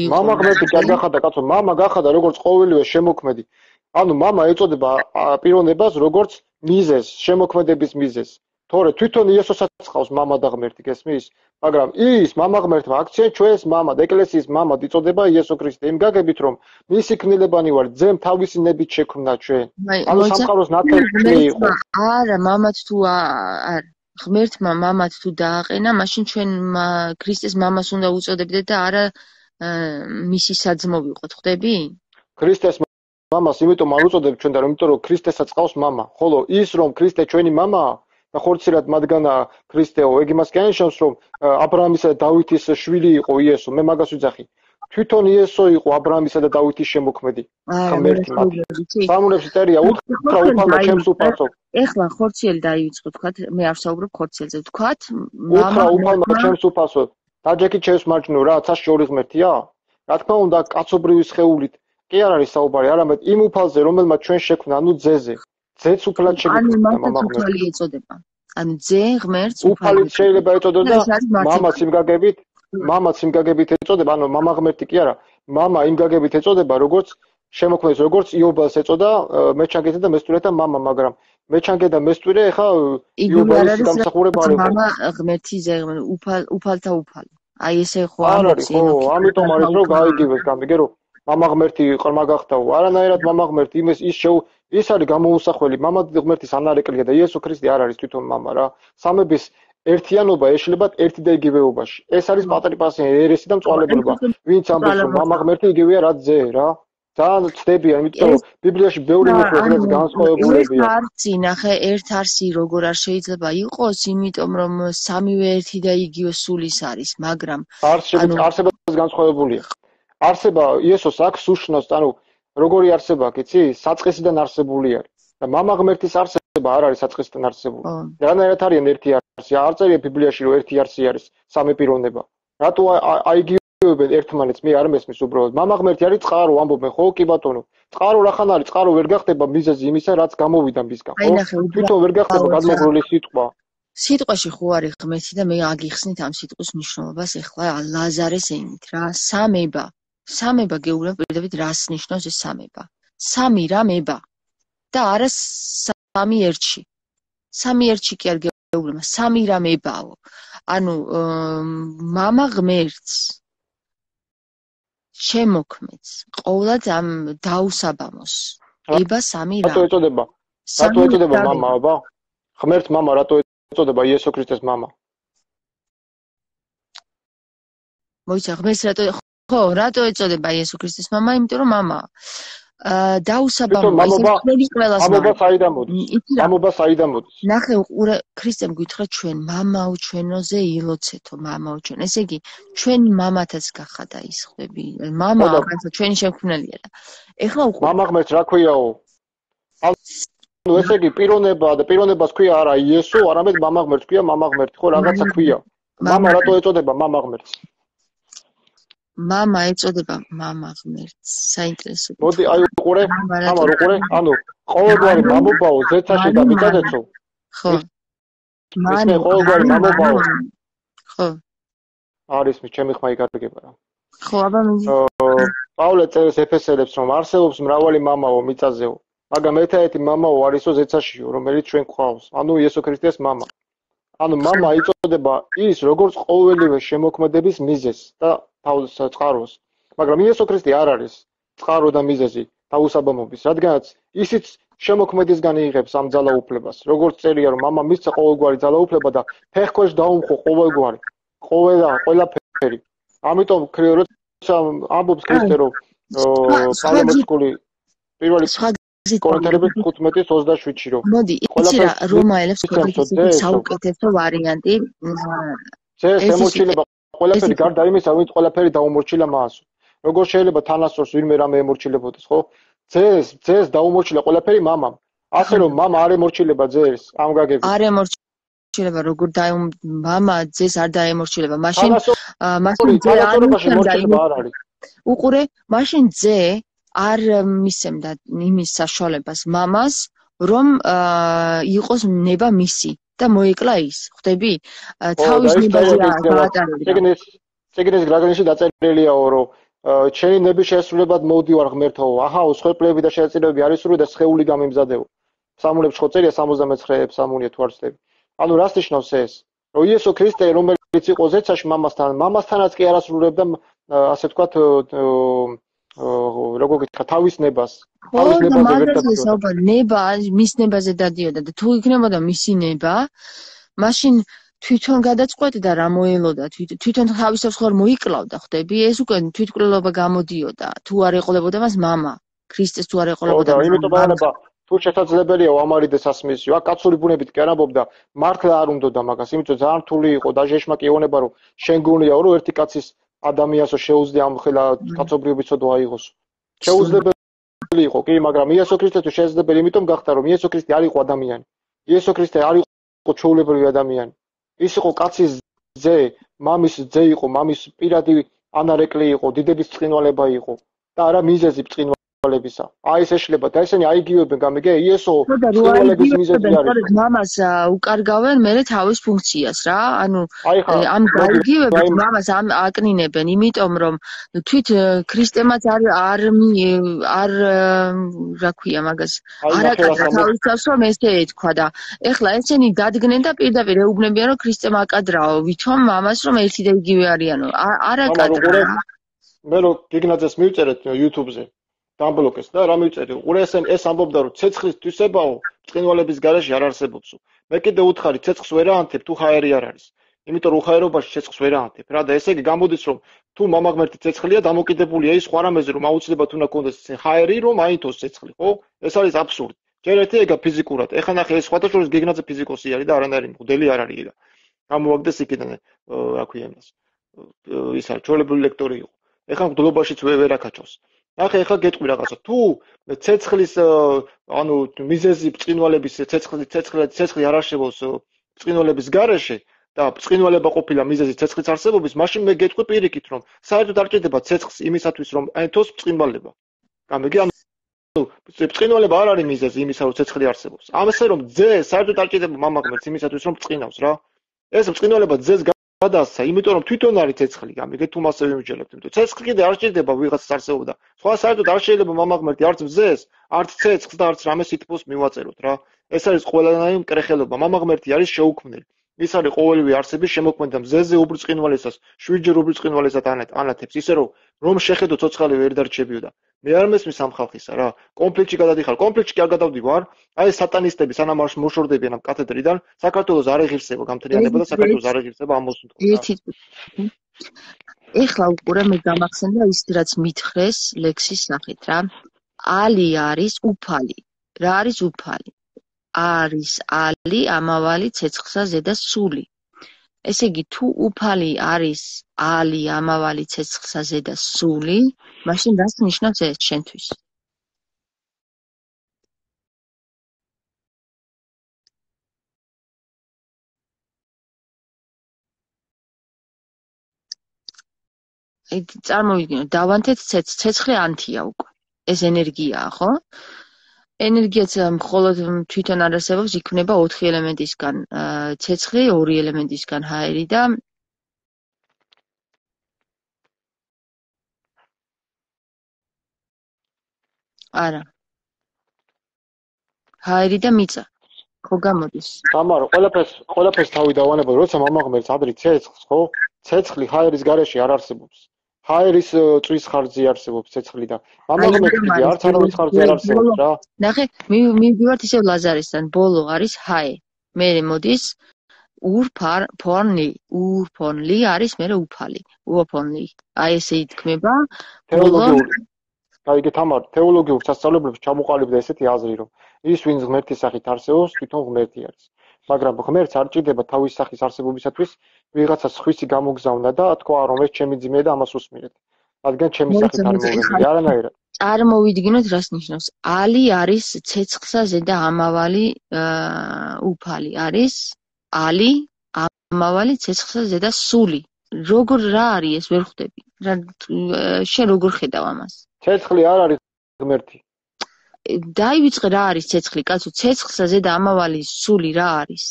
იყო მამა ღმერთი კი არ გახადა კაცო, მამა გახადა როგორც ყოველივე შემოქმედი. ანუ მამა ეწოდება პიროვნებას როგორც მიზეზს, შემოქმედების მიზეზს. თორე თვითონ იესოსაც ყავს მამა და ღმერთი, გესმის? მაგრამ ის მამა ღმერთმა აქცია ჩვენს მამად, ეკლესიის მამად იწოდება იესო ქრისტე. იმ გაგებით რომ მისი ქმნილებანი ვარ, ძემ თავისი ნებით შექმნა ჩვენ. ანუ სამყაროს ნათელი იყო. არა, მამად თუ არ ღმერთმა მამად თუ დააყენა, მაშინ ჩვენ ქრისტეს მამას უნდა უწოდებდეთ და არა მისი საძმო ვიყოთ, ხვდები? ქრისტეს მამას იმიტომ არ უწოდებთ ჩვენ და იმიტომ რომ ქრისტესაც ყავს მამა. ხოლო ის რომ ქრისტე ჩვენი მამაა და ხორცირად მათგანა ქრისტეო, ეგ იმას კი ანიშნავს რომ აბრაამისა და დავითის შვილი იყო იესო. მე მაგას ვიძახი. თვითონ იესო იყო აბრაამისა და დავითის შემოქმედი. ღმერთი მათი. სამუნებში წერია უთხრა უფალმა ჩემს უფალსო. ეხლა ხორციელი დაივიწყო თქვათ, მე არ ვსაუბრობ ხორციელზე. თქვათ უთხრა უფალმა ჩემს უფალსო. დაჯექი ჩემს მარჯვნივ რა, ცაში ორი ღმერთია? რა თქმა უნდა, კაცობრივი სხეულით კი არ არის საუბარი, არამედ იმ უფალზე, რომელმაც ჩვენ შექმნა, ანუ ძეზე. ძეც უფალად შეგვიქმნა მამა ღმერთი. ეწოდება. ანუ ძე ღმერთს უფალით შეიძლება ეწოდოს და მამაც იმ გაგებით ეწოდება, ანუ მამა ღმერთი კი არა, მამა იმ გაგებით ეწოდება, როგორც შემოქმეdes, როგორც იობალს ეწოდა მეჩანგეთა და მესტვირეთა მამა, მაგრამ მეჩანგე და მესტვირე ეხა იობალის გამსახურება არ იყო. მამა ღმერთი ძე ღმერთი, უფალთა უფალი. აი ესე ხო ამბობს, ხო, ამიტომ არის რომ გაიგივეს, გამიგე რომ მამა ღმერთი ყრმა გახდაო. არანაირად მამა ღმერთი ის არის გამოუსახველი. მამა ღმერთის ანარეკლია და იესო ქრისტე არ არის თვითონ მამა რა. სამების ერთიანობა ეშლებათ ერთი და იგივეობაში. ეს არის პატრიპასიანი ერესი და მწვალებლობა. ვინც ამბობს რომ მამა ღმერთი იგივეა რაც ძე რა. ძალიან ცდებიან, იმიტომ რომ ბიბლიაში ბევრი მეთოდებით განსხვავებულებია. არცი, ნახე, ერთ არსი როგორ არ შეიძლება იყოს, იმიტომ რომ სამივე ერთი და იგივე სულის არის, მაგრამ არსებაც განსხვავებულია. არსება იესოს აქვს უშნოს, ანუ როგორი არსება აქვს, იცი? საწყისიდან არსებული არის. და მამა ღმერთის არსება არ არის საწყისიდან არსებული. რანაირად არიან ერთი არსი? არ წერია ბიბლიაში რომ ერთი არსი არის სამი პიროვნება. რატო აიგივებენ ერთმანეთს? მე არ მესმის უბრალოდ. მამა ღმერთი არის წყარო, ამბობენ, ხო კი ბატონო. წყარო რახან არის? წყარო ვერ გახდება მიზეზი იმისა, რაც გამოვიდა მისგან, ხო? თვითონ ვერ გახდება გადმოგვრული სიტყვა. სიტყვაში ხო არის ღმერთი და მე აგიხსნით ამ სიტყვის მნიშვნელობას ეხლა ლაზარეს ენით რა. სამება გეუბნებ პირდაპირ რას ნიშნავს ეს სამება. სამი რამება და არა სამი ერთში. სამი ერთში კი არ გეუბნება, სამი რამებაო. ანუ მამა ღმერთს შემოქმედს ყოვლად ამ დაუსაბამოს. ება სამი რა. რატო ეწოდება მამა, აბა? ღმერთს მამა რატო ეწოდება იესო ქრისტეს მამა? მოიცა ღმერთს რატო ეწოდება იესო ქრისტეს მამა? იმიტომ რომ მამა დაუსაბამოა ის ყველი ყველას მამობა საიდან მოდის? ნახე, ქრისტემ გითხრა ჩვენ მამაო ჩვენოზე ილოცეთო, მამაო ჩვენ. ესე იგი, ჩვენი მამათაც გახადა ის ხვდები. მამა რაღაცა ჩვენი შემქმნელია და ეხლა მამა ღმერთს რა ქვიაო? ესე იგი პიროვნება და პიროვნებას ქვია არა იესო, არამედ მამა ღმერთს ქვია მამა ღმერთი, ხო რაღაცა ქვია. მამა რატო ეწოდება მამა ღმერთს? მამა ეწოდება მამა ღმერთს. საინტერესო. მოდი აი უყურე, თამარ უყურე, ანუ ყოველგვარი მამობაო ზეცაში და მიწაზეცო. ხო. მე ყოველგვარი მამობაო. ხო. არის მე ჩემი ხმა იკარგება რა. ხო, აბა მინდა. პავლე წერს ეფესელებს რომ არსებობს მრავალი მამაო მიწაზეო, მაგრამ ერთადერთი მამაო არისო ზეცაშიო, რომელიც ჩვენ გვყავს. ანუ იესო ქრისტეს მამა. ანუ მამა იწოდება ის, როგორც ყოველივე შემოქმედების მიზეზს და თავის წყაროს. მაგრამ იესო ქრისტე არ არის წყარო და მიზეზი თავისაბამობის, რადგანაც ისიც შემოქმედისგან იღებს ამ ძალაუფლებას. როგორც წერია, რომ მამა მისცა ყოველგვარი ძალაუფლება და ფეხქვეშ დაუმხო ყოველგვარი, ყველაფერი. ამიტომ როცა ამბობს ქრისტე, რომ პავლე პირველი კორინთელების 15:27-ში რომ მოდი, იცი რა, რომაელებს ხოთის საუკეთესო ვარიანტი. ეს ემორჩილება ყველაფერი გარდა იმისა, ვინც ყველაფერი დაუმორჩილა მას. როგორ შეიძლება თანასწორს ვინმე რამე ემორჩილებოდეს, ხო? ძეს დაუმორჩილა ყველაფერი მამამ. ასე რომ მამა არ ემორჩილება ძეს, ამ გაგებით. არ ემორჩილება, როგორ მამა ძეს არ დაემორჩილება. მაშინ ძე არ არის. უყურე, მაშინ ძე არ მისცემდა იმის საშუალებას მამას, რომ იყოს ნება მისი და მოეკლა ის. ხვდები? თავის ნებაზე გაატარებდა. ეგრეს გრაგანში დაწერილიაო, რომ ჩემი ნების შესრულებად მოვდივარ ღმერთო. აჰაო, სხვეპლები და შეეწირებები არის სრული და სხეული გამიმზადეო. სამულებში ხო წერია 69 სამულია თუ არ ვცდები. ანუ რას ნიშნავს ეს? რომ იესო ქრისტე რომელიც იყო ზეცაში მამასთანაც კი არასრულებდა ასე ვთქვათ როგორ გითხრა თავის ნებას. თავის ნებაზე ვერ დადიოდა. ნება მის ნებაზე დადიოდა და თუ იქნებოდა მისი ნება, მაშინ თვითონ გადაწყვეტდა რა მოელოდა, თვითონ თავისებს ხარ მოიკლავდა, ხვდები? ეს უკვე თვითკვლელობა გამოდიოდა. თუ არ ეყოლებოდა მას მამა, ქრისტეს თუ არ ეყოლებოდა. ხო, იმიტომ არა თუ შესაძლებელია ამარიდეს ასმისიო. აქ კაცური ბუნებით კი არ ამბობდა, მართლა არ უნდოდა მაგას, იმიტომ ძალიან რთული იყო და ჟეშმაკი ეუბნება, რომ შენ გონიაო, რომ ერთი კაცის ადამიანსო შეუძლია ამ ხელა კაცობრიობისო დააიღოს. შეუძლებელი იყო, კი, მაგრამ იესო ქრისტე თუ შესაძლებელი, იმიტომ გახდა, რომ იესო ქრისტე არ იყო ადამიანი. იესო ქრისტე არ იყო ჩვეულებრივი ადამიანი. ის იყო კაცის ძე, მამის ძე იყო, მამის პირადი ანარეკლი იყო, დიდების ბრწყინვალება იყო და არა მიზეზი ბრწყინვალებისა. აი ეს ეშლება და ესენი აიგივებენ, გამიგე? იესო ბრწყინვალების მიზეზი არის. მამას უკარგავენ მერე თავის ფუნქციას რა. ანუ ამ გაიგივებით მამას აკნინებენ, იმიტომ რომ თვით ქრისტემაც არ რა ქვია მაგას. არ აკადრა თავის თავს რომ ესე ეთქვა და ეხლა ესენი დადგნენ და პირდაპირ ეუბნებიან რომ ქრისტემ აკადრაო, ვითომ მამას რომ ერთი და იგივე არიანო. არ აკადრა. მე რო გიგნაძეს მივწერეთ YouTube-ზე დამბლოკეს და რა მივწერი? უყურე ეს ამბობდა რომ ცეცხლის თვისებაო ბრწყინვალების გარეშე არ არსებობსო. მე კიდე უთხარი ცეცხლს ვერ აანთებ თუ ჰაერი არ არის. იმიტომ რომ უხაერობაში ცეცხლს ვერ აანთებ რა და ესე იგი გამოდის რომ თუ მამა ღმერთი ცეცხლია დამოკიდებულია ის სხვა რამეზე რომ აუცილებლად უნდა კონდეს ჰაერი რომ აინთოს ცეცხლი, ხო? ეს არის აბსურდი. ჯერ ერთი ეგა ფიზიკურად. ეხლა ნახე ეს სხვადასხვა გიგნაძე ფიზიკოსი არის და არანაირი მღვდელი არ არის ეგა. გამოვაგდეს იქიდან რა ქვია იმას. ის არის ჩვეულებრივი ლექტორი იყო. ეხლა მღვდლობაშიც ვერ აკაჩავს. ნახე ეხლა გეტყვი რაღაცა. თუ ცეცხლის ანუ მიზეზი ბრწყინვალების ცეცხლი არ არსებობს ბრწყინვალების გარეშე და ბრწყინვალება ყოფილა მიზეზი ცეცხლის არსებობის, მაშინ მე გეტყვი პირიქით რომ საერთოდ არ ჭირდება ცეცხლს იმისათვის რომ აინთოს ბრწყინვალება. გამიგი ანუ ბრწყინვალება არ არის მიზეზი იმისა რომ ცეცხლი არსებობს. ამასე რომ ძე საერთოდ არ ჭირდება მამა ღმერთს იმისათვის რომ ბრწყინავს რა. ეს ბრწყინვალება ძეს გადასცა, იმიტომ რომ თვითონ არის ცეცხლი, გამიგე თუ მასე ვიმჯერებთ, იმიტომ ცეცხლი კიდე არ ჭირდება ვიღაცას არსებობდა. სხვა საერთოდ არ შეიძლება მამა ღმერთი არც ძეს, არც ცეცხლს და არც რამე სითბოს მივაწეროთ რა. ეს არის ყველანაირი მკრეხელობა. მამა ღმერთი არის შეუქმნელი. ის არის ყოველივე არსების შემოქმედი და მზეზე უბრწყინვალესას, შვიდჯერ უბრწყინვალესად ანათებს, ისე რომ შეხედო ცოცხალი ვერ დარჩებიოდა. მე არ მესმის ამ ხალხისა რა. კონფლიქტში გადადიხარ, კონფლიქტში კი არ გადავდივარ. აი სატანისტები სანამ არ მოშორდებიან ამ კათედრიდან, საქართველოს არ ეღირსება გამთლიანება და საქართველოს არ ეღირსება ამ მოსუნთქვა. ეხლა უყურე მე გამახსენდა ის რაც მითხრეს ლექსის სახით რა. ალი არის უფალი. რა არის უფალი? არის ალი ამავალი ცეცხლსა ზედა სული. ესე იგი თუ უფალი არის ალი ამავალი ცეცხლსა ზედა სული, მაშინ რას ნიშნავს ეს შენთვის? წარმოვიდგინოთ, დავანთეთ ცეცხლი ანთია უკვე. ეს ენერგიაა, ხო? ენერგიაც მხოლოდ თვითონ არ არსებობს, იქმნება 4 ელემენტისგან. ცეცხლი 2 ელემენტისგან, ჰაერი და არა. ჰაერი და მიწა. ხო გამოდის. თამარო, ყველაფერს თავი დავანებო, როცა მამაღმერთს ადრე ცეცხლს, ხო? ცეცხლი ჰაერის გარეშე არ არსებობს. ჰაერის წვის ხარჯზე არსებობს ცეცხლი და მამაღმერთში არც არავის ხარჯზე არ არსებობს რა. ნახე, მივიდივართ ისევ ლაზარისთან, ბოლო არის ჰაე. მერე მოდის ურფონლი არის მერე უფალი. უოფონლი. აი ესე ითქმება. გაიგე თამარ, თეოლოგიურ სასწავლებლებში ჩამოყალიბდა ესეთი აზრი, რომ ის ვინც ღმერთის სახით არსებობს, თვითონ ღმერთი არის. მაგრამ ღმერთს არ ჭირდება თავის სახის არსებობისათვის ვიღაცას ხვისი გამოგზავნა და თქვა რომ ეს ჩემი ძმეა და ამას უსმირეთ. რადგან ჩემი სახით არ მოვლენილი, არანაირად. წარმოვიდგინოთ რას ნიშნავს. ალი არის ცეცხლსა ზედა ამავალი უფალი არის ალი ამავალი ცეცხლსა ზედა სული. როგორ რა არის ეს ვერ ხვდები. შენ როგორ ხედავ ამას? ცეცხლი არ არის ღმერთი. დაივიწყე რა არის ცეცხლი, კაცო, ცეცხლსა ზედა ამავალი სული რა არის?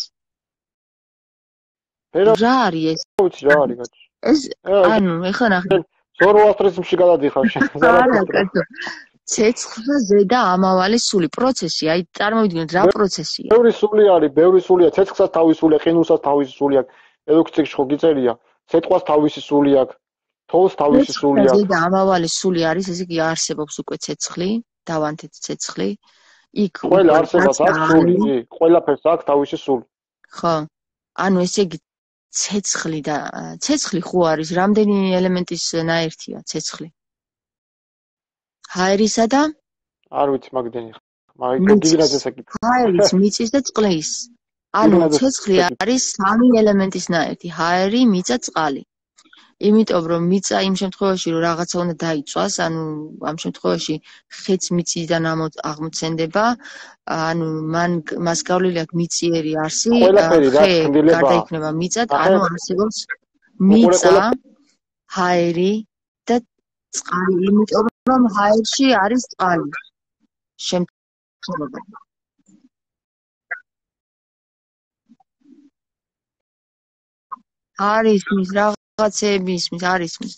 რა არის ეს? ვიცი რა არის კაცო. ეს ანუ ეხლა ნახე. ზოროასტრიზმში გადადიხარ შენ. არა კაცო. ცეცხლსა ზედა ამავალი სული პროცესი, აი წარმოვიდგინოთ რა პროცესია. ბევრი სულია, ცეცხლსაც თავისი სული, ყინულსაც თავისი სული აქვს. ელოქციაში ხო გიწერია, ცეცხლს თავისი სული აქვს. თოლს თავისი სული აქვს. ზედა ამავალი სული არის, ესე იგი არსებობს უკვე ცეცხლი, დავანთეთ ცეცხლი. იქ ყველა არსებას აქვს სული, ყველაფერს აქვს თავისი სული. ხო. ანუ ესე იგი ცეცხლი ხო არის, რამდენი ელემენტის ნაერთია ცეცხლი? ჰაერისა და არ ვიცი მაგდენი. მაგრამ გიგრაძეს აკითხე. ჰაერის, მიწის და წყლის. ანუ ცეცხლი არის 3 ელემენტის ნაერთი, ჰაერი, მიწა, წყალი. იმიტომ რომ მიწა იმ შემთხვევაში რომ რაღაცა უნდა დაიწვას, ანუ ამ შემთხვევაში ხეც მიწიდან აღმოცენდება, ანუ მას გავლილი აქვს მიწიერი არსი, ხე გარდაიქმნება მიწად, ანუ არსებობს მიწა, ჰაერი და წყალი, იმიტომ რომ ჰაერში არის წყალი. შემთხვევა არის მის რაღაცეები ისმის, არის მის.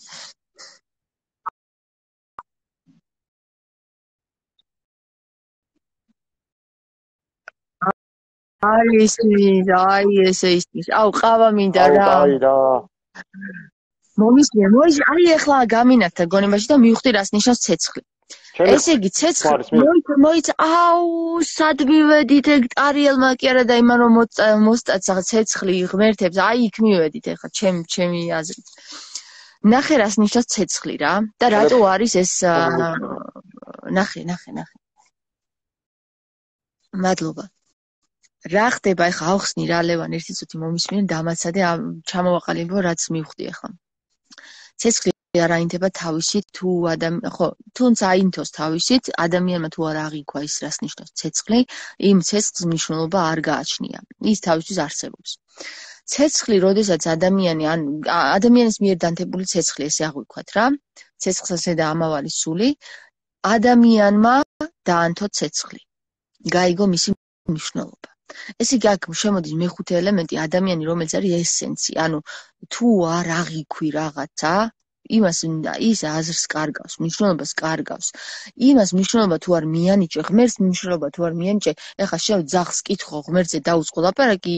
არის მის, აი ესე ისმის. აუ, ყავა მინდა რა. აი რა. მომისმენ, აი ახლა გამინათდა გონებაში და მივხვდი რას ნიშნავს ცეცხლი. ესე იგი ცეცხლი მოიცა, აუ, სად მივედით ეგ ტარიელმა კი არა და იმან რომ მოსტაცა ცეცხლი ღმერთებს, აი იქ მივედით ახლა ჩემი აზრით. ნახე რას ნიშნავს ცეცხლი რა და რატო არის ეს ნახე. მადლობა. რა ხდება ახლა ავხსნი რა ლევან ერთი წუთი მომისმენ დამაცადე ჩამოვაყალიბო რაც მივხვდი ახლა. ცეცხლი არ აინთება თავისით თუნდაც აინთოს თავისით ადამიანმა თუ არ აღიქვა ის რას ნიშნავს ცეცხლი, იმ ცეცხლს მნიშვნელობა არ გააჩნია. ის თავისთვის არსებობს. ცეცხლი, როდესაც ადამიანის მიერ დანთებული ცეცხლი, ესე აღვიქვათ რა, ცეცხლსა ზედა ამავალი სული, ადამიანმა დაანთო ცეცხლი. გაიგო მისი მნიშვნელობა. ესე იგი აქ შემოდის მეხუთე ელემენტი, ადამიანი, რომელიც არის ესენცი, ანუ თუ არ აღიქვი რაღაცა, ის აზრს კარგავს, მნიშვნელობას კარგავს. იმას მნიშვნელობა თუ არ მიანიჭე, ღმერთს მნიშვნელობა თუ არ მიანიჭე, ეხლა შენ ძაღლს კითხო, ღმერთზე დაუწყო ლაპარაკი,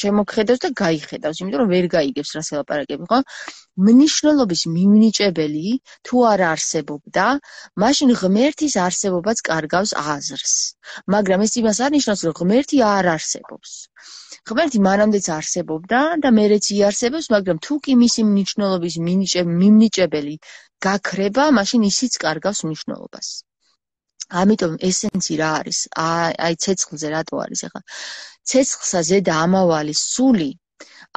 შემოგხედავს და გაიხედავს, იმიტომ რომ ვერ გაიგებს რას ელაპარაკები, ხო? მნიშვნელობის მიმნიჭებელი თუ არ არსებობდა, მაშინ ღმერთის არსებობაც კარგავს აზრს. მაგრამ ეს იმას არ ნიშნავს, რომ ღმერთი არ არსებობს. ღმერთი მანამდეც არსებობდა და მერეც იარსებობს, მაგრამ თუ კი მისი მნიშვნელობის მიმნიჭებელი გაქრება, მაშინ ისიც კარგავს მნიშვნელობას. ამიტომ ესენცი რა არის? აი ცეცხლზე რატო არის ახლა? ცეცხლსა ზედა ამავალი სული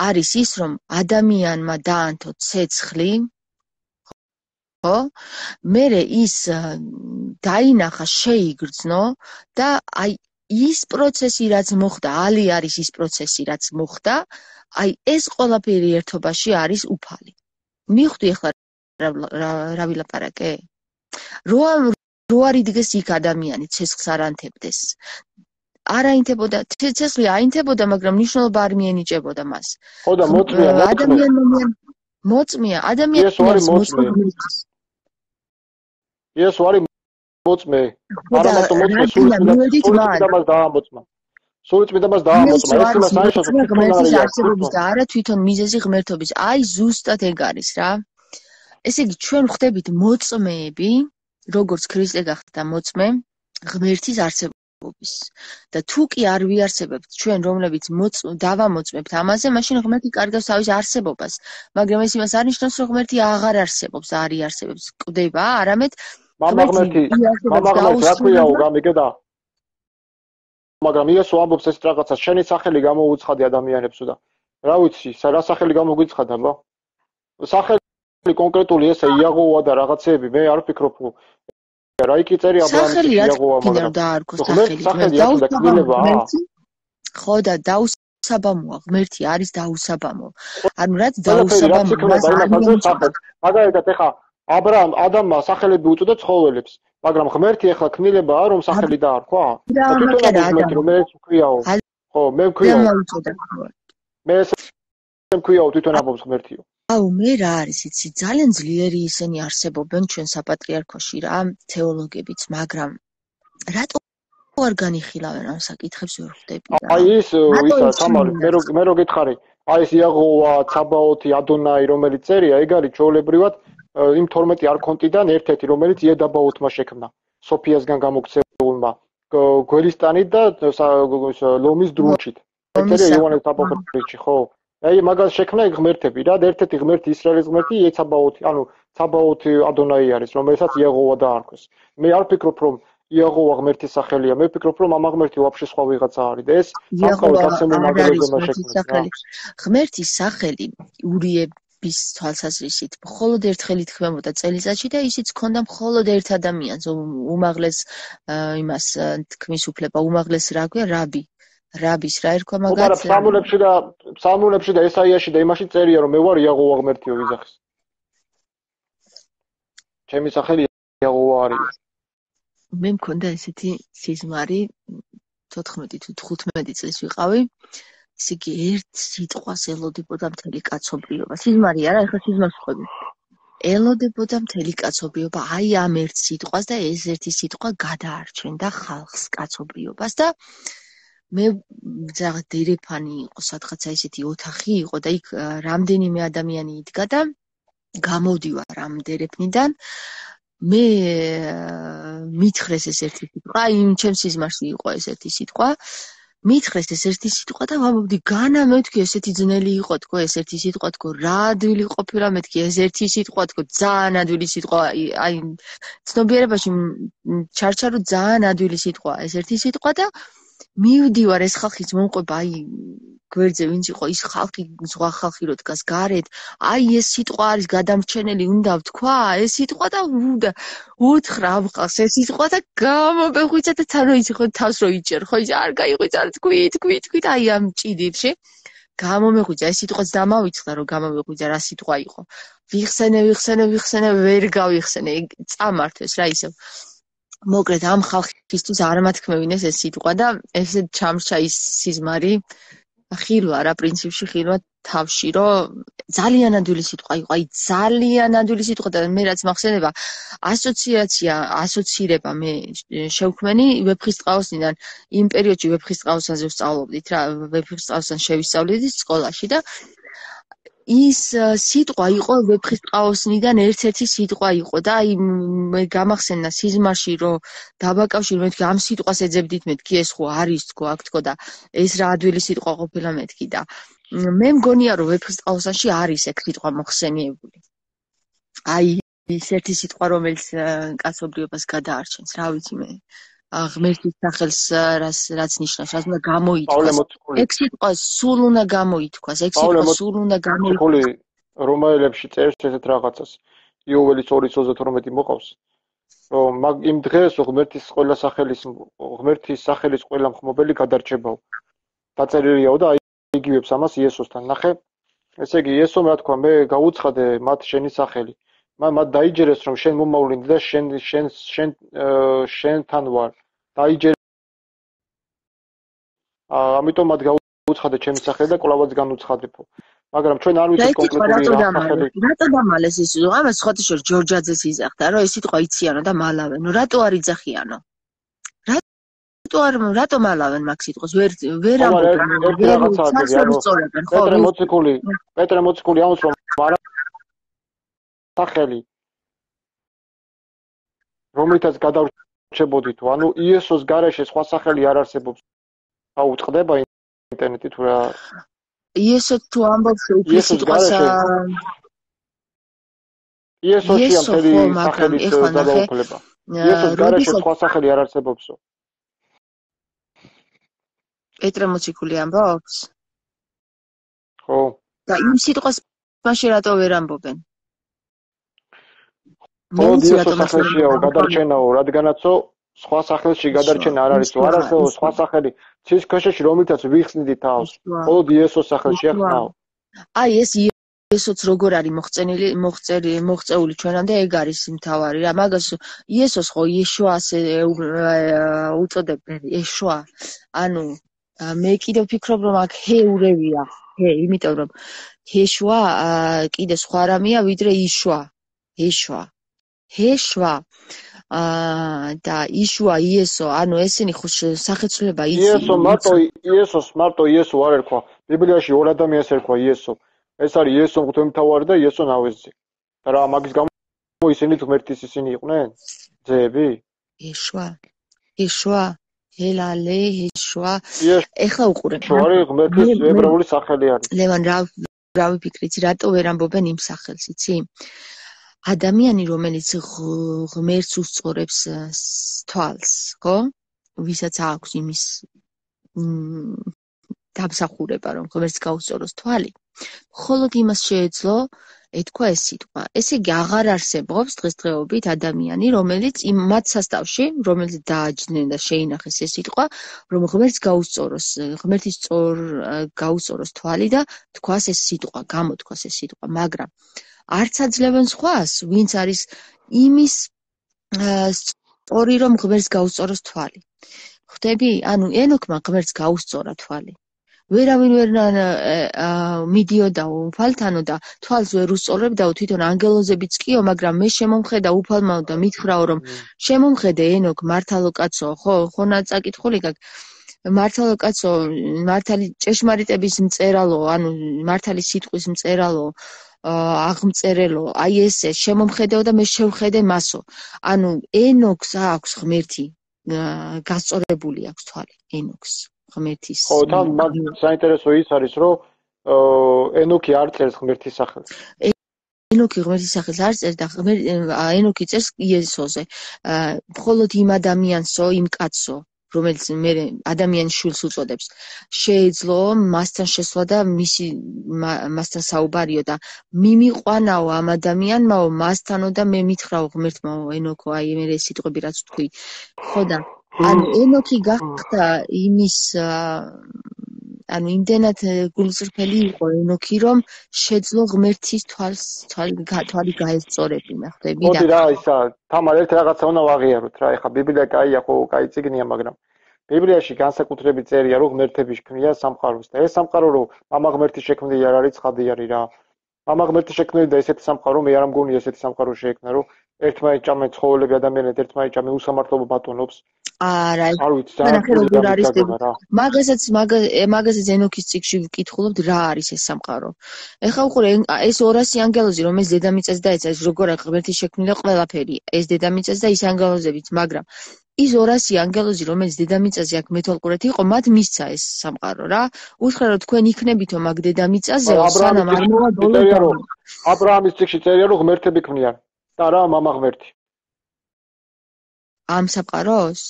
არის ის, რომ ადამიანმა დაანთო ცეცხლი, ხო? მერე ის დაინახა, შეიგრძნო და აი ის პროცესი რაც მოხდა, ალი არის ის პროცესი რაც მოხდა, აი ეს ყველაფერი ერთობაში არის უფალი. მივხვდი ახლა რა ვილაპარაკე? რო არ იდგეს იქ ადამიანი, ცეცხლს არ ანთებდეს. არ აინთებოდა, ცეცხლი აინთებოდა, მაგრამ მნიშვნელობა არ მიენიჭებოდა მას. ხო და მოწმეა, მოწმეა, ადამიანს მოწმე. იესო არის მოწმე. არამარტო მოწმე, სულიწმიდა მას დაამოწმა. სულიწმიდა მას დაამოწმა. ეს იმას აიშოს ღმერთის არსებობის და არა თვითონ მიზეზი ღმერთობის. აი ზუსტად ეგ არის რა. ესე იგი ჩვენ ვხდებით მოწმეები, როგორც ქრისტე გახდა მოწმე, ღმერთის არსებობის. და თუ კი არ ვიარსებებთ ჩვენ, რომლებიც დავამოწმებთ ამაზე, მაშინ ღმერთი კარგავს თავის არსებობას. მაგრამ ეს იმას არ ნიშნავს, რომ ღმერთი აღარ არსებობს, არ იარსებებს. კვდება, არამედ მამა ღმერთი რა ქვიაო გამიგედა? მაგრამ იესო ამბობს ეს რაღაცა, შენი სახელი გამოუცხადე ადამიანებს და რა ვიცი, რა სახელი გამოგვიცხადა, ბა? სახელი კონკრეტული ესე იაღოა და რაღაცეები, მე არ ვფიქრობ, რა იქ წერია აბრაამის იაღოა, მაგრამ დაარქო სახელი, ხო და დაუსაბამოა, ღმერთი არის დაუსაბამო. ანუ რაც დაუსაბამო, მას არ მიეწოდება. მაგალითად ეხა ადამმა სახელები უწოდა ცხოველებს, მაგრამ ღმერთი ეხლა ქმნილებაა, რომ სახელი დაარქვა? თვითონ ღმერთი რომ ეს ვქვიაო. ხო, მე ვქვიაო. მე ესე ვქვიაო თვითონ ამბობს ღმერთიო. აუ მე რა არის იცი, ძალიან ძლიერი ისინი არსებობენ ჩვენ საპატრიარქოში რა, თეოლოგებიც, მაგრამ რატო არ განიხილავენ ამ საკითხებს ვერ ხვდები რა. აი ის ისა თამარი, მე რო გითხარი, აი ეს იაღოვა, ცაბაოთი, ადონაი რომელიც წერია, ეგ არის ჩვეულებრივად იმ 12 არქონტიდან ერთ-ერთი, რომელიც იედაბაოთმა შექმნა, სოფიასგან გამოქცეულმა, გველისტანით და ლომის დრუნჩით. ეწერია იოანეს აპოკრიფში, ხო? აი მაგას შექმნა ღმერთები რა, ერთ-ერთი ღმერთი ისრაელის ღმერთი იეცაბაოთი, ანუ ცაბაოთი ადონაი არის, რომელსაც იაღოვა დაარქვეს. მე არ ვფიქრობ, რომ იაღოვა ღმერთის სახელია, მე ვფიქრობ, რომ ამ ღმერთი ვაფშე სხვა ვიღაცა არის და ეს იაღოვა ღმერთის სახელი ურიების თვალსაზრისით მხოლოდ ერთხელ ითქმებოდა წელიწადში და ისიც ჰქონდა მხოლოდ ერთ ადამიანს, უმაღლეს იმას თქმის უფლება, უმაღლეს რა ქვია, რაბის რა ერქვა მაგაც. ფსალმუნებში და ესაიაში და იმაში წერია, რომ მე ვარ იაღოვა ღმერთიო ვიზახის. ჩემი სახელი იაღოვა არის. მე მქონდა ესეთი სიზმარი 14 თუ 15 წლის ვიყავი. ესე იგი ერთ სიტყვას ელოდებოდა მთელი კაცობრიობა. სიზმარი არა, ეხლა სიზმარს ვხვდები. ელოდებოდა მთელი კაცობრიობა აი ამ ერთ სიტყვას და ეს ერთი სიტყვა გადაარჩენდა ხალხს, კაცობრიობას და მე რაღაც დერეფანი იყო, სადღაცა ესეთი ოთახი იყო და იქ რამდენიმე ადამიანი იდგა და გამოვდივარ ამ დერეფნიდან. მე მითხრეს ეს ერთი სიტყვა, იმ ჩემს სიზმარში იყო ეს ერთი სიტყვა. მითხრეს ეს ერთი სიტყვა და ვამბობდი, განა მეთქი ესეთი ძნელი იყო თქო, ეს ერთი სიტყვა თქო, რა ადვილი ყოფილა მეთქი, ეს ერთი სიტყვა თქო, ძალიან ადვილი სიტყვა, აი ცნობიერებაში ჩარჩა რომ ძალიან ადვილი სიტყვაა ეს ერთი სიტყვა და მივდივარ ეს ხალხის მომყვება, აი გვერდზე ვინც იყო ის ხალხი, ზღვა ხალხი რო დგას გარეთ, აი ეს სიტყვა არის გადამრჩენელი, უნდა ვთქვა ეს სიტყვა და უთხრა ამ ხალხს ეს სიტყვა და გამომეხვიცა და თან რო იცი ხო თავს რო იჭერ, ხო ის არ გაიყვიცა, თქვით, აი ამ ჭიდილში გამომეხვიცა ეს სიტყვაც დამავიწყდა რომ გამომეხვიცა რა სიტყვა იყო. ვიხსენე, ვერ გავიხსენე, წამართვეს რა ისევ. მოკლედ ამ ხალხისთვის არ მათქმევინეს ეს სიტყვა და ესე ჩამრჩა ის სიზმარი ხილვა რა პრინციპში ხილვა თავში რომ ძალიან ადვილი სიტყვა იყო, აი ძალიან ადვილი სიტყვა და მე რაც მახსენდება ასოცირება მე შევქმენი ვეფხისტყაოსნიდან იმ პერიოდში ვეფხისტყაოსანზე ვსწავლობდით რა, ვეფხისტყაოსან შევისწავლდით სკოლაში და ის სიტყვა იყო ვეფხისტყაოსნიდან ერთ-ერთი სიტყვა იყო და აი მე გამახსენდა სიზმარში რომ დაბაკავშირ მეთქი ამ სიტყვას ეძებდით მეთქი ეს ხო არის თქო აქ თქო და ეს რა ადვილი სიტყვა ყოფილა მეთქი და მე მგონია რომ ვეფხისტყაოსანში არის ეგ სიტყვა მოხსენიებული. აი ის ერთი სიტყვა რომელიც კაცობრიობას გადაარჩენს, რა ვიცი მე ღმერთის სახელს რაც ნიშნავს, რაც უნდა გამოითქვას. ეგ სიტყვა სულ უნდა გამოითქვას, ეგ სიტყვა სულ უნდა გამოითქვას. რომაელებში წერს ესეთ რაღაცას. იოველის 2:32 მოყავს, რომ იმ დღეს ღმერთის სახელის ყველა მხმობელი გადარჩებაო. დაწერილიაო და იგივებს ამას იესოსთან. ნახე, ესე იგი იესომ რა თქვა, მე გაუცხადე მათ შენი სახელი. მათ დაიჯერეს რომ შენ მომავლინდი და შენთან ვარ. დაიჯერეს. ამიტომ მათ გაუცხადე ჩემი სახელი და კვლავაც განუცხადებო. მაგრამ ჩვენ არ ვიცით კონკრეტული რა სახელი. რატო დამალეს ის? ამას ხოთი შორ ჯორჯაძეს იზახდა, რომ ეს სიტყვა იციანო და მალავენო. რატო არ იძახიანო? რატო მალავენ მაგ სიტყვას? ვერ ამბობენ. პეტრე მოციქული ამბობს რომ არა სახელი რომლითაც გადავრჩებოდი თუ ანუ იესოს გარეშე სხვა სახელი არ არსებობს. აუწყდება ინტერნეტი თუ რა იესო თუ ამბობს უფლის სიტყვას იესოშია მთელი სახელის გადაუქლება. იესოს გარეშე სხვა სახელი არ არსებობსო. პეტრე მოციქული ამბობს? ხო. და იმ სიტყვას მაშინ რატო ვერ ამბობენ? ხო, იესოს სახელშიაო გადარჩენაო, რადგანაცო სხვა სახელში გადარჩენა არ არის, არ არსებობს სხვა სახელი. ცის ქვეშეში რომლითაც ვიხსნიდი თავს. მხოლოდ იესოს სახელშია ხნაო. აი ეს იესოც როგორ არის მოღწეული ჩვენამდე ეგ არის მთავარი რა. მაგას იესოს ხო იეშუა ასე უწოდებენ, იეშუა. ანუ მე კიდე ვფიქრობ რომ აქ ჰეურევია, იმიტომ რომ ჰეშუა კიდე სხვა რამეა ვიდრე იშვა. ჰეშვა და იშვა იესო, ანუ ესენი ხო სახეცვლილება იცი. იესოს მარტო იესო არ ერქვა. ბიბლიაში ორ ადამიანს ერქვა იესო. ეს არის იესო მღვდელმთავარი და იესო ნავეზი. და რა მაგის გამო ისინი ღმერთის ისინი იყვნენ? ძეები? იეშუა ელალე იეშუა. ეხლა უყურე. შოარი ღმერთის ებრაული სახელი არის. ლევან რა ვიფიქრით, რატო ვერ ამბობენ იმ სახელს, იცი? ადამიანი რომელიც ღმერთს უსწორებს თვალს, ხო? ვისაც აქვს იმის დამსახურება რომ ღმერთს გაუსწოროს თვალი, მხოლოდ იმას შეეძლო ეთქვა ეს სიტყვა. ესე იგი აღარ არსებობს დღესდღეობით ადამიანი, რომელიც იმ მათ სასწავში, რომელიც დააჯდნენ და შეინახეს ეს სიტყვა, რომ ღმერთს გაუსწოროს, ღმერთის გაუსწოროს თვალი და თქვას ეს სიტყვა, გამოთქვას ეს სიტყვა, მაგრამ არც აძლევენ სხვას, ვინც არის იმის სწორი, რომ ღმერთს გაუსწოროს თვალი. ხვდები? ანუ ენოქმა ღმერთს გაუსწორა თვალი. ვერავინ ვერ მიდიოდა უფალთანო და თვალს ვერ უსწორებდაო, თვითონ ანგელოზებიც კიო, მაგრამ მე შემომხედა უფალმაო და მითხრაო, რომ შემომხედე ენოქ მართალო კაცო, ხო ნაწაკითხული გაკ მართალო კაცო, მართალი ჭეშმარიტების მწერალო, ანუ მართალი სიტყვის მწერალო, აღმწერელო, აი ესე შემომხედეო და მე შევხედე მასო. ანუ ენოქს აქვს ღმერთი, გასწორებული აქვს თვალი ენოქს. ღმერთის. ხო, თან საინტერესო ის არის, რომ ენოქი არ წერს ღმერთის სახელს. ენოქი ღმერთის სახელს არ წერს და ენოქი წერს იესოზე. მხოლოდ იმ ადამიანსო, იმ კაცსო, რომელიც მე ადამიანის შვილს უწოდებს, შეეძლო მასთან შესვლა და მასთან საუბარიო და მიმიყვანაო ამ ადამიანმაო მასთანო და მე მითხრაო ღმერთმაო ენოქო, აი მე ეს სიტყვები რაც ვთქვი. ხო და ანუ ენოქი გახდა იმის ანუ იმდენად გულწრფელი იყო ენოქი, რომ შეძლო ღმერთის თვალი გაესწორებინა, ხვდები და მოდი რა ისა, თამარ ერთ რაღაცა უნდა ვაღიაროთ რა, ეხა ბიბლია კაია ხო, კაი წიგნია, მაგრამ ბიბლიაში განსაკუთრებით წერია, რომ ღმერთები შექმნია სამყაროს და ეს სამყარო რომ მამა ღმერთი შექმნილი არ არის, ცხადი არის რა. მამა ღმერთი შექმნილი და ესეთი სამყარო მე არ მგონია ესეთი სამყარო შეექმნა, რომ ერთმანეთს ჭამენ ცხოველები ადამიანები, ერთმანეთს ჭამენ უსამართლობა ბატონობს. არა, არ ვიცი, როგორ არის მაგასაც ენოქის წიგნში ვკითხულობთ რა არის ეს სამყარო. ეხლა უყურე ეს 200 ანგელოზი რომელიც დედამიწას დაეცა, ეს როგორ ღმერთის შექმნილი ყველაფერი, ეს დედამიწას და ის ანგელოზებიც, მაგრამ ის 200 ანგელოზი რომელიც დედამიწაზე აქ მეთვალყურეთ იყო, მათ მისცა ეს სამყარო რა. უთხრა რომ თქვენ იქნებითო მაგ დედამიწაზე, სანამ არ მოვა ბოლო. აბრაამის წიგნში წერია რომ ღმერთები ქმნიან და რა მამა ღმერთი. ამ სამყაროს?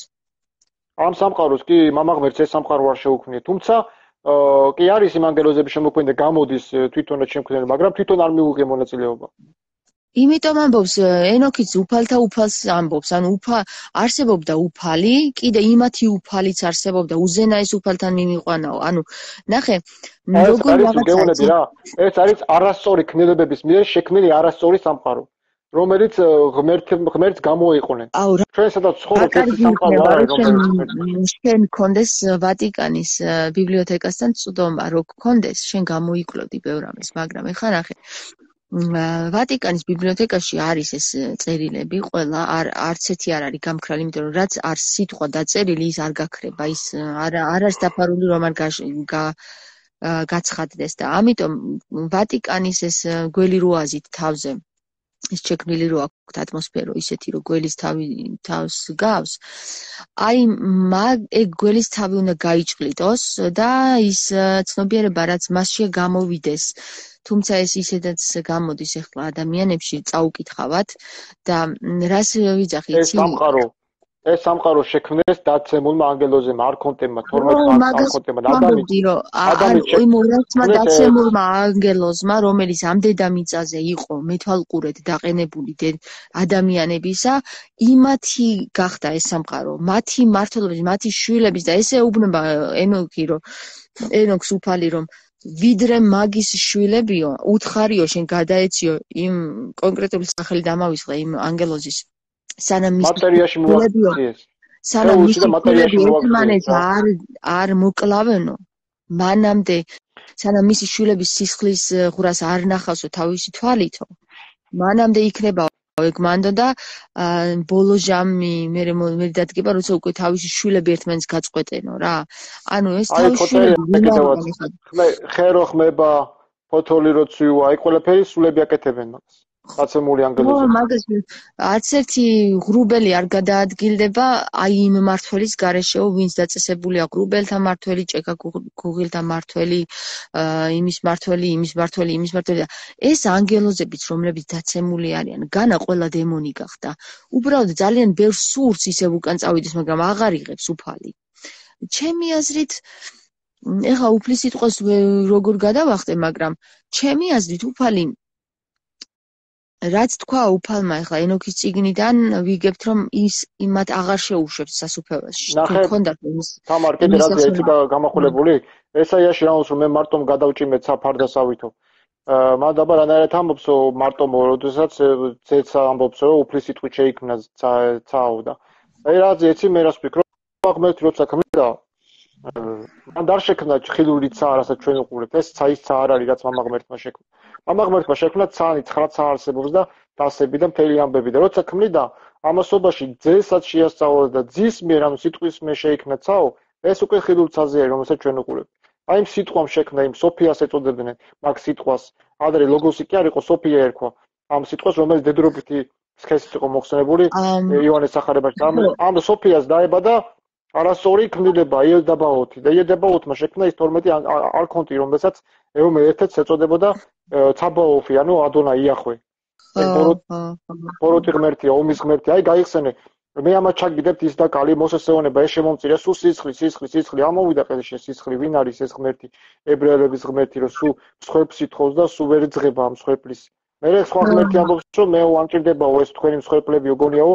ამ სამყაროს კი მამა ღმერთს ეს სამყარო არ შეუქმნია. თუმცა კი არის იმ ანგელოზების შემოქმედი და გამოდის თვითონაც შემქმნელი, მაგრამ თვითონ არ მიუღია მონაწილეობა. იმიტომ ამბობს ენოქიც უფალთა უფალს ამბობს, ანუ არსებობდა უფალი, კიდე იმათი უფალიც არსებობდა, უზენაეს უფალთან მიმიყვანაო. ანუ ნახე, როგორ რაღაცა ეს არის არასწორი ქმნილებების მიერ შექმნილი არასწორი სამყარო. რომელიც ღმერთს გამოიყვნენ. ჩვენ სადაც ცხოვრობთ ეს სამყარო არ არის რომელიც შენ გქონდეს ვატიკანის ბიბლიოთეკასთან წვდომა რო გქონდეს შენ გამოიკლოდი ბევრ ამის მაგრამ ეხლა ნახე ვატიკანის ბიბლიოთეკაში არის ეს წერილები ყველა არც ერთი არ არის გამქრალი იმიტომ რომ რაც არ სიტყვა დაწერილი ის არ გაქრება ის არ არის დაფარული რომ არ გაცხადდეს და ამიტომ ვატიკანის ეს გველი რო აზით თავზე ის შექმნილი რო აქვს ატმოსფერო ისეთი რომ გველის თავს გავს აი ეგ გველის თავი უნდა გაიჭყლიტოს და ის ცნობიერება რაც მასშია გამოვიდეს თუმცა ეს ისედაც გამოდის ახლა ადამიანებში წაუკითხავთ და რას ვიძახი იცი ეს სამყარო შექმნეს დაცემულმა ანგელოზებმა არქონტებმა 12 არქონტებმა ადამიანმა დაცემულმა ანგელოზმა რომელიც ამ დედამიწაზე იყო მეთვალყურედ დაყენებული ადამიანებისა იმათი გახდა ეს სამყარო მათი მართლობის მათი შვილების და ესე ეუბნება ენოქს უფალი რომ ვიდრე მაგის შვილებიო უთხარიო შენ გადაეციო იმ კონკრეტული სახელი დამავისყრე იმ ანგელოზის სანამ მატერიაში მოაქციეს სანამ ერთმანეთს არ მოკლავენო მანამდე სანამ მისი შვილების სისხლის ღვრას არ ნახავსო თავისი თვალითო მანამდე იქნება ეგ მანდო და ბოლო ჟამი მე დადგება როცა უკვე თავისი შვილები ერთმანეთს გაწყვეტენო რა ანუ ეს თავისი შვილები ხერო ხმება ფოთოლი რო ცვივა აი ყველაფერი სულები აკეთებენ მაგას დაცემული ანგელოზები მაგას არც ერთი ღრუბელი არ გადაადგილდება აი იმ მართველის გარეშეო ვინც დაწესებულია ღრუბელთა მართველი ჭექა გუღილთა მართველი იმის მართველი და ეს ანგელოზებიც რომლებიც დაცემული არიან განა ყველა დემონი გახდა უბრალოდ ძალიან ბევრ სურს ისევ უკან წავიდეს მაგრამ აღარ იღებს უფალი ჩემი აზრით ეხა უფლის სიტყვას როგორ გადავახტე მაგრამ ჩემი აზრით უფალი რაც თქვა უფალმა ეხლა ენოქის წიგნიდან ვიგებთ რომ ის იმათ აღარ შეუშვებს სასუფეველში გქონდათ ის თამარ კიდე რაზე ეცი გამახვილებული ესაიაში რაუნს რომ მე მარტომ გადავჭიმეთ საფარდასავითო მადაბა რანაირად ამბობსო მარტომ როდესაც ზეცა ამბობს რომ უფლის სიტყვით შეიქმნა ცაო და აი რაზე ეცი მე რას ვფიქრობ ღმერთი როცა ქმნიდა მან არ შექმნა ხილული ცა რასაც ჩვენ უყურებთ ეს ცაის ცა არ არის რაც მამა ღმერთმა შექმნა მამა ღმერთმა შექმნა ცანი 9 ცა არსებობს და დასები და მთელი ამბები და როცა ქმნიდა ამასობაში ძესაც შეასწავლა და ძის მიერ ანუ სიტყვის მიერ შეიქმნა ცაო ეს უკვე ხილულ ცაზე არის რომელსაც ჩვენ უყურებთ აი იმ სიტყვამ შექმნა იმ სოფიას ეწოდებდნენ მაგ სიტყვას ადრე ლოგოსი კი არ იყო სოფია ერქვა ამ სიტყვას რომელიც დედრობითი სქესით იყო მოხსენებული იოანეს სახარებაში ამ სოფიას დაებადა არასწორი ქმნილება იელდაბაოთი და იელდაბაოთმა შექმნა ის 12 არქონტი რომელსაც ერთად ეწოდებოდა ცაბაოფი ანუ ადონა იახვე ბოროტი ღმერთია ომის ღმერთი აი გაიხსენე მე ამას ჩაგიდებთ ის და კალი მოსესეონება ეს შემომწირე სულ სისხლი ამოვიდა ყელში სისხლი ვინ არის ეს ღმერთი ებრაელების ღმერთი რომ სულ მსხვერპლს ითხოვს და სულ ვერ ძღება ამ მსხვერპლის მე სხვა ღმერთი ამბობს რომ მე ვამჭირდებაო ეს თქვენი მსხვერპლები გონიაო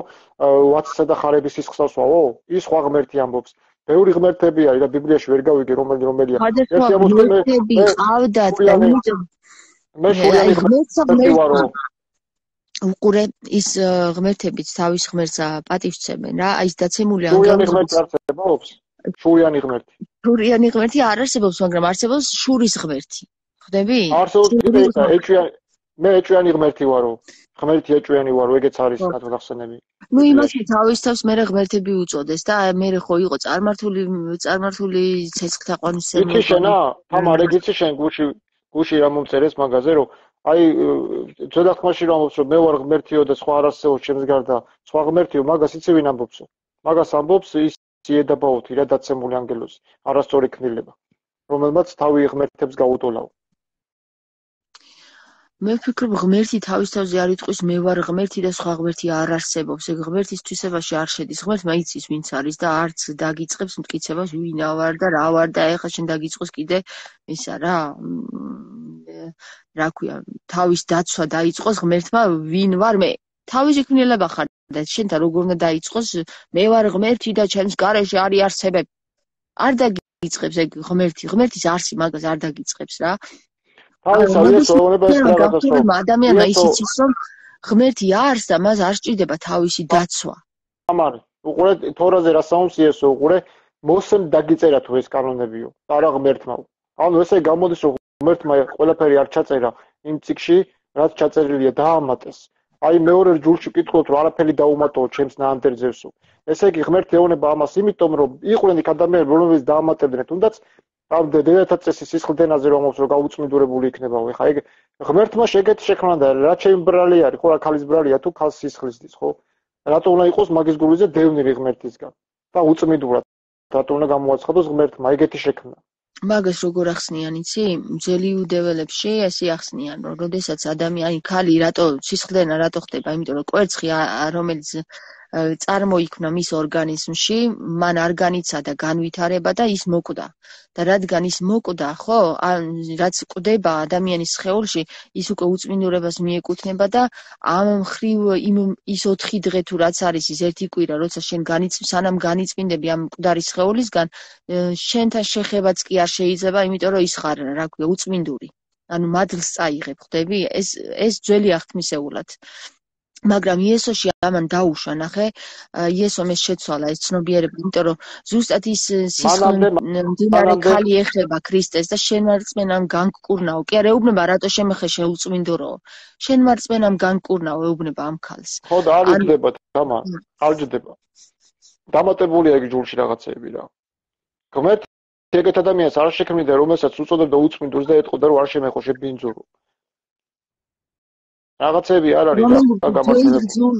ვაცსა და ხარების სისხლსავსვაო ის სხვა ღმერთი ამბობს ბევრი ღმერთები არის და ბიბლიაში ვერ გავიგე რომელია ეს ამბობს ყავდათ და იმიტომ მე შურიანი ღმერთი ვარო უყურე ის ღმერთებიც თავის ღმერთს პატივსცემენ რა აი ეს დაცემული ანგელოზი ღმერთი არსებობს შურიანი ღმერთი არ არსებობს მაგრამ არსებობს შურის ღმერთი ხვდები არსებობს მე ეჭვიანი ღმერთი ვარო ღმერთი ეჭვიანი ვარო ეგეც არის გახსენები ნუ იმას თავის თავს მე ღმერთები უწოდეს და მე ხო იყო წარმართული ცეცხლთა ყვანისმცემელი იცი შენა თამარ ეგიცი შენ გუში რა მომწერეს მაგაზე რომ აი ძვედახმაში რომ ამბობს რომ მე ვარ ღმერთიო და სხვა არ არსებობს ჩემს გარდა სხვა ღმერთიო მაგას იცი ვინ ამბობს მაგას ამბობს ის იედაბაოთი რა დაცემული ანგელოზი არასწორი ქმნილება რომელმაც თავი ღმერთებს გაუტოლაო მე ვფიქრობ ღმერთი თავის თავზე არ იტყვის მე ვარ ღმერთი და სხვა ღმერთი არ არსებობს ეგ ღმერთის თვისებაში არ შედის ღმერთმა იცის ვინც არის და არც დაგიწყებს მტკიცებას ვინ ვარ და რა ვარ და ეხლა შენ დაგიწყოს კიდე ისა რა ქვია თავის დაცვა დაიწყოს ღმერთმა ვინ ვარ მე თავისი ქმნილება ხარ და შენთან როგორ უნდა დაიწყოს მე ვარ ღმერთი და ჩემს გარეშე არის არსებები არ დაგიწყებს ეგ ღმერთის არსი მაგას არ დაგიწყებს რა ადამიანმა ის იცის რომ ღმერთი არს და მას არ სჭირდება თავისი დაცვა. ამარი, უყურე თორაზე რა საუნს იესო, უყურე მოსემ დაგიწერა თუ ეს კანონებიო, არა ღმერთმა. ანუ ესე გამოდის რომ ღმერთმა ყველაფერი არ ჩაწერა იმ წიგში, რაც ჩაწერილია დაამატეს. აი მეორე ჯულში ვკითხულობთ რომ არაფერი დაუმატო ჩემს ნაამბერძევსო. ესე იგი ღმერთი ეუბნება ამას იმიტომ რომ იყვნენ იქ ადამიანები რომლებიც დაამატებდნენ თუნდაც ამ დედათა სისხლდენაზე რომ ამობს რომ გაუწმინდურებული იქნებაო. ეხა ეგ ღმერთმა შეგეთ შექმნა და რა ჩემი ბრალი არის, ხო რა ქალის ბრალია თუ ქალს სისხლისდის, ხო? რატო უნდა იყოს მაგის გულზე დევნილი ღმერთისგან და უწმინდურად რატო უნდა გამოაცხადოს ღმერთმა ეგეთი შექმნა. მაგას როგორ ახსნიან იცი? ძველი იუდეველებში ესე ახსნიან რომ როდესაც ადამიანი ქალი რატო სისხლდენა რატო ხდება? იმიტომ რომ კვერცხი რომელიც წარმოიქმნა მის ორგანიზმში, მან არ განიცადა განვითარება და ის მოკვდა. და რადგან ის მოკვდა, ხო, რაც კვდება ადამიანის სხეულში, ის უკვე უწმინდურებას მიეკუთვნება და ამ მხრივ ის 4 დღე თუ რაც არის ის ერთი კვირა, როცა შენ სანამ განიწმინდები ამ მკვდარი სხეულისგან, შენთან შეხებაც კი არ შეიძლება, იმიტომ რომ ის ხარ, რა ქვია, უწმინდური. ანუ მადლს წაიღებ, ხვდები? ეს ძველი აღთმისეულად. მაგრამ იესოში ამან დაუშვა, ნახე, იესომ ეს შეცვალა ეს ცნობიერება, იმიტომ რომ ზუსტად ის მდინარე ქალი ეხება ქრისტეს და შენ მარწმენამ განკურნაო. კი არა, ეუბნება რატო შემეხე შეუწმინდუროო. შენ მარწმენამ განკურნაო, ეუბნება ამ ქალს. ხო და არ იჯდება თამა, არ ჯდება. დამატებულია ეგ ჯულში რაღაცები რა. ღმერთი ეგეთ ადამიანს არ შექმნიდა, რომელსაც უწოდებდა უწმინდურს და ეტყოდა რომ არ შემეხო შებინძურო. რაღაცები არ არის რა გამართლებული.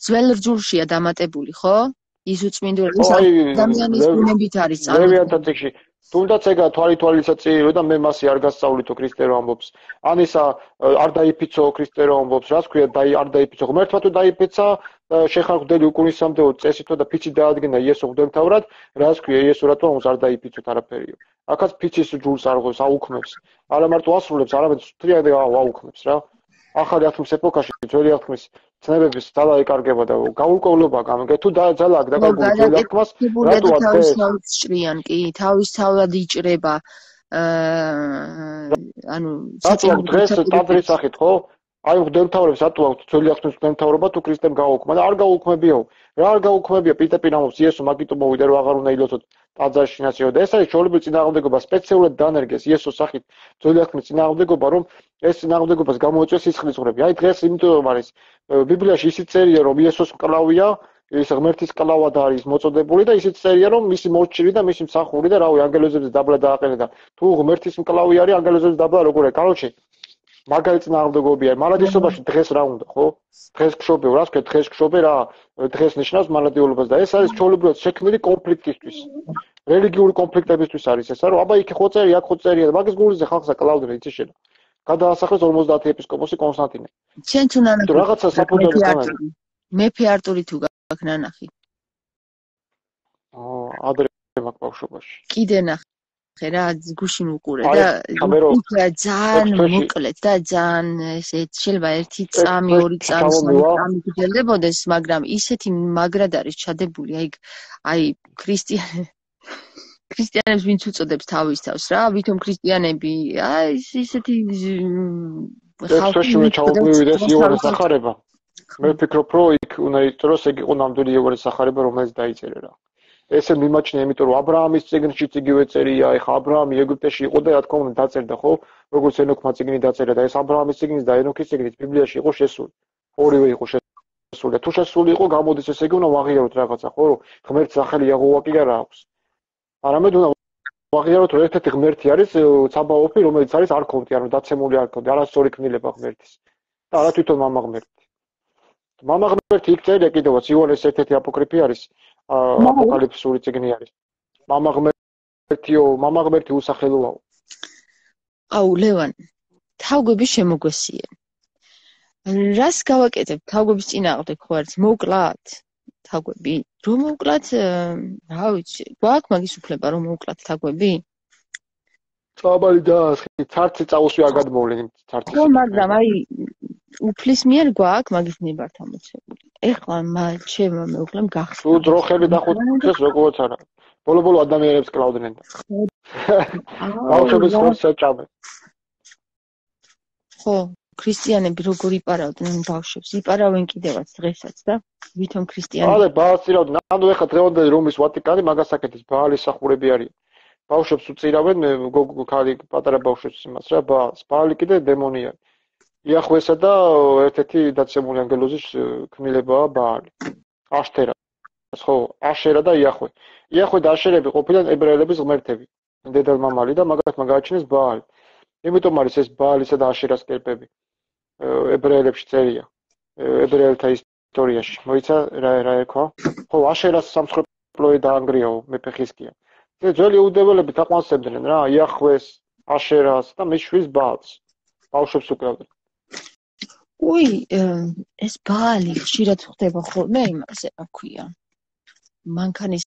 ძველ რჯულშია დამატებული, ხო? ის უწმინდური ადამიანის ბუნებით არის წარმოქმნილი. თუნდაც ეგა თვალითვალისაც წერილო და მე მასე არ გასწავლითო ქრისტე რომ ამბობს. ან ისა არ დაიფიცო ქრისტე რომ ამბობს, რას ქვია არ დაიფიცო. ღმერთმა თუ დაიფიცა შეხარხდელი უკუნისამდეო წესითო და ფიცი დაადგინა იესო ღვთისმთავრად, რას ქვია იესო რატომ ამს არ დაიფიცოთ არაფერიო. აქაც ფიცის ჯულს არ ღოს აუქმებს. არა მარტო ასრულებს, არამედ თრიად აუქმებს რა. ახალი აღთქმის ეპოქაში ძველი აღთქმის ცნებების ძალა ეკარგება და გაურკვევლობა გამიგე თუ ძალა აქ დაკარგული ძველი აღთქმას რატო თავისთავად ჭრიან კი თავისთავად იჭრება ანუ დღეს ტაძრის სახით ხო აი ღვთისმთავრებს რატო აქვს ძველი აღთქმის ღვთისმთავრობა თუ ქრისტემ გააუქმა და არ გააუქმებიო რა არ გააუქმებია პირდაპირ ამბობს იესო მაგიტო მოვიდა რომ აღარ უნდა ილოცოთ ტაძარში ნაციო და ეს არის ჩვეულებრივი წინააღმდეგობა სპეციალურად დანერგეს იესოს სახით ძველი აღთქმის წინააღმდეგობა რომ ეს წინააღმდეგობას გამოეწვია სისხლის ღრები. აი დღეს იმიტომ არის ბიბლიაში ისიც წერია რომ იესოს მკლავია, ის ღმერთის მკლავად არის მოწოდებული და ისიც წერია რომ მისი მოჭირი და მისი მსახური და რავი ანგელოზებზე დაბლა დააყენა და თუ ღმერთის მკლავი არის ანგელოზებზე დაბლა როგორ არის? კაროჩე მაგარი წინააღმდეგობია. მალადისობაში დღეს რა უნდა, ხო? დღეს გშობე, რას ქვია დღეს გშობე რა? დღეს ნიშნავს მალადიულობას და ეს არის ჩვეულებრივად შექმნილი კონფლიქტისთვის. რელიგიური კონფლიქტებისთვის არის ესა, რომ აბა იქ ხო წერი, აქ ხო წერია და მაგის გულზე ხალხს აკლავდნენ იცი შენა. გადაასახლეს 50 ეპისკოპოსი კონსტანტინე. შენ თუ ნანახი რაღაცა საფუძველი ხომ? მეფე არტური თუ გაქვს ნანახი. ადრე მაგ ბავშვობაში. კიდე ნახე რა გუშინ უყურე და ძალიან მოკლედ და ძალიან ესე შეიძლება 1 წამი 2 წამი გძლებოდეს, მაგრამ ისეთი მაგრად არის ჩადებული, აი ქრისტიანებს ვინც უწოდებს თავის თავს რა, ვითომ ქრისტიანები, აი ისეთი ხალხი ჩაუგმივიდეს იოანეს სახარება. მე ვფიქრობ, რომ იქ უნდა იწეროს, ეგ იყო ნამდვილი იოანეს სახარება, რომელიც დაიწერა რა. ესე მიმაჩნია, იმიტომ რომ აბრაამის წიგნში იგივე წერია, ეხა აბრაამი ეგვიპტეში იყო და რა თქმა უნდა დაწერდა, ხო? როგორც ენოქმა წიგნი დაწერა და ეს აბრაამის წიგნის და ენოქის წიგნის ბიბლიაში იყო შესული. ორივე იყო შესული. თუ შესული იყო, გამოდის ესე იგი უნდა ვაღიაროთ რაღაცა, ხო? რომ ღმერთს სახელი იაჰოვა კი არა აქვს. არამედ უნდა ვაღიაროთ რომ ერთ-ერთი ღმერთი არის ცაბაოფი, რომელიც არის არქონტი, ანუ დაცემული არქონტი, არასწორი ქმნილება ღმერთის. და არა თვითონ მამა ღმერთი. მამა ღმერთი იქ წერია კიდევაც იოანეს ერთ-ერთი აპოკრიფი არის, აპოკალიფსური წიგნი არის. მამა ღმერთი უსახელოაო. აუ ლევან, თავგვები შემოგვესიე. რას გავაკეთებ თავგვების წინააღმდეგ ხო არის მოკლათ? თაგვები რომ მოვკლათ რა ვიცი გვაქვს მაგის უფლება რომ მოვკლათ თაგვები წაბალი დაასხი ცარცი წაუსვი არ გადმოვლენ ცარცი ხო მაგრამ აი უფლის მიერ გვაქვს მაგის ნებართ ამოცებული ეხლა ჩემ მოვკლემ გახსნა თუ ძროხები დახუცეს როგორც არა ბოლო ადამიანებს კლავდნენ ბავშვების ხორცს ეჭამენ ხო ქრისტიანები როგორ იპარავდნენ ბავშვებს? იპარავენ კიდევაც დღესაც და ვითომ ქრისტიანები? ალე ბაასწირავდნენ. ანუ ეხლა დღევანდელი რომის ვატიკანი მაგას აკეთებს, ბაალის სახურები არიან. ბავშვებს უწირავენ, ქალი პატარა ბავშვებს იმას რა, ბაალი კიდე დემონია. იახვესა და ერთ-ერთი დაცემული ანგელოზის ქმილებაა ბაალი. აშთერა. ხო, აშერა და იახვე. იახვე და აშერები ყოფილან ებრაელების ღმერთები. დედალმამალი და მაგათ მაგააჩინეს ბაალი. იმიტომ არის ეს ბაალისა და აშერას კერპები. ებრაელებში წერია. ებრაელთა ისტორიაში. მოიცა რა ერქვა? ხო, აშერას სამსხვერპლოი დაანგრიაო მეფე ხიზკია. ძველი იუდეველები თაყვანსებდნენ რა, იახვეს, აშერას და მის შვილს ბაალს. ბავშვებს უკრავდნენ. უი, ეს ბაალი ხშირად ხდება ხოლმე იმაზე, რა ქვია. მანქანის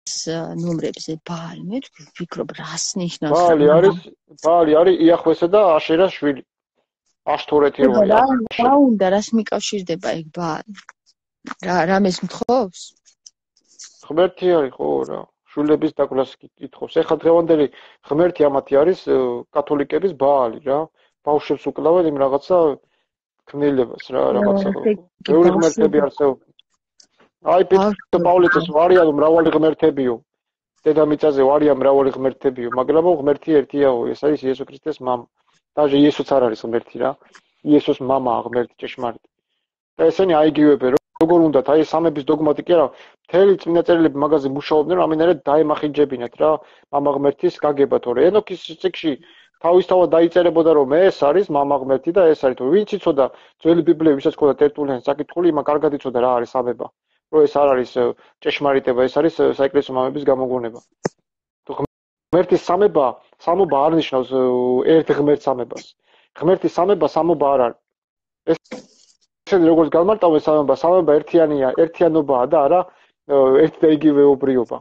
ნომრებზე ბაალი, მე ვფიქრობ, რას ნიშნავს? ბაალი არის იახვესა და აშერას შვილი. აშთორეთი როა. რა უნდა რას მიკავშირდება ეგ ბაალი? რამეს მთხოვს? ღმერთი არის ხო რა. შვილების დაკვლას ითხოვს. ეხლა დღევანდელი ღმერთი ამათი არის კათოლიკების ბაალი რა. ბავშვებს უკლავენ იმ რაღაცა ქმნილებას რა, რაღაცა. ბევრი ღმერთები არსებობს. აი პეტრე პავლეცის ვარიან მრავალი ღმერთებიო. დედამიწაზე ვარიან მრავალი ღმერთებიო, მაგრამ ღმერთი ერთიაო, ეს არის იესო ქრისტეს მამა. даже იესოც არ არის ღმერთი რა. იესოს მამაა ღმერთი ჭეშმარიტი. და ესენი აიგივებენ როგორ უნდათ, აი სამების დოგმატი კი არა, მთელი წმინდა წერილები მაგაზე მუშაობდნენ, ამინერად დაემახინჯებინათ რა, მამა ღმერთის გაგება თორე. ენოქის წიგნში თავისთავად დაიწერებოდა რომ ეს არის მამა ღმერთი და ეს არის, ვინც იცოდა ძველი ბიბლია, ვისაც ჰქონდა ტერტულიანის საკითხული, იმან კარგად იცოდა რა არის სამება. რომ ეს არ არის ჭეშმარიტება, ეს არის საეკლესიო მამების გამოგონება. ღმერთის სამობა არ ნიშნავს ერთ ღმერთს სამებას. ღმერთის სამება სამობა არ არის. ესენი როგორც გამარტავენ სამება ერთიანია, ერთიანობაა და არა ერთ და იგივეობრიობა.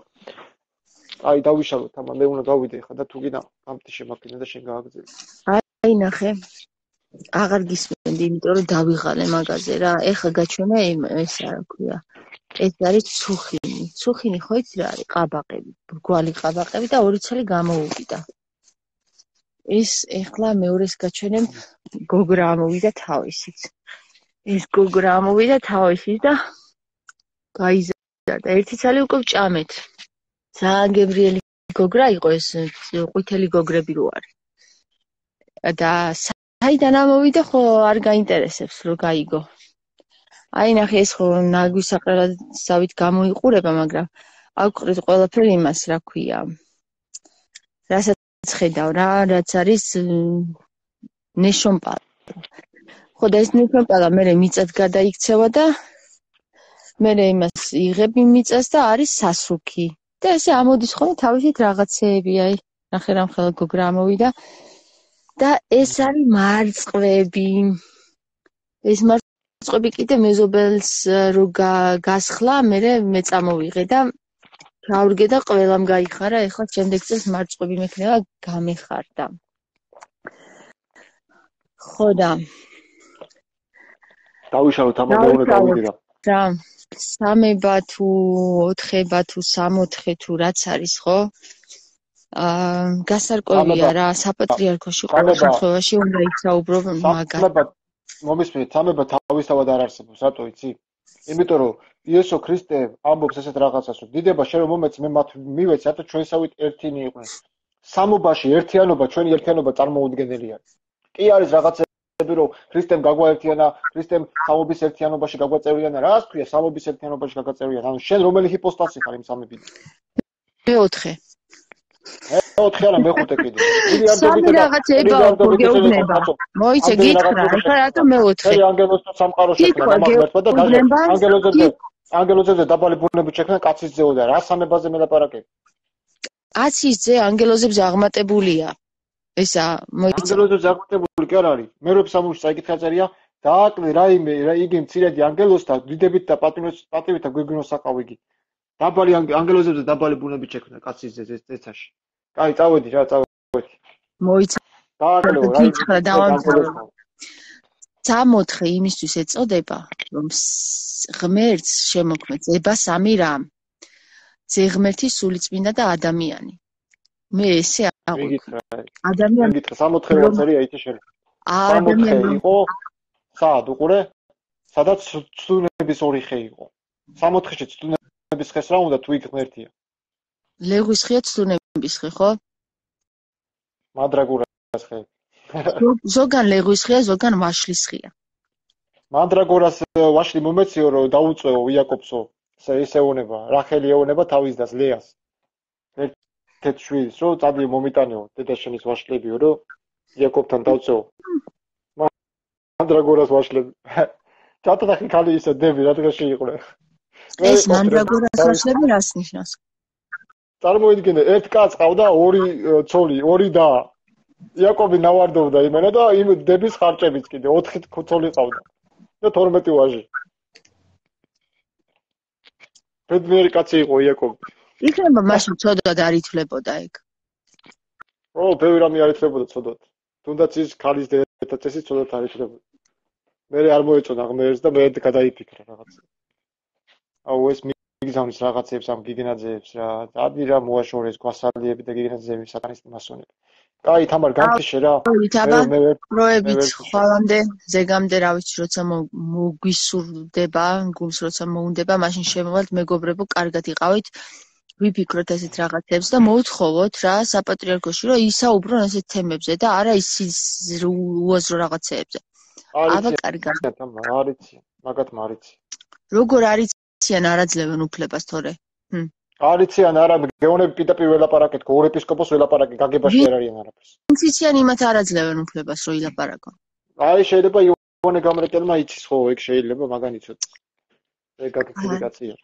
აი დავიშალოთ ამან, მე უნდა გავიდე ხა და თუ კიდე ამტი შემაქინა და შენ გააგზავნე. აი ნახე. აღარ გისმენდი, იმიტომ რომ დავიღალე მაგაზე რა. ეხა გაჩვენა ეს რა ქვია. ეს არის ცუხინი. ცუხინი ხო იცი რა არის? ყაბაყები, ბრგვალი ყაბაყები და ორი ცალი გამოუვიდა. ეს ეხლა მეორეს გაჩვენებ გოგრა ამოვიდა თავისით. ეს გოგრა ამოვიდა თავისით და გაიზარდა. ერთი ცალი უკვე ვჭამეთ. ძალიან გებრიელი გოგრა იყო ეს, ყვითელი გოგრები რო არის. და საიდან ამოვიდა ხო არ გაინტერესებს რომ გაიგო. აი ნახე ეს ხო ნაგვისაყრელად გამოიყურება, მაგრამ აკვყრით ყველაფერი იმას რა ქვია. რასაც ხედავ რა, რაც არის ნეშომპალა. ხო და ეს ნეშომპალა მერე მიწად გადაიქცევა და მერე იმას იღებ იმ მიწას და არის სასუქი. და ესე ამოდის ხოლმე თავისით რაღაცეები, აი ნახე რამხელა გოგრა ამოვიდა და ეს არის მარწყვები. ეს მარწყვები კიდე მეზობელს რო გასხლა, მერე მე წამოვიღე და ჩავრგე და ყველამ გაიხარა, ეხლა შემდეგ წელს მარწყვები მექნება გამეხარდა. ხო და დავიშალოთ ამან მე უნდა გავიდე და სამება თუ ოთხება თუ სამოთხე თუ რაც არის ხო? გასარკვევია რა, საპატრიარქოში ყველა შემთხვევაში უნდა ისაუბრო მაგას. მომისმენთ, სამება თავისთავად არ არსებობს, რატო იცი? იმიტომ რომ იესო ქრისტე ამბობს ესეთ რაღაცას, რომ დიდება შენ რომ მომეც მე მათ მივეცი, რატო ჩვენსავით ერთინი იყვნენ. სამობაში ერთიანობა, ჩვენი ერთიანობა წარმოუდგენელი არის. კი არის რაღაცები რომ ქრისტემ გაგვაერთიანა, ქრისტემ სამობის ერთიანობაში გაგვაწევრიანა, რას ქვია სამობის ერთიანობაში გაგვაწევრიანა? ანუ შენ რომელი ჰიპოსტასი ხარ იმ სამებიდან? მეოთხე. მეოთხე არა მეხუთე კიდე. სამი რაღაცეება გეუბნება. მოიცე გითხრა, ეხლა რატო მეოთხე? ანგელოზთა სამყარო შექმნა მამაღლერთმა და დაჟე ანგელოზებზე დაბალი ბუნებით შექმნა კაცის ძეოდა. რა სამებაზე მელაპარაკე? კაცის ძე ანგელოზებზე აღმატებულია. ესა მოიცა. ანგელოზებზე აღმატებული კი არ არის. მერვე სამუშს წაიკითხა წერია, დააკლე რაიმე იგი მცირედი ანგელოზთა დიდებით და პატივით და გვიგნოს საყავ იგი. დაბალი ანგელოზებზე დაბალი ბუნებით შექმნა კაცის ძე წეცაში. კაი, წავედი რა, წავედი. მოიცა. დააკლეო რა იგი. სამოთხე იმისთვის ეწოდება, რომ ღმერთს შემოქმნეს ება სამი რამ. ძე ღმერთი სულიწმინდა და ადამიანი. მე ესე აღვიქვა. ადამიანი გითხრა 64 ვაცარია ითი შენ. 64 იყო სად უყურე? სადაც ცდუნების ორი ხე იყო. 64-ში ცდუნების ხეს რა უნდა თუ იქ ღმერთია? ლეგვის ხეა ცდუნების ხე, ხო? მანდრაგორას ხე. ზოგან ლეგვის ხეა, ზოგან ვაშლის ხეა. მანდრაგორას ვაშლი მომეციო რომ დაუწეო იაკობსო. ესეუნება, რახელი ეუნება თავის დას ლეას. ერთ შვილს რომ წადიო მომიტანეო დედაშენის ვაშლებიო რომ იაკობთან დავწეო. მანდრაგორას ვაშლები. ჩატახი ხალი ისე დები რა დღეში იყვრე. ეს მანდრაგორას ვაშლები რას ნიშნავს? წარმოიდგინე, ერთ კაცს ყავდა ორი ცოლი, ორი და იაკობი ნავარდობდა იმენა და იმ დების ხარჭებიც კიდე 4 ცოლი ყავდა. და 12 ვაჟი. ბედნიერი კაცი იყო იაკობი. იქნება მაშინ ცოდვად არ ითვლებოდა ეგ. ო, ბევრი რამე არ ითვლებოდა ცოდვად. თუნდაც ის ქალის დედა წესი ცოდვად არ ითვლებოდა. მე არ მოეწონა ღმერთს და მე გადაიფიქრე რაღაც. აუ ეს მიგზავნის რაღაცებს ამ გიგენაძეებს რა. ადი რა მოაშორეს გვასალიები და გიგენაძეები სატანის მასონები. კაი, თამარ გამქიშე რა. პროებით ხვალამდე, ზეგამდე რა ვიცი, როცა მოგვისურდება, გულს როცა მოუნდება, მაშინ შემოვალთ მეგობრებო, კარგად იყავით. ვიფიქროთ ესეთ რაღაცებს და მოვთხოვოთ რა საპატრიარქოში, რომ ისაუბრონ ესეთ თემებზე და არა ის უაზრო რაღაცეებზე. აბა კარგად. არიციან, მაგათ მარიცი. როგორ არიციან არაძლევენ უფლებას თორე? არიციან არა, გეონები პირდაპირ ველაპარაკეთ, გორ ეპისკოპოსს ველაპარაკეთ, გაგებაში არ არიან არაფერს. იციან იმათ არაძლევენ უფლებას, რომ ილაპარაკონ. აი შეიძლება იოანე გამრეკელმა იცის ხო, ეგ შეიძლება მაგან იცოდეს. ეგ გაგიქილი კაცია.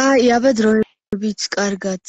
აი, აბა დროებით კარგად.